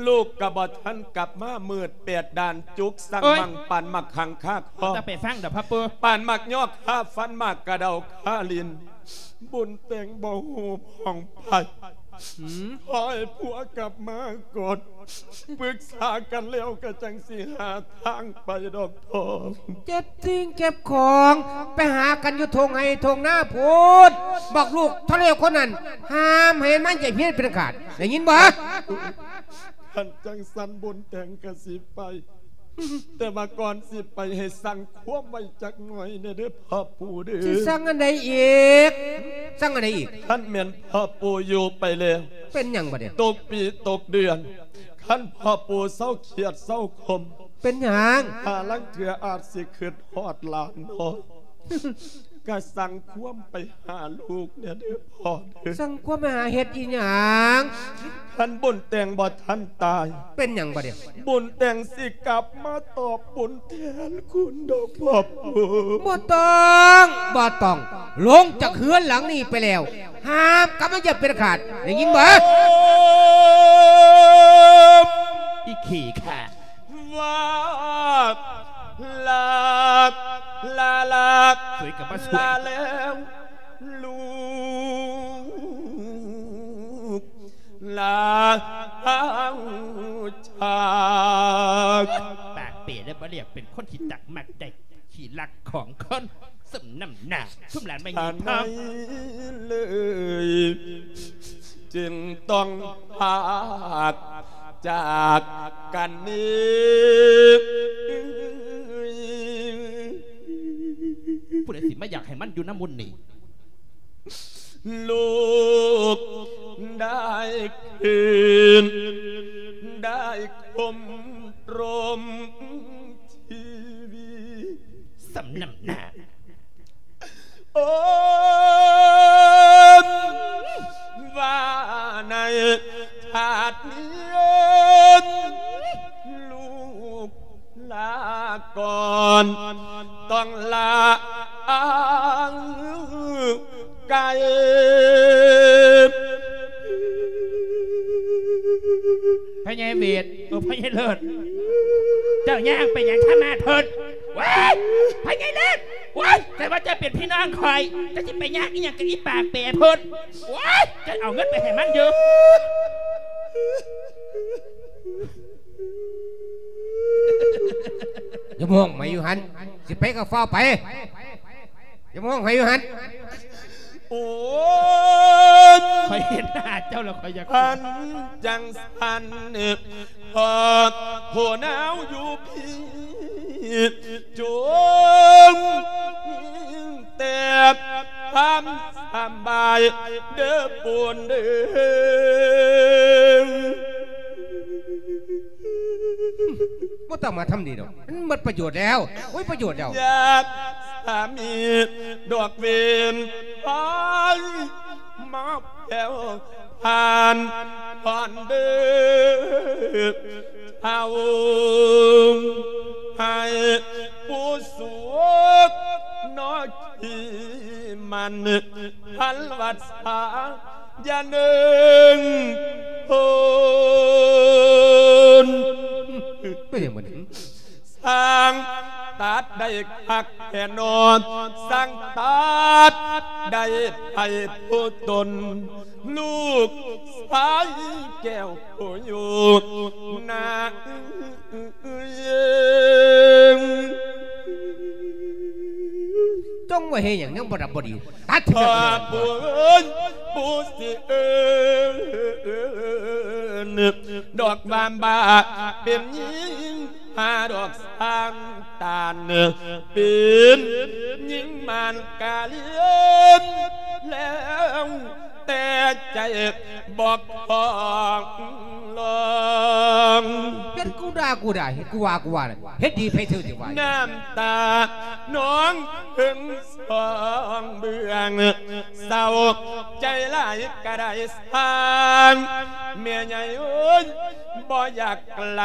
ລູກກະບໍ່ທັນກັບມາ ມືດແປດດ້ານ ຈຸກສັງມັງ ປານໝາກຂັງຄາຄໍ ແຕ່ໄປຟັງດອກ ພະປູ່ ປານໝາກຍອກຄາຟັນ ໝາກກະເດົາຄາລິ້ນ. ບຸນແຕ່ງບໍ່ຮູ້ຜ່ອງໄພ ອືມ ຂໍໃຫ້ຜົວກັບມາກ່ອນ ປຶກສາກັນແລ້ວກໍຈັ່ງຊິຫາທາງໄປດອກທອງ. ເກັບສິ່ງເກັບຂອງ ໄປຫາກັນຢູ່ທົ່ງໄຮ່ທົ່ງນາພຸ້ນ. ບອກລູກເຖົ້າແລ້ວຄົນນັ້ນ ຫ້າມໃຫ້ມັນຢາກເຮັດເປັນຂາດ ໄດ້ຍິນບໍ່? ຄັນຈັ່ງຊັ້ນບຸນແຕງກໍຊິໄປ. ແຕ່ວ່າກ່ອນຊິໄປໃຫ້ສັ່ງຄວາມໄວ້ຈັກໜ້ອຍແດ່ເດີພໍ່ປູ່ເດີ. ຊິສັ່ງອັນໃດອີກ? ສັ່ງອັນໃດອີກ? ຄັນແມ່ນພໍ່ປູ່ຢູ່ໄປແລ້ວ ເປັນຫຍັງບັດນີ້? ຕົກປີຕົກເດືອນ ຄັນພໍ່ປູ່ເຊົາຄຽດເຊົາຄົມ ເປັນຫຍັງ? ຫາລາງເທື່ອອາດຊິຄິດຮອດຫຼານນ້ອຍ ກະສັ່ງຄວາມໄປຫາລູກແດ່ເດີພໍ່ເດີ. ສັ່ງຄວາມໄປຫາເຮັດອີຫຍັງ? ຄັນບຸນແຕງບໍ່ທັນຕາຍ ເປັນຫຍັງບາດນີ້? ບຸນແຕງຊິກັບມາຕອບບຸນແທນຄຸນດອກພໍ່ປູ່. ບໍ່ຕ້ອງ ບໍ່ຕ້ອງ ລົງຈາກເຮືອນຫຼັງນີ້ໄປແລ້ວ ຫ້າມກັບມາຢາກເປັນຂາດ ໄດ້ຍິນບໍ່? ອີຂີ້ຂ້າ ວ່າ ລາ ລາ ລາ ສວຍກັບມາສວຍ ລາແລ້ວລູກ ລາຈາກ ປາກເປແລ້ວບໍ່ລຽກເປັນຄົນທີ່ຕັກມັກໄດ້ ຂີ້ລັກຂອງຄົນ ສົມນ້ຳໜ້າ ຊຸມຫຼານແມ່ຍາຍທອງເລີຍ ຈຶ່ງຕ້ອງພາກຈາກກັນນີ້. ຜູ້ໃດຊິມາຢາກໃຫ້ມັນຢູ່ນຳບຸນນີ້? ລູກໄດ້ຄືນ ໄດ້ຄົມລົມ ຊີວິດ ສ່ຳນ້ຳໜ້າ ໂອ້ ວ່າໃນຊາດນີ້ ລູກລາກ່ອນ ຕ້ອງລາໄກ. ພໍ່ໃຫຍ່ເວດ ໂອ້ ພໍ່ໃຫຍ່ເລີດ ເຈົ້າຍ່າງໄປຫຍັງທາມາດພຸ້ນ? ວ້າຍ ພໍ່ໃຫຍ່ເລີດ ວ້າຍ ແຕ່ວ່າເຈົ້າເປັນພີ່ນ້ອງຂ້ອຍ ເຈົ້າຊິໄປຍາກອີ່ຫຍັງກັບອີ່ປາກເປພຸ້ນ? ວ້າຍ ເຈົ້າເອົາເງິນໄປໃຫ້ມັນຢູ່. ຢ່າມາຮ້ອງໃໝ່ຢູ່ຫັ້ນ ຊິໄປກໍຟ້າວໄປ ຢ່າມາຮ້ອງໄຫ້ຢູ່ຫັ້ນ. ໂອ້ຍ ຂ້ອຍເຫັນໜ້າເຈົ້າແລ້ວຂ້ອຍຢາກ ຄັນຈັ່ງຊັ້ນ ພໍ່ຜູ້ໜາວຢູ່ພີ້ ຈົ່ງແຕ່ຄວາມສຳບາຍເດີປູ່ນເດີ. ບໍ່ຕ້ອງມາທຳນີ້ດອກ ມັນໝົດປະໂຫຍດແລ້ວ ໂອ້ຍ ປະໂຫຍດແລ້ວ. ຢາກສາມີດອກເວນໄພມາແຜ່ວຜ່ານຜ່ອນເດີ ເອົາໃຫ້ປູ່ສຸກນອກທີ່ມັນພັນວັດສາ ຢ່າເນີ່ງໂພນ ເປັນຫຍັງມັນ? ຊ່າງຕັດໄດ້ຄັກແທ້ນອນ ຊ່າງຕັດໄດ້ໄປຜູ້ຕົນ ລູກຊາຍແກ້ວຜູ້ຢູ່ນາ ຈົ່ງວ່າເຮັດຫຍັງຍັງບໍ່ດັບບໍ່ດີ ຕັດເທື່ອ ພໍ່ປູ່ເອີຍ ປູ່ຊິເອີ້ນ ດອກບາມບາ ເປັນຍິງຫາດອກສ້າງຕານ ເປັນຍິງມານກາລຽນແລ້ວ ແຕ່ໃຈບໍ່ຂອງລອງ ເຮັດກູດ່າກູດ່າ ເຮັດກູວ່າກູວ່າ ເຮັດດີໃຜເທື່ອຊິວ່າ ນ້ຳຕານອງເພິ່ງສອງເບື້ອງ ເສົ້າໃຈຫຼາຍກະໄດ້ສ້າງ ແມ່ໃຫຍ່ເອີຍ ບໍ່ຢາກໄກລ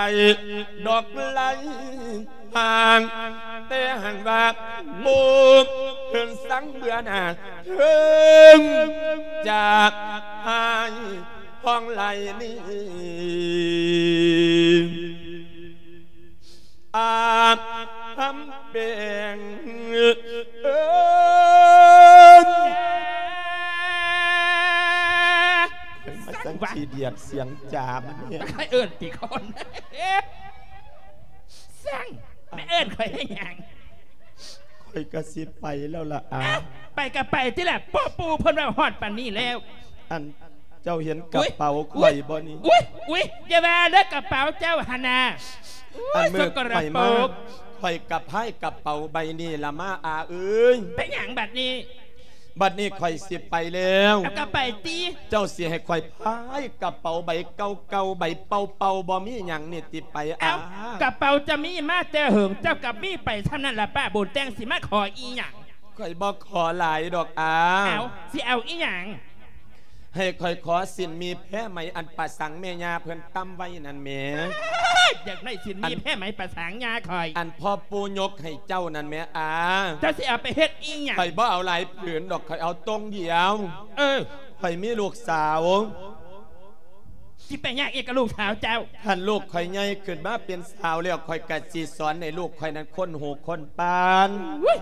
ດອກໄກ ຫ່າງ ແຕ່ຫາກວ່າໝູ່ເພິ່ນສັງເບື່ອໜ້າ ເຖິງຈະຫາຍຫ້ອງໄຫຼນີ້ ອາດທຳແປງເອີຍ. ຈັ່ງຂີ້ດຽດສຽງຈາມັນແຮງ. ຂ້ອຍເອີ້ນຕິຄົນ. ເອີ ຊ່າງ ແມ່ເອີ້ນຂ້ອຍເຮັດຫຍັງ? ຂ້ອຍກໍຊິໄປແລ້ວລະອາ. ເອົ້າ ໄປກໍໄປຕິລະ ພໍ່ປູ່ເພິ່ນເວົ້າຮອດປານນີ້ແລ້ວ. ອັນ ເຈົ້າເຫັນກະເປົາຂ້ອຍບໍ່ນີ້? ອຸ້ຍ ອຸ້ຍ ຢ່າວ່າເລີຍ ກະເປົາເຈົ້າຫັ້ນນະ. ອຸ້ຍ ອັນມື້ຂ້ອຍມາ ສະກະປະປົກ ຂ້ອຍກໍພາຍກະເປົາໃບນີ້ລະມາ ອາເອີຍ. ເປັນຫຍັງບັດນີ້? ບັດນີ້ຂ້ອຍຊິໄປແລ້ວ. ເອົາກໍໄປຕິ. ເຈົ້າຊິໃຫ້ຂ້ອຍພາຍກະເປົາໃບເກົ່າໆ ໃບເປົ່າໆ ບໍ່ມີຫຍັງນີ້ຕິໄປ ເອົ້າ ອາ? ກະເປົາເຈົ້າມີມາແຕ່ເຫິງ ເຈົ້າກໍມີໄປສ່ຳນັ້ນລະ ປ້າບຸນແຕ່ງຊິມາຂໍອີ່ຫຍັງ? ຂ້ອຍບໍ່ຂໍຫຼາຍດອກອາ. ເອົາ ຊິເອົາອີ່ຫຍັງ? ໃຫ້ຂ້ອຍຂໍສິ້ນໝີ່ແພໄໝ ອັນປາສັງແມ່ຍ່າເພິ່ນຕຳໄວ້ນັ້ນແໝ. ຢາກໄດ້ສິ້ນໝີ່ ອັນ ແພໄໝປາສັງຍ່າຂ້ອຍ ອັນພໍ່ປູ່ຍົກໃຫ້ເຈົ້ານັ້ນແໝອາ. ເຈົ້າຊິເອົາໄປເຮັດອີ່ຫຍັງ? ຂ້ອຍບໍ່ເອົາຫຼາຍຜືນດອກ ຂ້ອຍເອົາຕົງດຽວ. ເອີ ຂ້ອຍມີລູກສາວ. ຊິໄປຍາກອີ່ຫຍັງກັບລູກສາວເຈົ້າ? ຄັນລູກຂ້ອຍໃຫຍ່ຂຶ້ນມາເປັນສາວແລ້ວ ຂ້ອຍກໍຊິສອນໃຫ້ລູກຂ້ອຍນັ້ນຄົນຫູຄົນປານ. ອຸ້ຍ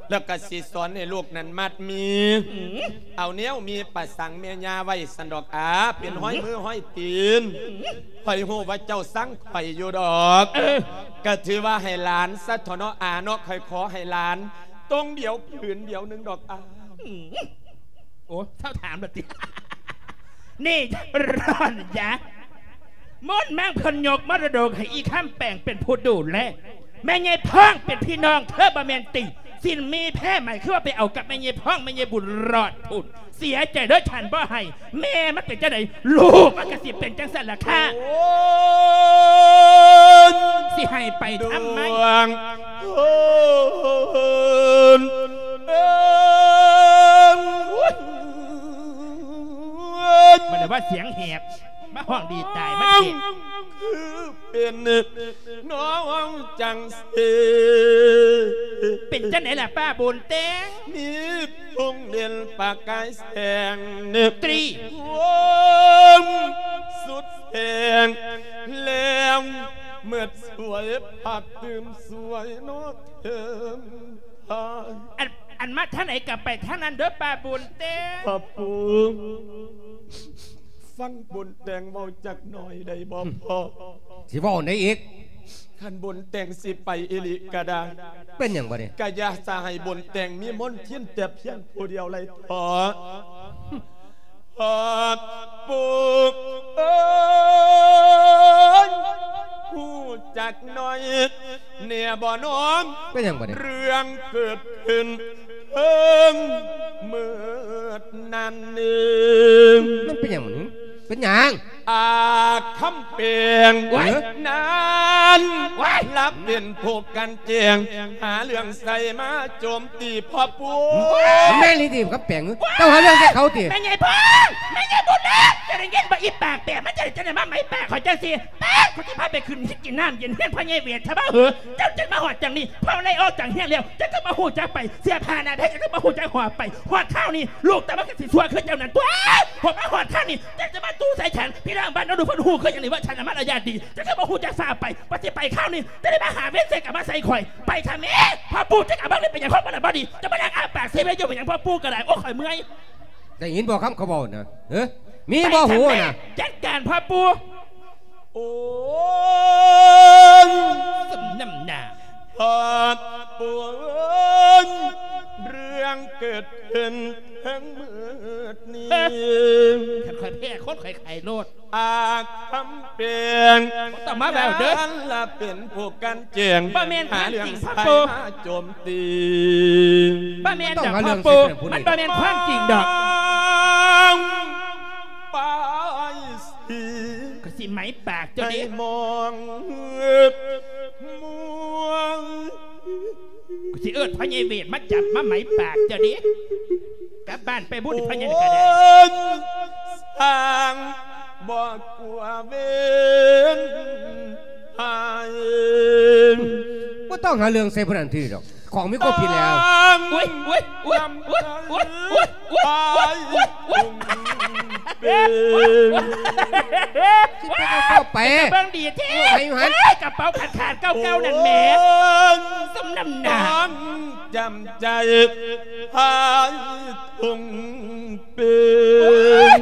ແລ້ວກໍຊິສອນໃຫ້ລູກນັ້ນມັດໝີ່ ອືມ ເອົາແນວໝີ່ປາສັງແມ່ຍ່າໄວ້ຊັ້ນດອກອາ ເປັນ ອືມ ຮ້ອຍມືຮ້ອຍຕີນ. ອືມ ຂ້ອຍຮູ້ວ່າເຈົ້າຊັງຂ້ອຍຢູ່ດອກ. ເອີ ກໍຖືວ່າໃຫ້ຫຼານຊະເຖາະເນາະອາເນາະ ຂ້ອຍຂໍໃຫ້ຫຼານຕົງດຽວຜືນດຽວໜຶ່ງດອກອາ. ອືມ ໂອ້ ເຊົາຖາມລະຕິ. ນີ້ ຮ້ອນຢາ ໝູນມັງເພິ່ນຍົກມໍລະດົກໃຫ້ອີ່ຄຳແປງເປັນຜູ້ດູແລ ແມ່ໃຫຍ່ພ້ອງເປັນພີ່ນ້ອງເທີບໍ່ແມ່ນຕິ? ສິ້ນໝີ່ແພໄໝຄືວ່າໄປເອົາກັບແມ່ໃຫຍ່ພ້ອງ ແມ່ໃຫຍ່ບຸນລອດພຸ້ນ. ເສຍໃຈເດີ ຄັນບໍ່ໃຫ້ ແມ່ມັນເປັນຈັ່ງໃດ ລູກມັນກໍຊິເປັນຈັ່ງຊັ້ນລະຄ່າ. ໂອ້ຍ ຊິໃຫ້ໄປທຳໄມ? ດວງ ໂອ້ຍ ມັນໄດ້ວ່າສຽງແຫບ ມາຮ້ອງດີຕາຍ ມັນເຈັບ. ຄືເປັນນ້ອງຈັ່ງຊີ້ ເປັນຈັ່ງໃດລະປ້າບຸນແຕ່ງ? ມີ ພວງເດັ່ນປະກາຍແສງ ຕຣີ ໂຮມສຸດແສງ ແລ້ວເໝິດສວຍ ພັດຕື່ມສວຍເນາະເທີມທາຍ. ອັນ ອັນມາທາງໃດກໍໄປທາງນັ້ນເດີປ້າບຸນແຕ່ງ. ພໍ່ປູ່ ຟັງບຸນແຕ່ງເວົ້າຈັກໜ້ອຍໄດ້ບໍ່ພໍ່? ຊິເວົ້າໃດອີກ? ຄັນບຸນແຕ່ງຊິໄປອີ່ຫຼີກໍໄດ້. ເປັນຫຍັງບັດນີ້? ກະຢ່າສະໃຫ້ບຸນແຕ່ງມີມົນທິນແຕ່ພຽງຜູ້ດຽວໄລເຖາະ. ພໍ່ປູ່ເອີຍ ຮູ້ຈັກໜ້ອຍແດ່ບໍ່ນ້ອງ? ເປັນຫຍັງບັດນີ້? ເລື່ອງເກີດຂຶ້ນເຖິງເມີດນັ້ນເອີງ. ມັນເປັນຫຍັງ? ເປັນຫຍັງ? ອາຄຳແປງ ໂອ້ຍ ນັ້ນ ໂອ້ຍ ລະເປັນຜູ້ກັນແຈງ ຫາເລື່ອງໃສ່ມາໂຈມຕີພໍ່ປູ່. ມັນແມ່ນອີ່ຫຼີຕິຄຳແປງ? ເຈົ້າຫາເລື່ອງໃສ່ເຂົາຕິ? ແມ່ໃຫຍ່ພ້ອງ ແມ່ໃຫຍ່ບຸນເອີຍ ເຈົ້າໄດ້ຍິນບໍ່ອີປາກແປງ ມັນຈະໄດ້ ຈະໄດ້ມາໄໝປາກຂ້ອຍຈັ່ງຊີ້? ປາດ ຂ້ອຍຊິພາພໍ່ໄປຂຶ້ນກິນນ້ຳເຢັນເຮືອນພໍ່ໃຫຍ່ເວດ ຖ້າວ່າເຫີ ເຈົ້າຈະມາຮອດຈັ່ງນີ້ ພໍ່ໄລ່ອອກຈາກເຮືອນແລ້ວ ເຈົ້າກໍບໍ່ຮູ້ຈັກໄປ ເສື້ອຜ້າໜ້າແພງ ເຈົ້າກໍບໍ່ຮູ້ຈັກຫອບໄປ ຮອດຄາວນີ້ ລູກເຈົ້າມັນກໍຊິຊົ່ວຄືເຈົ້ານັ້ນຕົວະ. ພໍມາຮອດຄາວນີ້ ເຈົ້າຈະມາຕູ້ໃສ່ສັນ ພີ່ນ້ອງບ້ານເຮົາດູເພິ່ນຮູ້ຄືຫຍັງນີ້ວ່າສັນນະມາລະຍາດດີ ເຈົ້າກໍບໍ່ຮູ້ຈັກຟ້າວໄປ ວ່າຊິໄປຄາວນີ້ ເຈົ້າໄດ້ມາຫາເວນໃສ່ກັບມາໃສ່ຂ້ອຍ ໄປທຳແມ່. ພໍ່ປູ່ ເຈົ້າກໍບໍ່ໄດ້ເປັນຫຍັງ ຄົນມັນລະບໍ່ດີ ເຈົ້າມານັ່ງອ້າປາກເຊເວຢູ່ເປັນຫຍັງ ພໍ່ປູ່ກໍໄດ້ ໂອ້ ຂ້ອຍເມື່ອຍ. ໄດ້ຍິນບໍ່ຄຳເຂົາເວົ້ານະ? ເອີ ມີບໍ່ຫູນະ? ຈັດການພໍ່ປູ່. ໂອ້ຍ ສົມນ້ຳໜ້າ ພໍ່ປູ່ເອີຍ ເລື່ອງເກີດຂຶ້ນທັງໝົດນີ້ ຄັນຂ້ອຍແພ້ຄົນ ຂ້ອຍໄຂ້ໂລດ. ອາຄຳແປງ ບໍ່ຕ້ອງມາເວົ້າເດີ ນັ້ນລະເປັນຜູ້ກັນແຈງ ບໍ່ແມ່ນຄວາມຈິງ ຫາເລື່ອງໃສ່ມາໂຈມຕີ ບໍ່ແມ່ນດອກ ພໍ່ປູ່ ມັນບໍ່ແມ່ນຄວາມຈິງດອກ. ປາຍສີ ຂ້ອຍຊິໄໝປາກເຈົ້າເດ້ ໃຫ້ມອງເຫືອບມວງ ກູຊິເອີ້ນພໍ່ໃຫຍ່ເວດມາຈັບມາໄໝປາກເຈົ້າເດ້ ກັບບ້ານໄປບຸນພໍ່ໃຫຍ່ກໍໄດ້. ໂອ້ຍ ສ້າງບໍ່ກົວເວນໃຜ ບໍ່ຕ້ອງຫາເລື່ອງໃສ່ຜູ້ນັ້ນທີດອກ ຂອງມີຄວາມຜິດແລ້ວ. ໂອ້ຍ ໂອ້ຍ ໂອ້ຍ ເປັນ ຊິເປັນເອົາເຂົ້າໄປ ເບິ່ງດີແທ້ ເອີ ຢູ່ຫັ້ນ ເອີຍ ກະເປົາຂາດໆ ເກົ່າໆ ນັ້ນແໝ ໂອ້ຍ ສົມນ້ຳໜ້າ ຕ້ອງຈຳໃຈພາຍທຸ່ງເປັນ.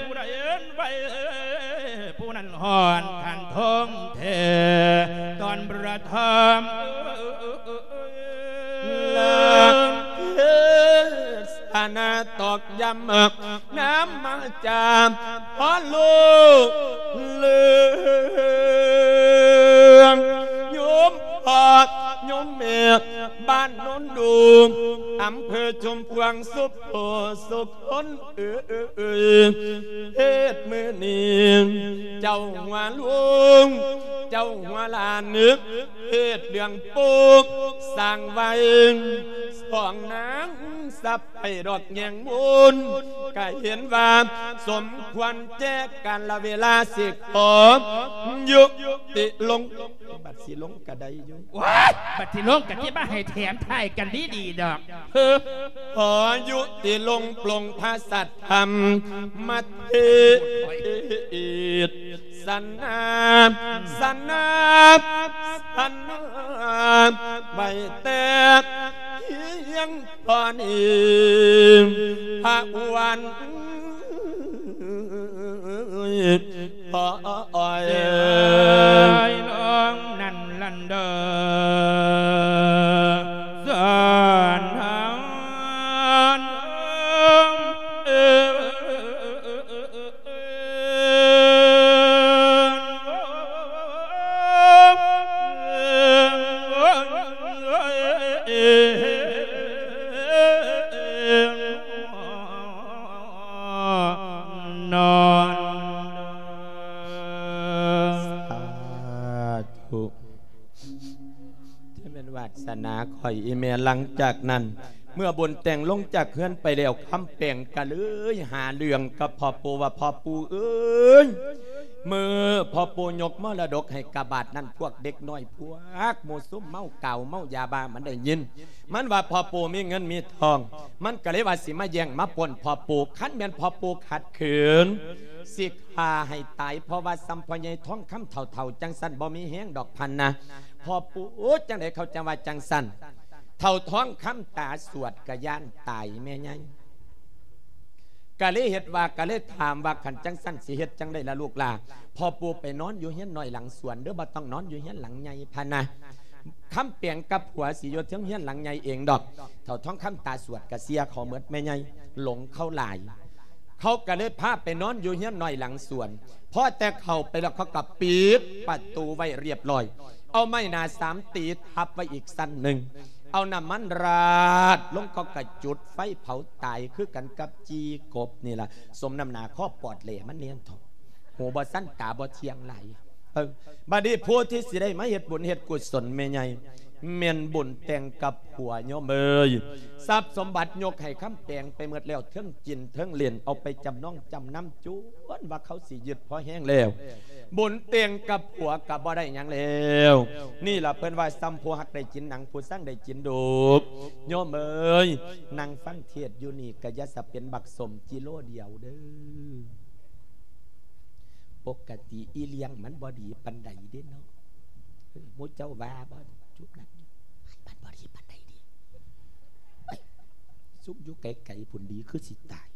ຜູ້ໃດເອີ້ນໄວ ຜູ້ນັ້ນຮອດຂັ້ນທອງແທ້ ຕອນປະທຳ ເລີກເທສະນາຕອກຢ້ຳ ນຳມາຈາກພໍ່ລູກເຫຼືອງ ໂຍມພໍ່ໂຍມແມ່ ບ້ານໂນນດູ ອຳເພີຊຸມພວງ ສຸໂຂ ສຸຄົນເອີຍ ເທດມື້ນີ້ ເຈົ້າຫົວລຸງ ເຈົ້າຫົວຫຼານ ເທດເລື່ອງປູກສ້າງໄວ້ ຂອງນາງສັບໄປດອກແຍງມູນ ກະເຫັນວ່າສົມຄວນແຈການລະເວລາ ຊິຂໍຍຸຕິລົງ ບັດຊິລົງກະໄດ້ຢູ່ ໂອ້ຍ ບັດຊິລົງກະຊິມາໃຫ້ແຖມທ້າຍກັນດີໆດອກ ເຮີ ຂໍຍຸຕິລົງປົງພະສັດທຳມະເທດ ສະໜາ ສະໜາ ສະໜາ ໄວ້ແຕ່ພຽງເທົ່ານີ້ ພະວັນ ໂອ້ຍ ເອີຍ ນ້ອງນັ້ນລັນເດີ ສານທານ ນອນ ສາທຸ ຈະແມ່ນວາດສະໜາຂ້ອຍອີ່ແມ່. ຫຼັງຈາກນັ້ນ ເມື່ອບຸນແຕ່ງລົງຈາກເຮືອນໄປແລ້ວ ຄຳແປງກະເລີຍຫາເລື່ອງກັບພໍ່ປູ່ວ່າ ພໍ່ປູ່ເອີຍ ເມື່ອພໍ່ປູ່ຍົກມໍລະດົກໃຫ້ກະບາດນັ້ນ ພວກເດັກນ້ອຍ ພວກໝູ່ຊຸມເມົາກາວເມົາຢາບ້າມັນໄດ້ຍິນ ມັນວ່າ ພໍ່ປູ່ມີເງິນມີທອງ ມັນກະເລີຍວ່າຊິມາແຍ່ງມາປຸ້ນພໍ່ປູ່ ຄັນແມ່ນພໍ່ປູ່ຂັດຂືນ ຊິຂ້າໃຫ້ຕາຍ ເພາະວ່າສ່ຳພໍ່ໃຫຍ່ທອງຄຳເຖົ້າໆ ຈັ່ງຊັ້ນບໍ່ມີແຮງດອກ ພັນນະ ພໍ່ປູ່ ໂອ້ ຈັ່ງໃດເຂົາຈັ່ງວ່າຈັ່ງຊັ້ນ ເຖົ້າທອງຄຳຕາສວດກະຢ້ານຕາຍແມ່ໃຫຍ່ ກະເລີຍເຮັດວ່າ ກະເລີຍຖາມວ່າ ຄັນຈັ່ງຊັ້ນຊິເຮັດຈັ່ງໃດລະລູກຫຼ້າ ພໍ່ປູ່ໄປນອນຢູ່ເຮືອນນ້ອຍຫຼັງສວນເດີ້ ບໍ່ຕ້ອງນອນຢູ່ເຮືອນຫຼັງໃຫຍ່ ພັນນະ ຄຳແປງກັບຜົວຊິຢູ່ເທິງເຮືອນຫຼັງໃຫຍ່ເອງດອກ ເຖົ້າທອງຄຳຕາສວດກະເຊື່ອເຂົາໝົດແມ່ໃຫຍ່ ຫຼົງເຂົາຫຼາຍ ເຂົາກະເລີຍພາໄປນອນຢູ່ເຮືອນນ້ອຍຫຼັງສວນ ພໍແຕ່ເຂົ້າໄປແລ້ວ ເຂົາກະປິດປະຕູໄວ້ຮຽບຮ້ອຍ ເອົາໄມ້ໜາສາມຕີທັບໄວ້ອີກຊັ້ນໜຶ່ງ ເອົານ້ຳມັນລາດລົງ ເຂົາກະຈຸດໄຟເຜົາຕາຍຄືກັນກັບຈີ່ກົບນີ້ລະ ສົມນ້ຳໜ້າຄໍປອດແຫຼມັນແໜ້ນເຖາະ ຫູບໍ່ສັນຕາບໍ່ທ່ຽງຫຼາຍ. ເອີ ບາດນີ້ຜູ້ທີ່ຊິໄດ້ມາເຮັດບຸນເຮັດກຸສົນແມ່ໃຫຍ່ ແມ່ນບຸນແຕ່ງກັບຜົວໂຍມເອີຍ ຊັບສົມບັດຍົກໃຫ້ຄຳແປງໄປໝົດແລ້ວ ເທິງກິນເທິງຫຼິ້ນ ເອົາໄປຈຳນອງຈຳນຳ ຈົນວ່າເຂົາຊິຍຶດພໍແຮງແລ້ວ ບຸນແຕ່ງກັບຜົວກະບໍ່ໄດ້ຫຍັງແລ້ວ. ນີ້ລະເພິ່ນວ່າ ສ່ຳຜູ້ຮັກໄດ້ກິນໜັງ ຜູ້ຊັງໄດ້ກິນດຸບ ໂຍມເອີຍ ນັ່ງຟັງເທດຢູ່ນີ້ກະຢ່າສະເປັນບັກສົ້ມກິໂລດຽວເດີ້. ປົກກະຕິອີ່ລ້ຽງມັນບໍ່ດີປານໃດເດ້ເນາະ ໝູ່ເຈົ້າວ່າບໍ່ ຈຸບນັ້ນມັນບໍ່ດີປານໃດເດ້ ເອີຍ ຊຸມຢູ່ໄກໆພຸ້ນດີຄືຊິຕາຍ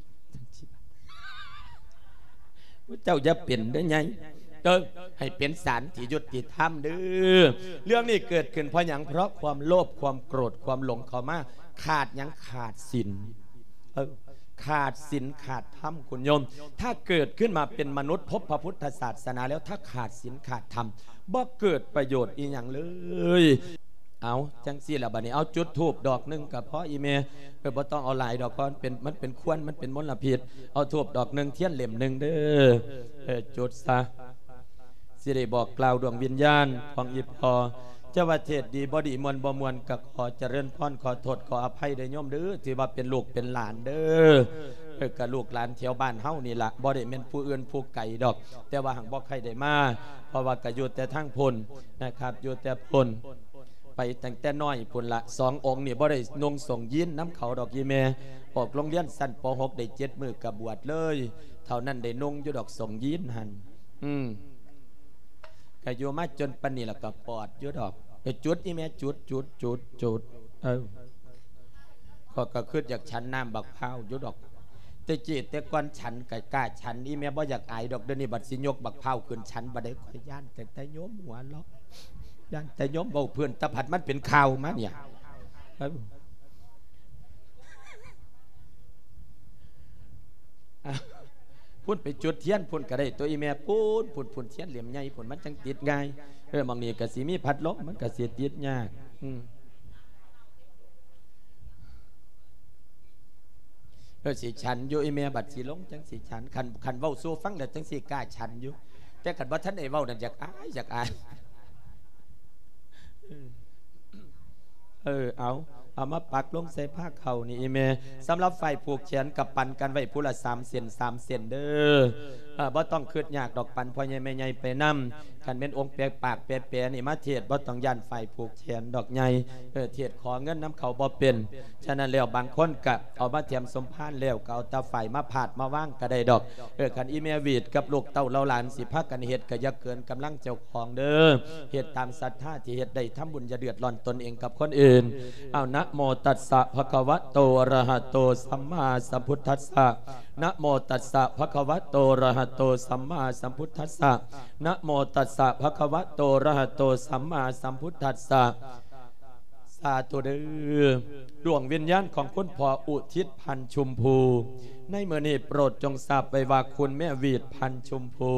ໝູ່ເຈົ້າຢ່າເປັນເດີ້ໃຫຍ່ ເອີ ໃຫ້ເປັນສານທີ່ຍຸຕິທຳເດີ້. ເລື່ອງນີ້ເກີດຂຶ້ນເພາະຫຍັງ? ເພາະຄວາມໂລບ ຄວາມໂກດ ຄວາມຫຼົງເຂົ້າມາ ຂາດຫຍັງ? ຂາດສິນ ເອີ ຂາດສິນຂາດທຳ ຄຸນໂຍມ. ຖ້າເກີດຂຶ້ນມາເປັນມະນຸດ ພົບພະພຸດທະສາສະໜາແລ້ວ ຖ້າຂາດສິນຂາດທຳ ບໍ່ເກີດປະໂຫຍດອີ່ຫຍັງເລີຍ. ເອົາ ຈັ່ງຊີ້ລະ ບາດນີ້ ເອົາ ຈຸດທູບດອກໜຶ່ງກະພໍ ອີ່ແມ່. ເອີ ບໍ່ຕ້ອງເອົາຫຼາຍດອກ ເພາະມັນເປັນ ມັນເປັນຄວັນ ມັນເປັນມົນລະພິດ. ເອົາທູບດອກໜຶ່ງ ທຽນເຫຼັ້ມໜຶ່ງເດີ້. ເອີ ຈຸດຊະ. ຊິໄດ້ບອກກ່າວດວງວິນຍານຂອງອີ່ພໍ່. ຈະວ່າເທດດີບໍ່ດີ ມ່ວນບໍ່ມ່ວນ ກະຂໍຈະເລີນພອນ ຂໍໂທດຂໍອະໄພເດີ້ໂຍມເດີ້ ທີ່ວ່າເປັນລູກເປັນຫຼານເດີ້. ເອີ ກະລູກຫຼານແຖວບ້ານເຮົານີ້ລະ ບໍ່ໄດ້ແມ່ນຜູ້ອື່ນຜູ້ໄກດອກ ແຕ່ວ່າຫາກບໍ່ຄ່ອຍໄດ້ມາ ເພາະວ່າກະຢູ່ແຕ່ທາງພຸ້ນນະຄັບ ຢູ່ແຕ່ພຸ້ນ ໄປຕັ້ງແຕ່ນ້ອຍພຸ້ນລະ. ສອງອົງນີ້ບໍ່ໄດ້ນຸ່ງສົ້ງຢີນນຳເຂົາດອກ ອີ່ແມ່. ອອກໂຮງຮຽນຊັ້ນ ປໍຫົກ ໄດ້ເຈັດມື້ກະບວດເລີຍ ເທົ່ານັ້ນໄດ້ນຸ່ງຢູ່ດອກ ສົ້ງຢີນຫັ້ນ. ອືມ ກະຢູ່ມາຈົນປານນີ້ລະກະປອດຢູ່ດອກ. ເອີ ຈຸດ ອີ່ແມ່ ຈຸດ ຈຸດ ຈຸດ ຈຸດ. ເອີ ຂ້ອຍກະຄຶດຢາກສັນນ້ຳບັກພ້າວຢູ່ດອກ ແຕ່ກີ້ແຕ່ກ່ອນສັນກະກ້າສັນ ອີ່ແມ່ບໍ່ຢາກອາຍດອກ. ດຽວນີ້ບັດຊິຍົກບັກພ້າວຂຶ້ນສັນບັດໃດ ຂ້ອຍຢ້ານແຕ່ ແຕ່ໂຍມຫົວເລາະ ຢ້ານແຕ່ໂຍມເວົ້າເພິ່ນ ແຕ່ພັດມັນເປັນຂ່າວມາເນຍ. ເອີ ພຸ້ນໄປຈຸດທຽນພຸ້ນກະໄດ້ຕົວະ ອີ່ແມ່ ພຸ້ນ ພຸ້ນ ພຸ້ນ ທຽນເຫຼັ້ມໃຫຍ່ພຸ້ນ ມັນຈັ່ງຕິດງ່າຍ. ເອີ ໝ່ອງນີ້ກະຊິມີພັດລົມ ມັນກະຊິຕິດຍາກ. ອືມ ເອີ ຊິສັນຢູ່ ອີ່ແມ່ ບັດຊິລົງຈັ່ງຊິສັນ. ຄັນ ຄັນເວົ້າສູ່ຟັງແລ້ວຈັ່ງຊິກ້າສັນຢູ່ ແຕ່ຄັນບໍ່ທັນໄດ້ເວົ້ານັ້ນ ຢາກອາຍ ຢາກອາຍ. ເອີ ເອົາ ເອົາມາປັກລົງໃສ່ພາເຂົ້ານີ້ອີ່ແມ່. ສຳລັບຝ່າຍຜູກແຂນກໍປັນກັນໄວ້ຜູ້ລະສາມເສັ້ນ ສາມເສັ້ນເດີ້. ເອີ ບໍ່ຕ້ອງຄຶດຍາກດອກ ປັນພໍ່ໃຫຍ່ແມ່ໃຫຍ່ໄປນຳ. ຄັນແມ່ນອົງແປກປາກແປແປນີ້ມາເທດ ບໍ່ຕ້ອງຢ້ານຝ່າຍຜູກແຂນດອກໃຫຍ່. ເອີ ເທດຂໍເງິນນຳເຂົາບໍ່ເປັນ. ສະນັ້ນແລ້ວ ບາງຄົນກະເອົາມາແຖມສົມພານແລ້ວ ກໍເອົາແຕ່ຝ້າຍມາພາດມາວາງກໍໄດ້ດອກ. ເອີ ຄັນອີແມ່ຫວີດກັບລູກເຕົ້າເຫຼົ່າຫຼານຊິພາກັນເຮັດ ກໍຢ່າເກີນກຳລັງເຈົ້າຂອງເດີ້. ເຮັດຕາມສັດທາທີ່ເຮັດໄດ້ ທຳບຸນຢ່າເດືອດຮ້ອນຕົນເອງກັບຄົນອື່ນ. ເອົາ ນະໂມຕັດສະ ພະຄະວະໂຕ ອະຣະຫະໂຕ ສຳມາສຳພຸດທັດສະ. ນະໂມຕັດສະ ພະຄະວະໂຕ ອະຣະຫະໂຕ ສຳມາສຳພຸດທັດສະ. ນະໂມຕັດສະ ພະຄະວະໂຕ ອະຣະຫະໂຕ ສຳມາສຳພຸດທັດສະ. ສາທຸເດີ້. ດວງວິນຍານຂອງຄຸນພໍ່ອຸທິດ ພັນ ຊຸມພູ ໃນມື້ນີ້ໂປດຈົ່ງຊາບໄວ້ວ່າ ຄຸນແມ່ຫວີດ ພັນ ຊຸມພູ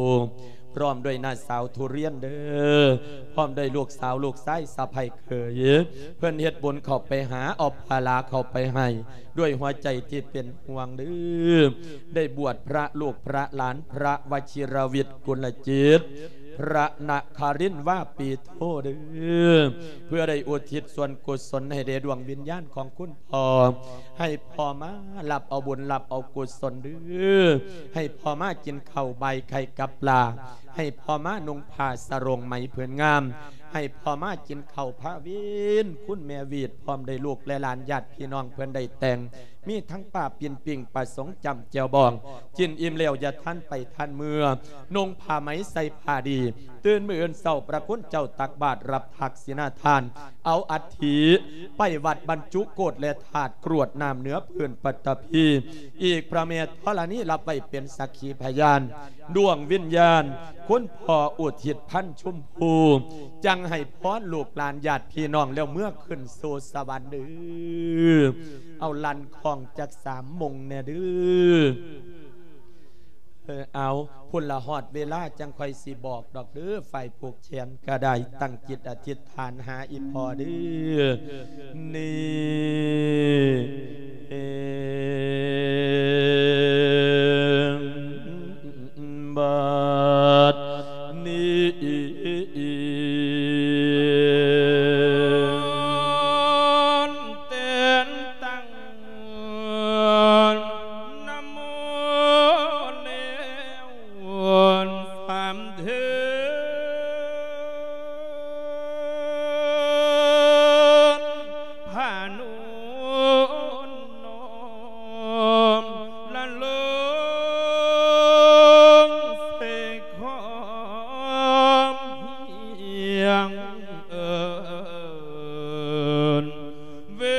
ພ້ອມດ້ວຍນ້າສາວທຸລຽນເດີ້ ພ້ອມດ້ວຍລູກສາວ ລູກຊາຍ ສະໃພ້ເຂີຍ ເພິ່ນເຮັດບຸນເຂົ້າໄປຫາ ເອົາພາລາເຂົ້າໄປໃຫ້ ດ້ວຍຫົວໃຈທີ່ເປັນຫ່ວງເດີ້. ໄດ້ບວດພະລູກພະຫຼານ ພະວະຊິລະວິດ ກຸນລະຈິດ ພະນະຄາລິນ ວາປີໂທເດີ້ ເພື່ອໄດ້ອຸທິດສ່ວນກຸສົນໃຫ້ແດ່ດວງວິນຍານຂອງຄຸນພໍ່ ໃຫ້ພໍ່ມາຮັບເອົາບຸນ ຮັບເອົາກຸສົນເດີ້ ໃຫ້ພໍ່ມາກິນເຂົ້າບາຍໄຂ່ກັບປາ ໃຫ້ພໍ່ມານຸ່ງຜ້າສະໂຣງໄໝຜືນງາມ ໃຫ້ພໍ່ມາກິນເຂົ້າພາວິນ ຄຸນແມ່ຫວີດ ພ້ອມດ້ວຍລູກແລະຫຼານ ຍາດພີ່ນ້ອງເພິ່ນໄດ້ແຕ່ງ ມີທັງປາປີ້ນປີ້ງ ປາສົງຈ້ຳແຈ່ວບອງ ກິນອີ່ມແລ້ວຢ່າທັນໄປທັນເມືອ ນຸ່ງຜ້າໄໝໃສ່ຜ້າດີ ຕື່ນມື້ອື່ນເຊົ້າ ພະຄຸນເຈົ້າຕັກບາດ ຮັບທັກສິນາທານ ເອົາອັດຖິໄປວັດບັນຈຸໂກດ ແລະທາດກຣວດນ້ຳເໜືອພື້ນປັດຕະພີ ອີກພະແມ່ທໍລະນີ ຮັບໄວ້ເປັນສັກຂີພະຍານ ດວງວິນຍານ ຄຸນພໍ່ອຸທິດ ພັນ ຊຸມພູ ຈັ່ງໃຫ້ພອນລູກຫຼານຍາດພີ່ນ້ອງ ແລ້ວເມືອຂຶ້ນສູ່ສະຫວັນເດີ້. ເອົາ ລັ່ນຄ້ອງຈັກສາມມົງແດ່ເດີ້. ເອີ ເອົາ ພຸ້ນລະຮອດເວລາ ຈັ່ງຄ່ອຍຊິບອກດອກເດີ້. ຝ່າຍຜູກແຂນກໍໄດ້ ຕັ້ງຈິດອະທິດຖານຫາອີ່ພໍ່ເດີ້. ນີ້ ບັດນີ້ ແຕ່ນຕັ້ງ ນະໂມແລ້ວ ສາມເທື່ອ ພານຸນນ້ອມລະລົງໃສ່ຄອມຮຽງ ເອີ້ນວິ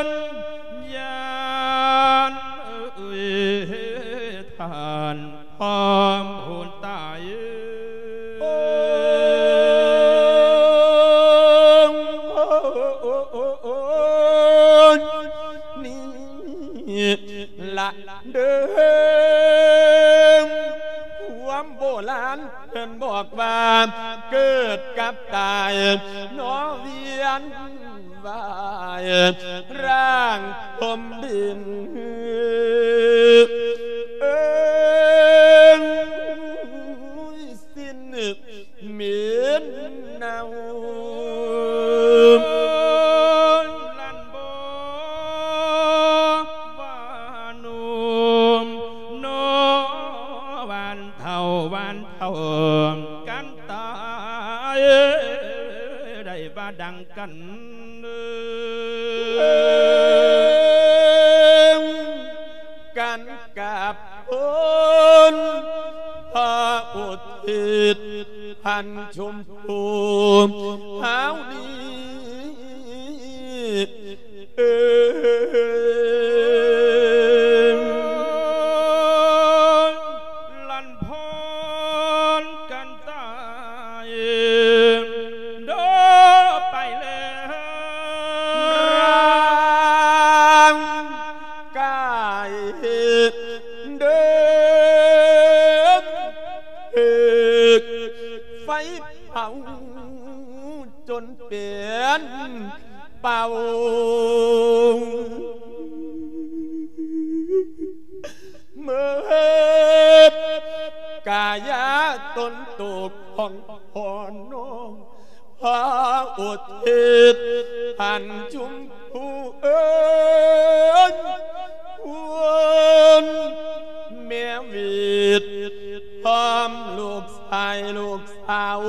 ນຍານ ເອີຍ ທ່ານ ພ້ອມຜູ້ຕາຍ ໂອ້ ໂອ້ ໂອ້ ໂອ້ ໂອ້ ນີ້ລະເດີ ຄວາມໂບລານເພິ່ນບອກວ່າ ເກີດກັບຕາຍ ໜໍ່ວຽນ ວາຍຮ່າງພົມດິນ ເອີ ສິ້ນເໝັນເນົ່າ ລັນບໍ່ວ່າໜຸ່ມ ນໍ່ ຫວານເຖົ້າ ຫວານເຖົ້າ ກັນຕາຍ ໄດ້ວ່າດັ່ງ ກັນກັບຄົນ ພະອຸທິດ ພັນ ຊຸມພູ ເຮົານີ້ ເອີ ລັນພອນກັນຕາຍ ເດີໄປແລ້ວ ຮ່າງກາຍເດີ ຖືກໄຟເຜົາ ຈົນເປັນເປົ່າ ໝົດກາຍາຕົນໂຕຂອງພໍ່ນ້ອງ ພະອົງ ທິດ ທ່ານຊົມພູເອີຍ ຄຸນແມ່ວິດ ພ້ອມລູກຊາຍລູກສາວ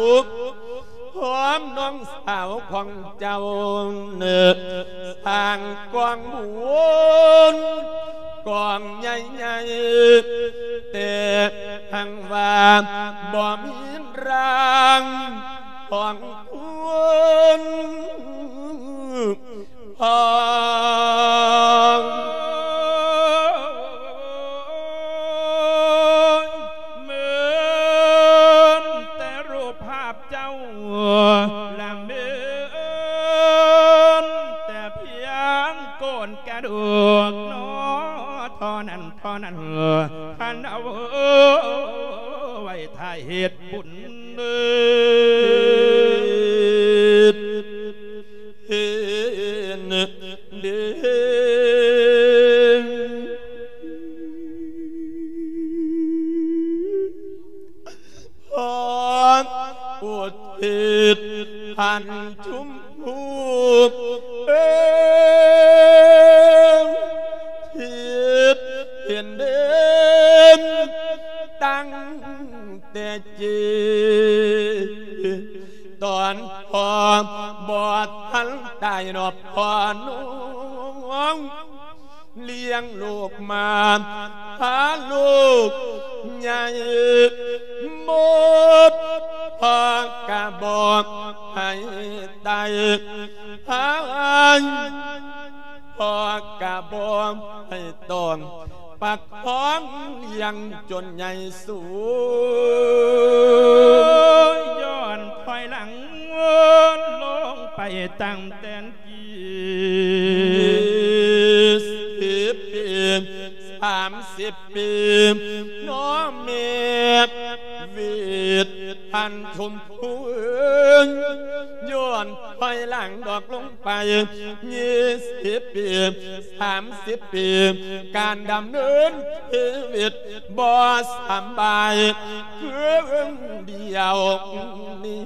ພ້ອມນ້ອງສາວຂອງເຈົ້າ ສ້າງກອງບຸນກອງໃຫຍ່ໆ ແຕ່ຫາກວ່າບໍ່ມີຮ່າງຂອງຄຸນ ເໝືອນແຕ່ຮູບພາບເຈົ້າ ລະເໝືອນແຕ່ພຽງໂກນກະດູກໜໍ ເທົ່ານັ້ນ ເທົ່ານັ້ນ ທ່ານເອົາໄວ້ຖ້າເຮັດບຸນ ເຮັດເຮັດເດ້ ພອນອຸທິດທ່ານຊົມພູເອີຍ ທິດເຫັນເດັ່ນຕັ້ງແຕ່ ເຈ ຕອນພໍ່ບໍ່ທັນຕາຍເນາະ ພໍ່ນ້ອງລ້ຽງລູກມາ ພາລູກໃຫຍ່ໝົດ ພໍ່ກະບໍ່ໃຫ້ຕາຍ ພາ ພໍ່ກະບໍ່ໃຫ້ຕ້ອງ ປະຄອງລ້ຽງຈົນໃຫຍ່ສູງ ຍ້ອນຖອຍຫຼັງວນລົງໄປຕັ້ງແຕ່ກີ້ ສິບປີ ສາມສິບປີ ນ້ອງແມ່ວິດ ທ່ານຊົມພູເອີຍ ຍ້ອນຖອຍຫຼັງດອກລົງໄປ ຊາວປີ ສາມສິບປີ ການດຳເນີນຊີວິດບໍ່ສຳບາຍ ຄືດຽວນີ້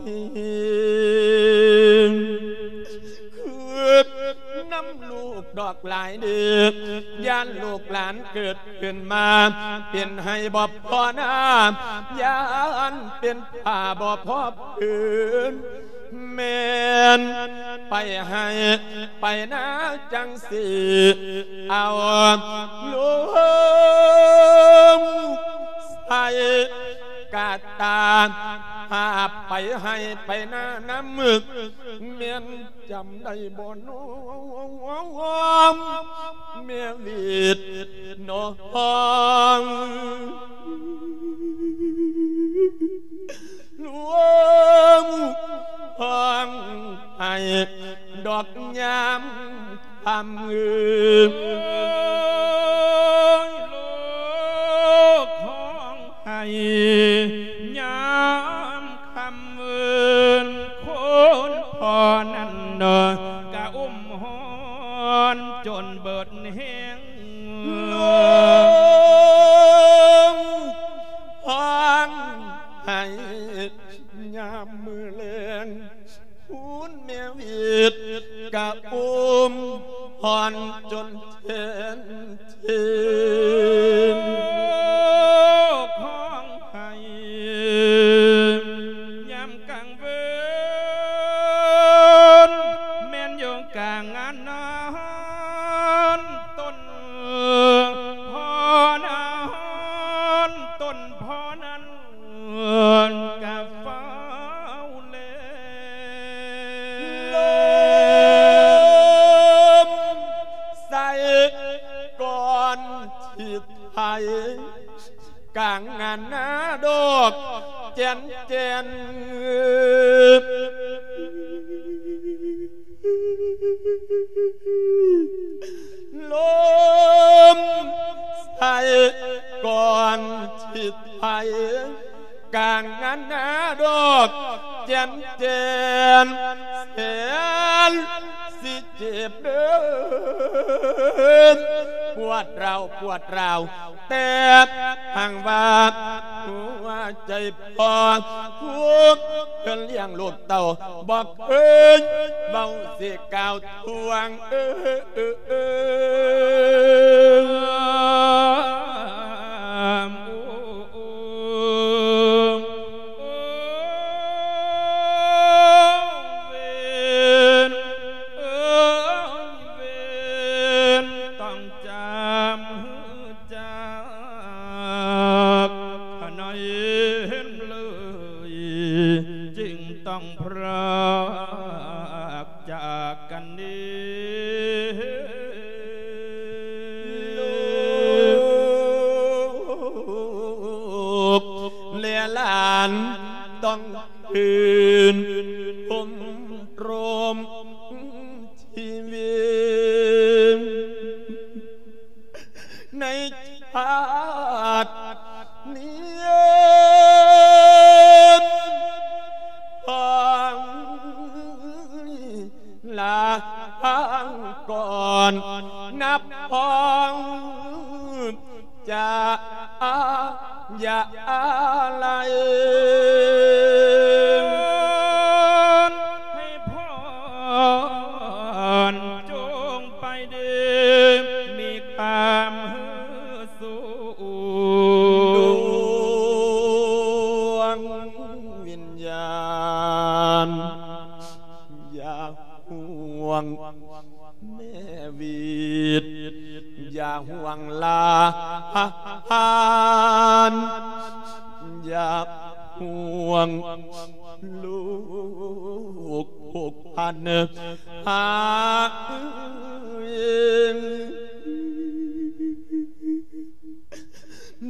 ຄຶດນຳລູກດອກຫຼາຍເດີ ຢ້ານລູກຫຼານເກີດຂຶ້ນມາ ເປັນໄຮ່ບໍ່ພໍນາ ຢ້ານເປັນຜ້າບໍ່ພໍຜືນ ແມ່ນໄປໄຮ່ໄປນາຈັ່ງຊີ້ ເອົາລົງໃສ່ກະຕ່າ ຫາບໄປໄຮ່ໄປນານຳ ແມ່ນຈຳໄດ້ບໍ່ນ້ອງ ແມ່ວິດນ້ອງ ລວມຮ້ອງໄຫ້ດອກຍາມຄ່ຳ ເອີ ລູກຮ້ອງໄຫ້ຍາມຄ່ຳ ເອີ ຄົນພໍ່ນັ້ນເນາະ ກະອຸ້ມຮ້ອນຈົນເບິດແຮງ ລວມຮ້ອງໄຫ້ຍາມມື້ແລງ ຄູນແມ່ວິດກະອຸ້ມຮ້ອນຈົນແທນທີ ຮ້ອງໄຫ້ຍາມກາງເວນ ແມ່ນຢູ່ກາງງານນອນ ຕົ້ນພໍ່ນອນ ຕົ້ນພໍ່ນັ້ນ ກະຟ້າວແລ ລົມໃສ່ກ່ອນທີ່ໄທ ກາງງານນາດອກແຈນແຈນ ລົມໃສ່ກ່ອນທີ່ໄທ ກາງງານນາດອກແຈນແຈນ ແສນຊິເຈັບເດີ ປວດຮ້າວ ປວດຮ້າວ ແຕ່ຫາກວ່າ ຫົວໃຈພໍ່ ຜູ້ເພິ່ນລ້ຽງລູກເຕົ້າ ບໍ່ເຄີຍເວົ້າຊິກ່າວທວງ ເອີ ເອີ ເອີ ເວນ ເອີຍ ເວນ ຕ້ອງຈຳຮູ້ຈັກ ໃນເຫັນເລີຍ ຈຶ່ງຕ້ອງພຣາກຈາກກັນເດ ລູກແລະຫຼານ ຕ້ອງ ຄືນພົມລົມຊີວິດ ໃນຊາດນີ້ ຂອງລາງກ່ອນ ນັບຮອງ ຈະ ອາ ຢາ ອາໄລ ໃຫ້ພອນ ຈົ່ງໄປດີ ມີຄວາມຮູ້ສຸກ ດວງວິນຍານ ຢ່າຫ່ວງ ແມ່ວິດ ຢ່າຫ່ວງຫຼານ ຢ່າຫ່ວງລູກຜູກພັນ ຫາ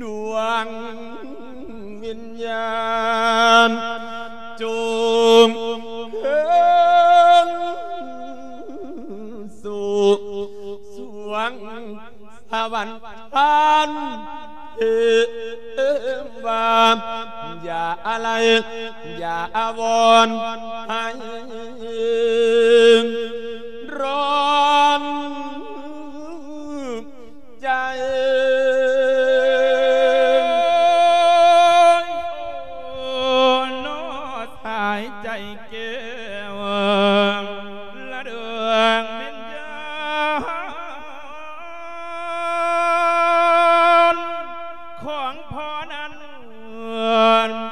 ດວງວິນຍານ ຈົ່ງຄືນສູ່ສວງສະຫວັນທ່ານເທວາ ຢ່າອາໄລ ຢ່າອາວອນໃຫ້ຮ້ອນ ໃຈ ໂອ້ ນອ ສາຍໃຈແກ້ວ ລະດວງວິນຍານ ຂອງພໍ່ນັ້ນ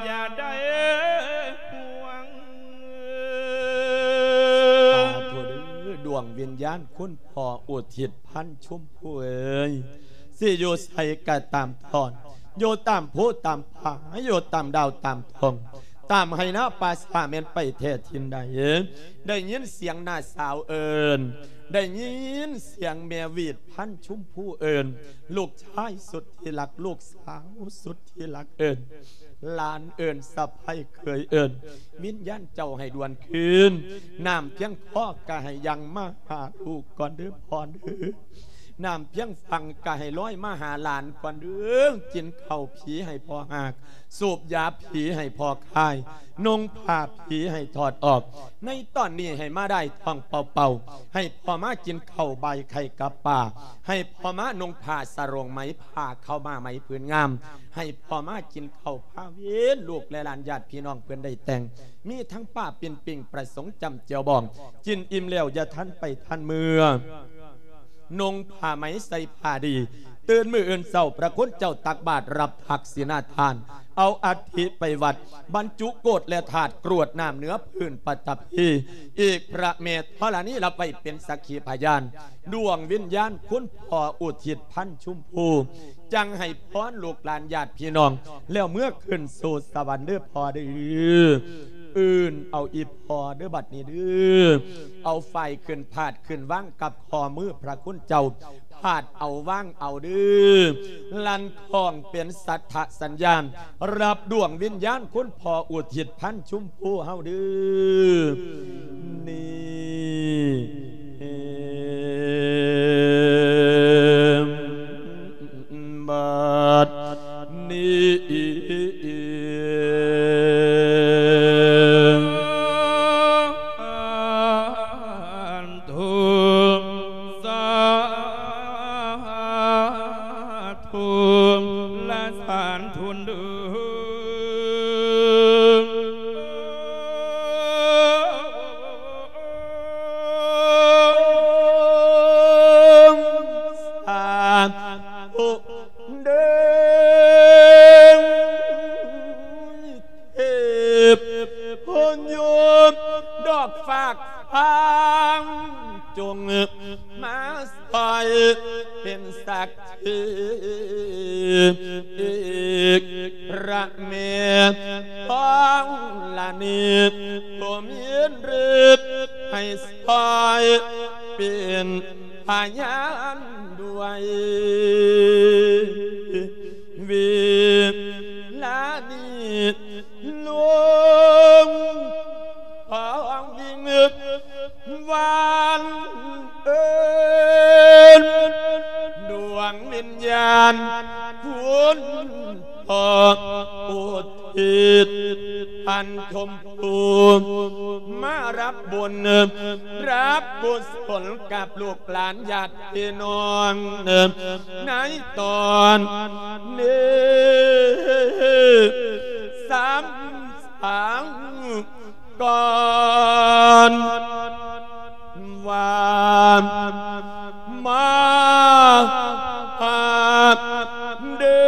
ຢ່າໄດ້ຫ່ວງ ສາທຸເດີ ດວງວິນຍານຄຸນພໍ່ອຸທິດ ພັນ ຊົມພູເອີຍ ຊິຢູ່ໃສກໍຕາມທອນ ຢູ່ຕາມພູຕາມຜາ ຢູ່ຕາມດາວຕາມດວງ ຕາມໄຮ່ນາປ່າຊ້າ ແມ່ນໄປແທ້ຖິ່ນໃດ ໄດ້ຍິນສຽງນ້າສາວເອີ້ນ ໄດ້ຍິນສຽງແມ່ຫວີດ ພັນ ຊົມພູເອີ້ນ ລູກຊາຍສຸດທີ່ຮັກ ລູກສາວສຸດທີ່ຮັກເອີ້ນ ຫຼານເອີ້ນ ສະໃພ້ເຂີຍເອີ້ນ ວິນຍານເຈົ້າໃຫ້ດ່ວນຄືນ ນ້ຳພຽງຄໍກໍໃຫ້ຍັ່ງມາຫາລູກກ່ອນເດີພໍ່ເດີ ນ້ຳພຽງຝັ່ງກໍໃຫ້ລອຍມາຫາຫຼານກ່ອນເດີ ກິນເຂົ້າຜີໃຫ້ພໍ່ຮາກ ສູບຢາຜີໃຫ້ພໍ່ຄາຍ ນຸ່ງຜ້າຜີໃຫ້ຖອດອອກ ໃນຕອນນີ້ໃຫ້ມາໄດ້ທ້ອງເປົ່າໆ ໃຫ້ພໍ່ມາກິນເຂົ້າບາຍໄຂ່ກັບປາ ໃຫ້ພໍ່ມານຸ່ງຜ້າສະໂຫຼງໄໝ ຜ້າເຂົ້າມາໄໝຜືນງາມ ໃຫ້ພໍ່ມາກິນເຂົ້າພາເວນ ລູກແລະຫຼານຍາດພີ່ນ້ອງເພິ່ນໄດ້ແຕ່ງ ມີທັງປ້າປິ່ນປິງ ປະສົງຈຳແຈ່ວບອງ ກິນອີ່ມແລ້ວຢ່າທັນໄປທັນເມືອ ນຸ່ງຜ້າໄໝໃສ່ຜ້າດີ ຕື່ນມື້ອື່ນເຊົ້າ ພະຄຸນເຈົ້າຕັກບາດ ຮັບທັກສິນາທານ ເອົາອັດຖິໄປວັດ ບັນຈຸໂກດແລະທາດ ກຣວດນ້ຳເໜືອພື້ນປະທັບພີ ອີກພະແມ່ທໍລະນີ ຮັບໄວ້ເປັນສັກຂີພະຍານ ດວງວິນຍານຄຸນພໍ່ອຸທິດ ພັນ ຊົມພູ ຈັ່ງໃຫ້ພອນລູກຫຼານຍາດພີ່ນ້ອງ ແລ້ວເມືອຂຶ້ນສູ່ສະຫວັນເດີພໍ່ເດີ ອື່ນເອົາອີ່ພໍ່ເດີ ບັດນີ້ເດີ ເອົາຝ້າຍຂຶ້ນພາດຂຶ້ນວາງກັບຂໍ້ມືພະຄຸນເຈົ້າ ພາດເອົາວາງເອົາເດີ ລັ່ນຄ້ອງເປັນສັດທະສັນຍານ ຮັບດວງວິນຍານຄຸນພໍ່ອຸທິດ ພັນ ຊົມພູເຮົາເດີ ນີ້ ບັດນີ້ ສາທຸ ສາທຸ ລະສາທຸເດີ. ມາຊ່ອຍເປັນສັກຂີ ອີກພະແມ່ທອງລະນີ ຜູ້ມີລິດໃຫ້ຊ່ອຍເປັນພະຍານດ້ວຍ ເວລານີ້ ລົງພອງວິງວານເອີ້ນ ດວງວິນຍານຄຸນພໍ່ ອຸທິດທ່ານຊົມພູ ມາຮັບບຸນ ຮັບກຸສົນກັບລູກຫຼານຍາດ ພີ່ນ້ອງ ໃນຕອນນີ້ ສຳສາງກ່ອນວ່າ ມາຫາເດີ.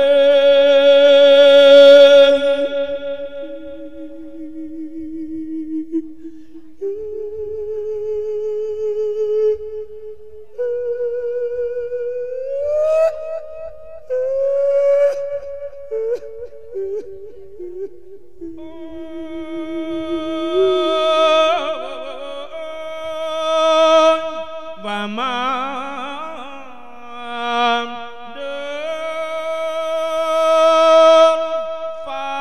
ວ່າມາເດີນຟ້າ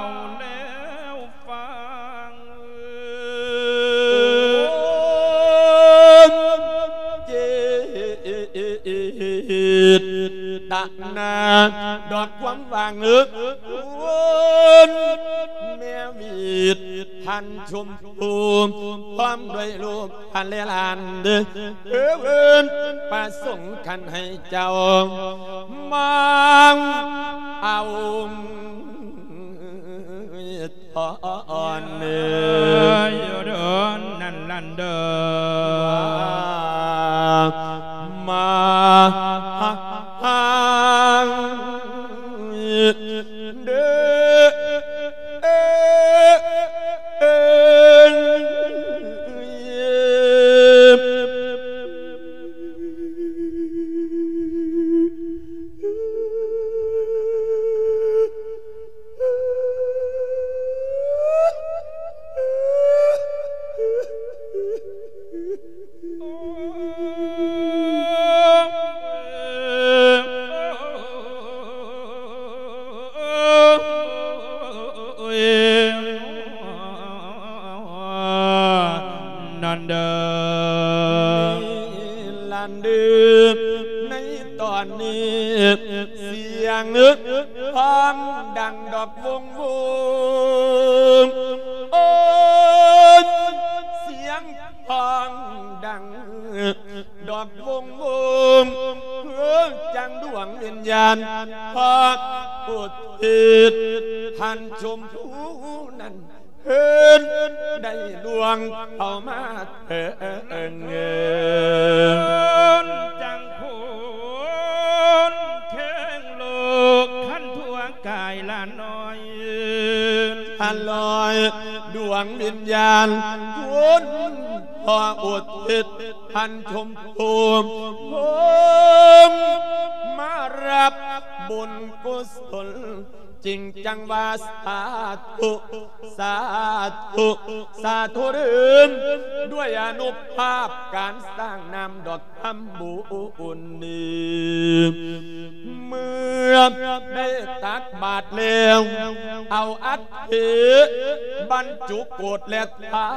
ວແລ້ວຟັງ ເຈດຕະນາ ດອກຄວາມຫວັງ ເອີ້ນແມ່ຫວີດ ທ່ານຊົມພູ ພ້ອມດ້ວຍລູກ ທ່ານແລະຫຼານເດີ ເອີ້ນປະສົງຄັນໃຫ້ເຈົ້າມາເອົາທອນເດີ ຢູ່ເດີນັ້ນຫຼານເດີ ມາຫາເດີ. ນັ້ນເດີ ຫຼານເດີ ໃນຕອນນີ້ ສຽງຮ້ອງດັງດອກວົງວົງ ໂອ້ຍ ສຽງຮ້ອງດັງ ດອກວົງວົງ ເອີ ຈັ່ງດວງວິນຍານ ພະອຸທິດທ່ານຊົມພູນັ້ນ ເພິ່ນໄດ້ລ່ວງເຂົ້າມາເຖິງ ຈັ່ງຄົນແຂງໂລກ ຄັນທົ່ວກາຍຫຼານນ້ອຍ ອະລອຍ ດວງວິນຍານ ຄຸນພໍ່ອຸທິດ ທ່ານຊົມພູ ມາຮັບບຸນກຸສົນ ຈຶ່ງຈັ່ງວ່າສາທຸ ສາທຸ ສາທຸເດີ ດ້ວຍອານຸພາບການສ້າງນາມດອກທຳບຸນນີ້ ເມື່ອໄດ້ຕັກບາດແລ້ວ ເອົາອັດຖິບັນຈຸໂກດ ແລະ ທາ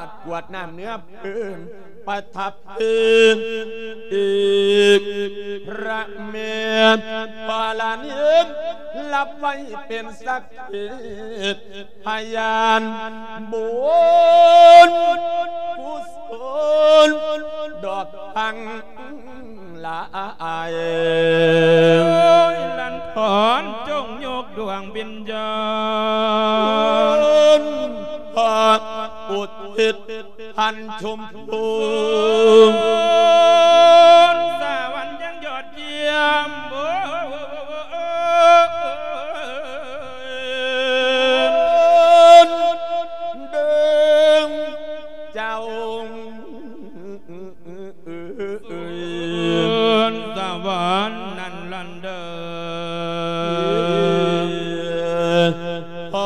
ດກວດນ້ຳເນື້ອເພິ່ນ ປະທັບເພິ່ນ ອີກພະແມ່ທອນລະນີ ຮັບໄວ້ເປັນສັກຂີພະຍານບຸນກຸສົນດອກທັງຫຼາຍ ເອີຍ ຫຼັນຖອນ ຈົ່ງຍົກດວງວິນຍານ ພະອຸທິດ ທ່ານຊົມພູ ສະຫວັນຍັງຍອດຢ້ຽມ ໂອ້ ເດີ ເຈົ້າ ສະຫວັນນັ້ນລະເດີ. ໂອ້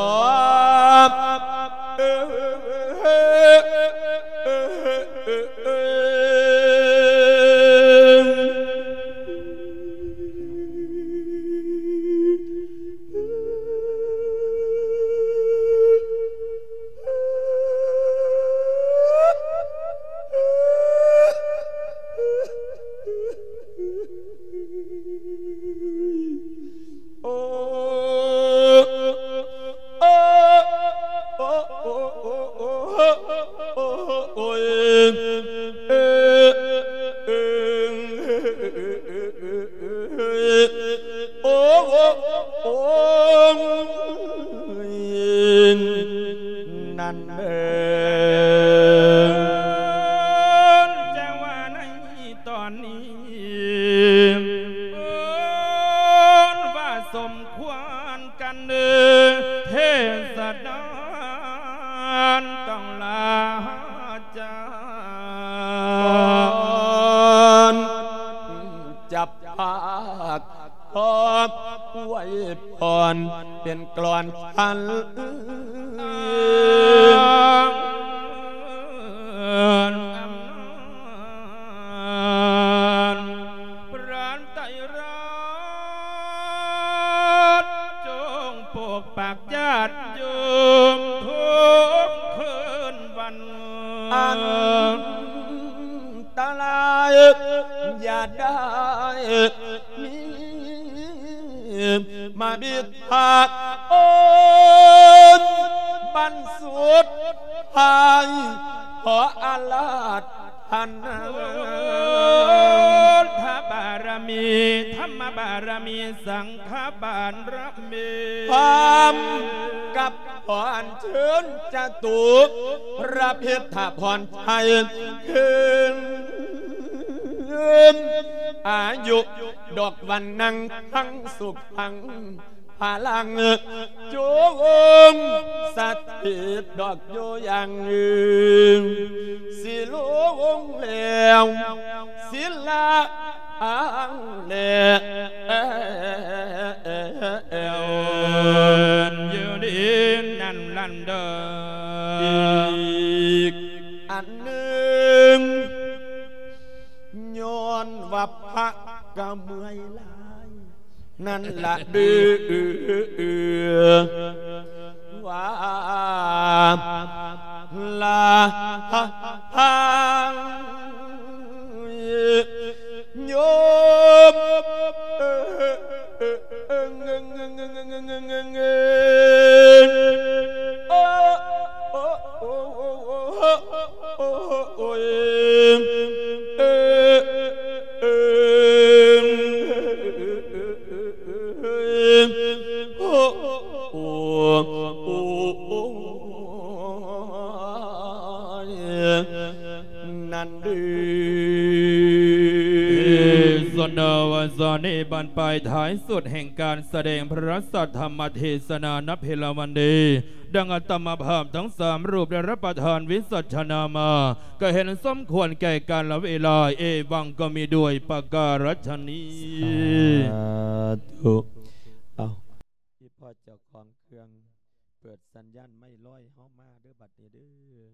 ໂອ້ ໂອ້ ໂອ້ ນັ້ນເດີ. ຈັ່ງວ່າໃນຕອນນີ້ ເອີ້ນວ່າສົມຄວນກັນເດີ ເທດສະດານຕ້ອງລາຈາ ກ່ອນຈະ ພາກຂອບອວຍພອນເປັນກລອນພັນ ພຣະໄຕຣະ ຈົ່ງປົກປັກຍາດໂຍມທຸກຄືນວັນ ອັນຕະລາຍຢ່າໄດ້ມີ ມາບິດພາກໂອນບັນສຸດທ້າຍ ຂໍອາລາທະນາ ທະບາລະມີ ທຳມະບາລະມີ ສັງ ຂະບາລະມີ ພ້ອມກັບຂໍອັນເຊີນຈະຕຸພຣະພິດທະພອນໄທ ຄືນອາຍຸ ດອກວັນນັງ ທັງສຸກ ທັງພະລັງ ຈົ່ງສະຖິດດອກຢູ່ຢ່າງຍືນ ສິລົງແລ້ວ ສິລະອັງແລ ຢູ່ດີນັ້ນລະເດີ. ອີກອັນໜຶ່ງ ຍ້ອນວ່າພະກະເມື່ອຍຫຼາຍ ນັ້ນລະເດີ ວ່າລະໂຍມ ໂອ້ຍ ໂອ້ ໂອ້ ໂອ້ ໂອ້ຍ ນັ້ນເດີ. ເທດສະນາວັນນີ້ບັ້ນປາຍທ້າຍສຸດແຫ່ງການສະແດງພະສັດທຳມະເທດສະນານະເພລະວັນນີ້ ດັ່ງອາດຕະມາພາບທັງສາມຮູບໄດ້ຮັບປະທານວິສັດຊະນາມາ ກໍເຫັນສົມຄວນແກ່ກາລະເວລາ ເອວັງກໍມີດ້ວຍປະກາລະຊະນີ້ ສາທຸ. ເອົາ ອີ່ພໍ່ເຈົ້າຂອງເຄື່ອງ ເປີດສັນຍານໄມ້ລອຍເຮົາມາເດີ ບັດນີ້ເດີ.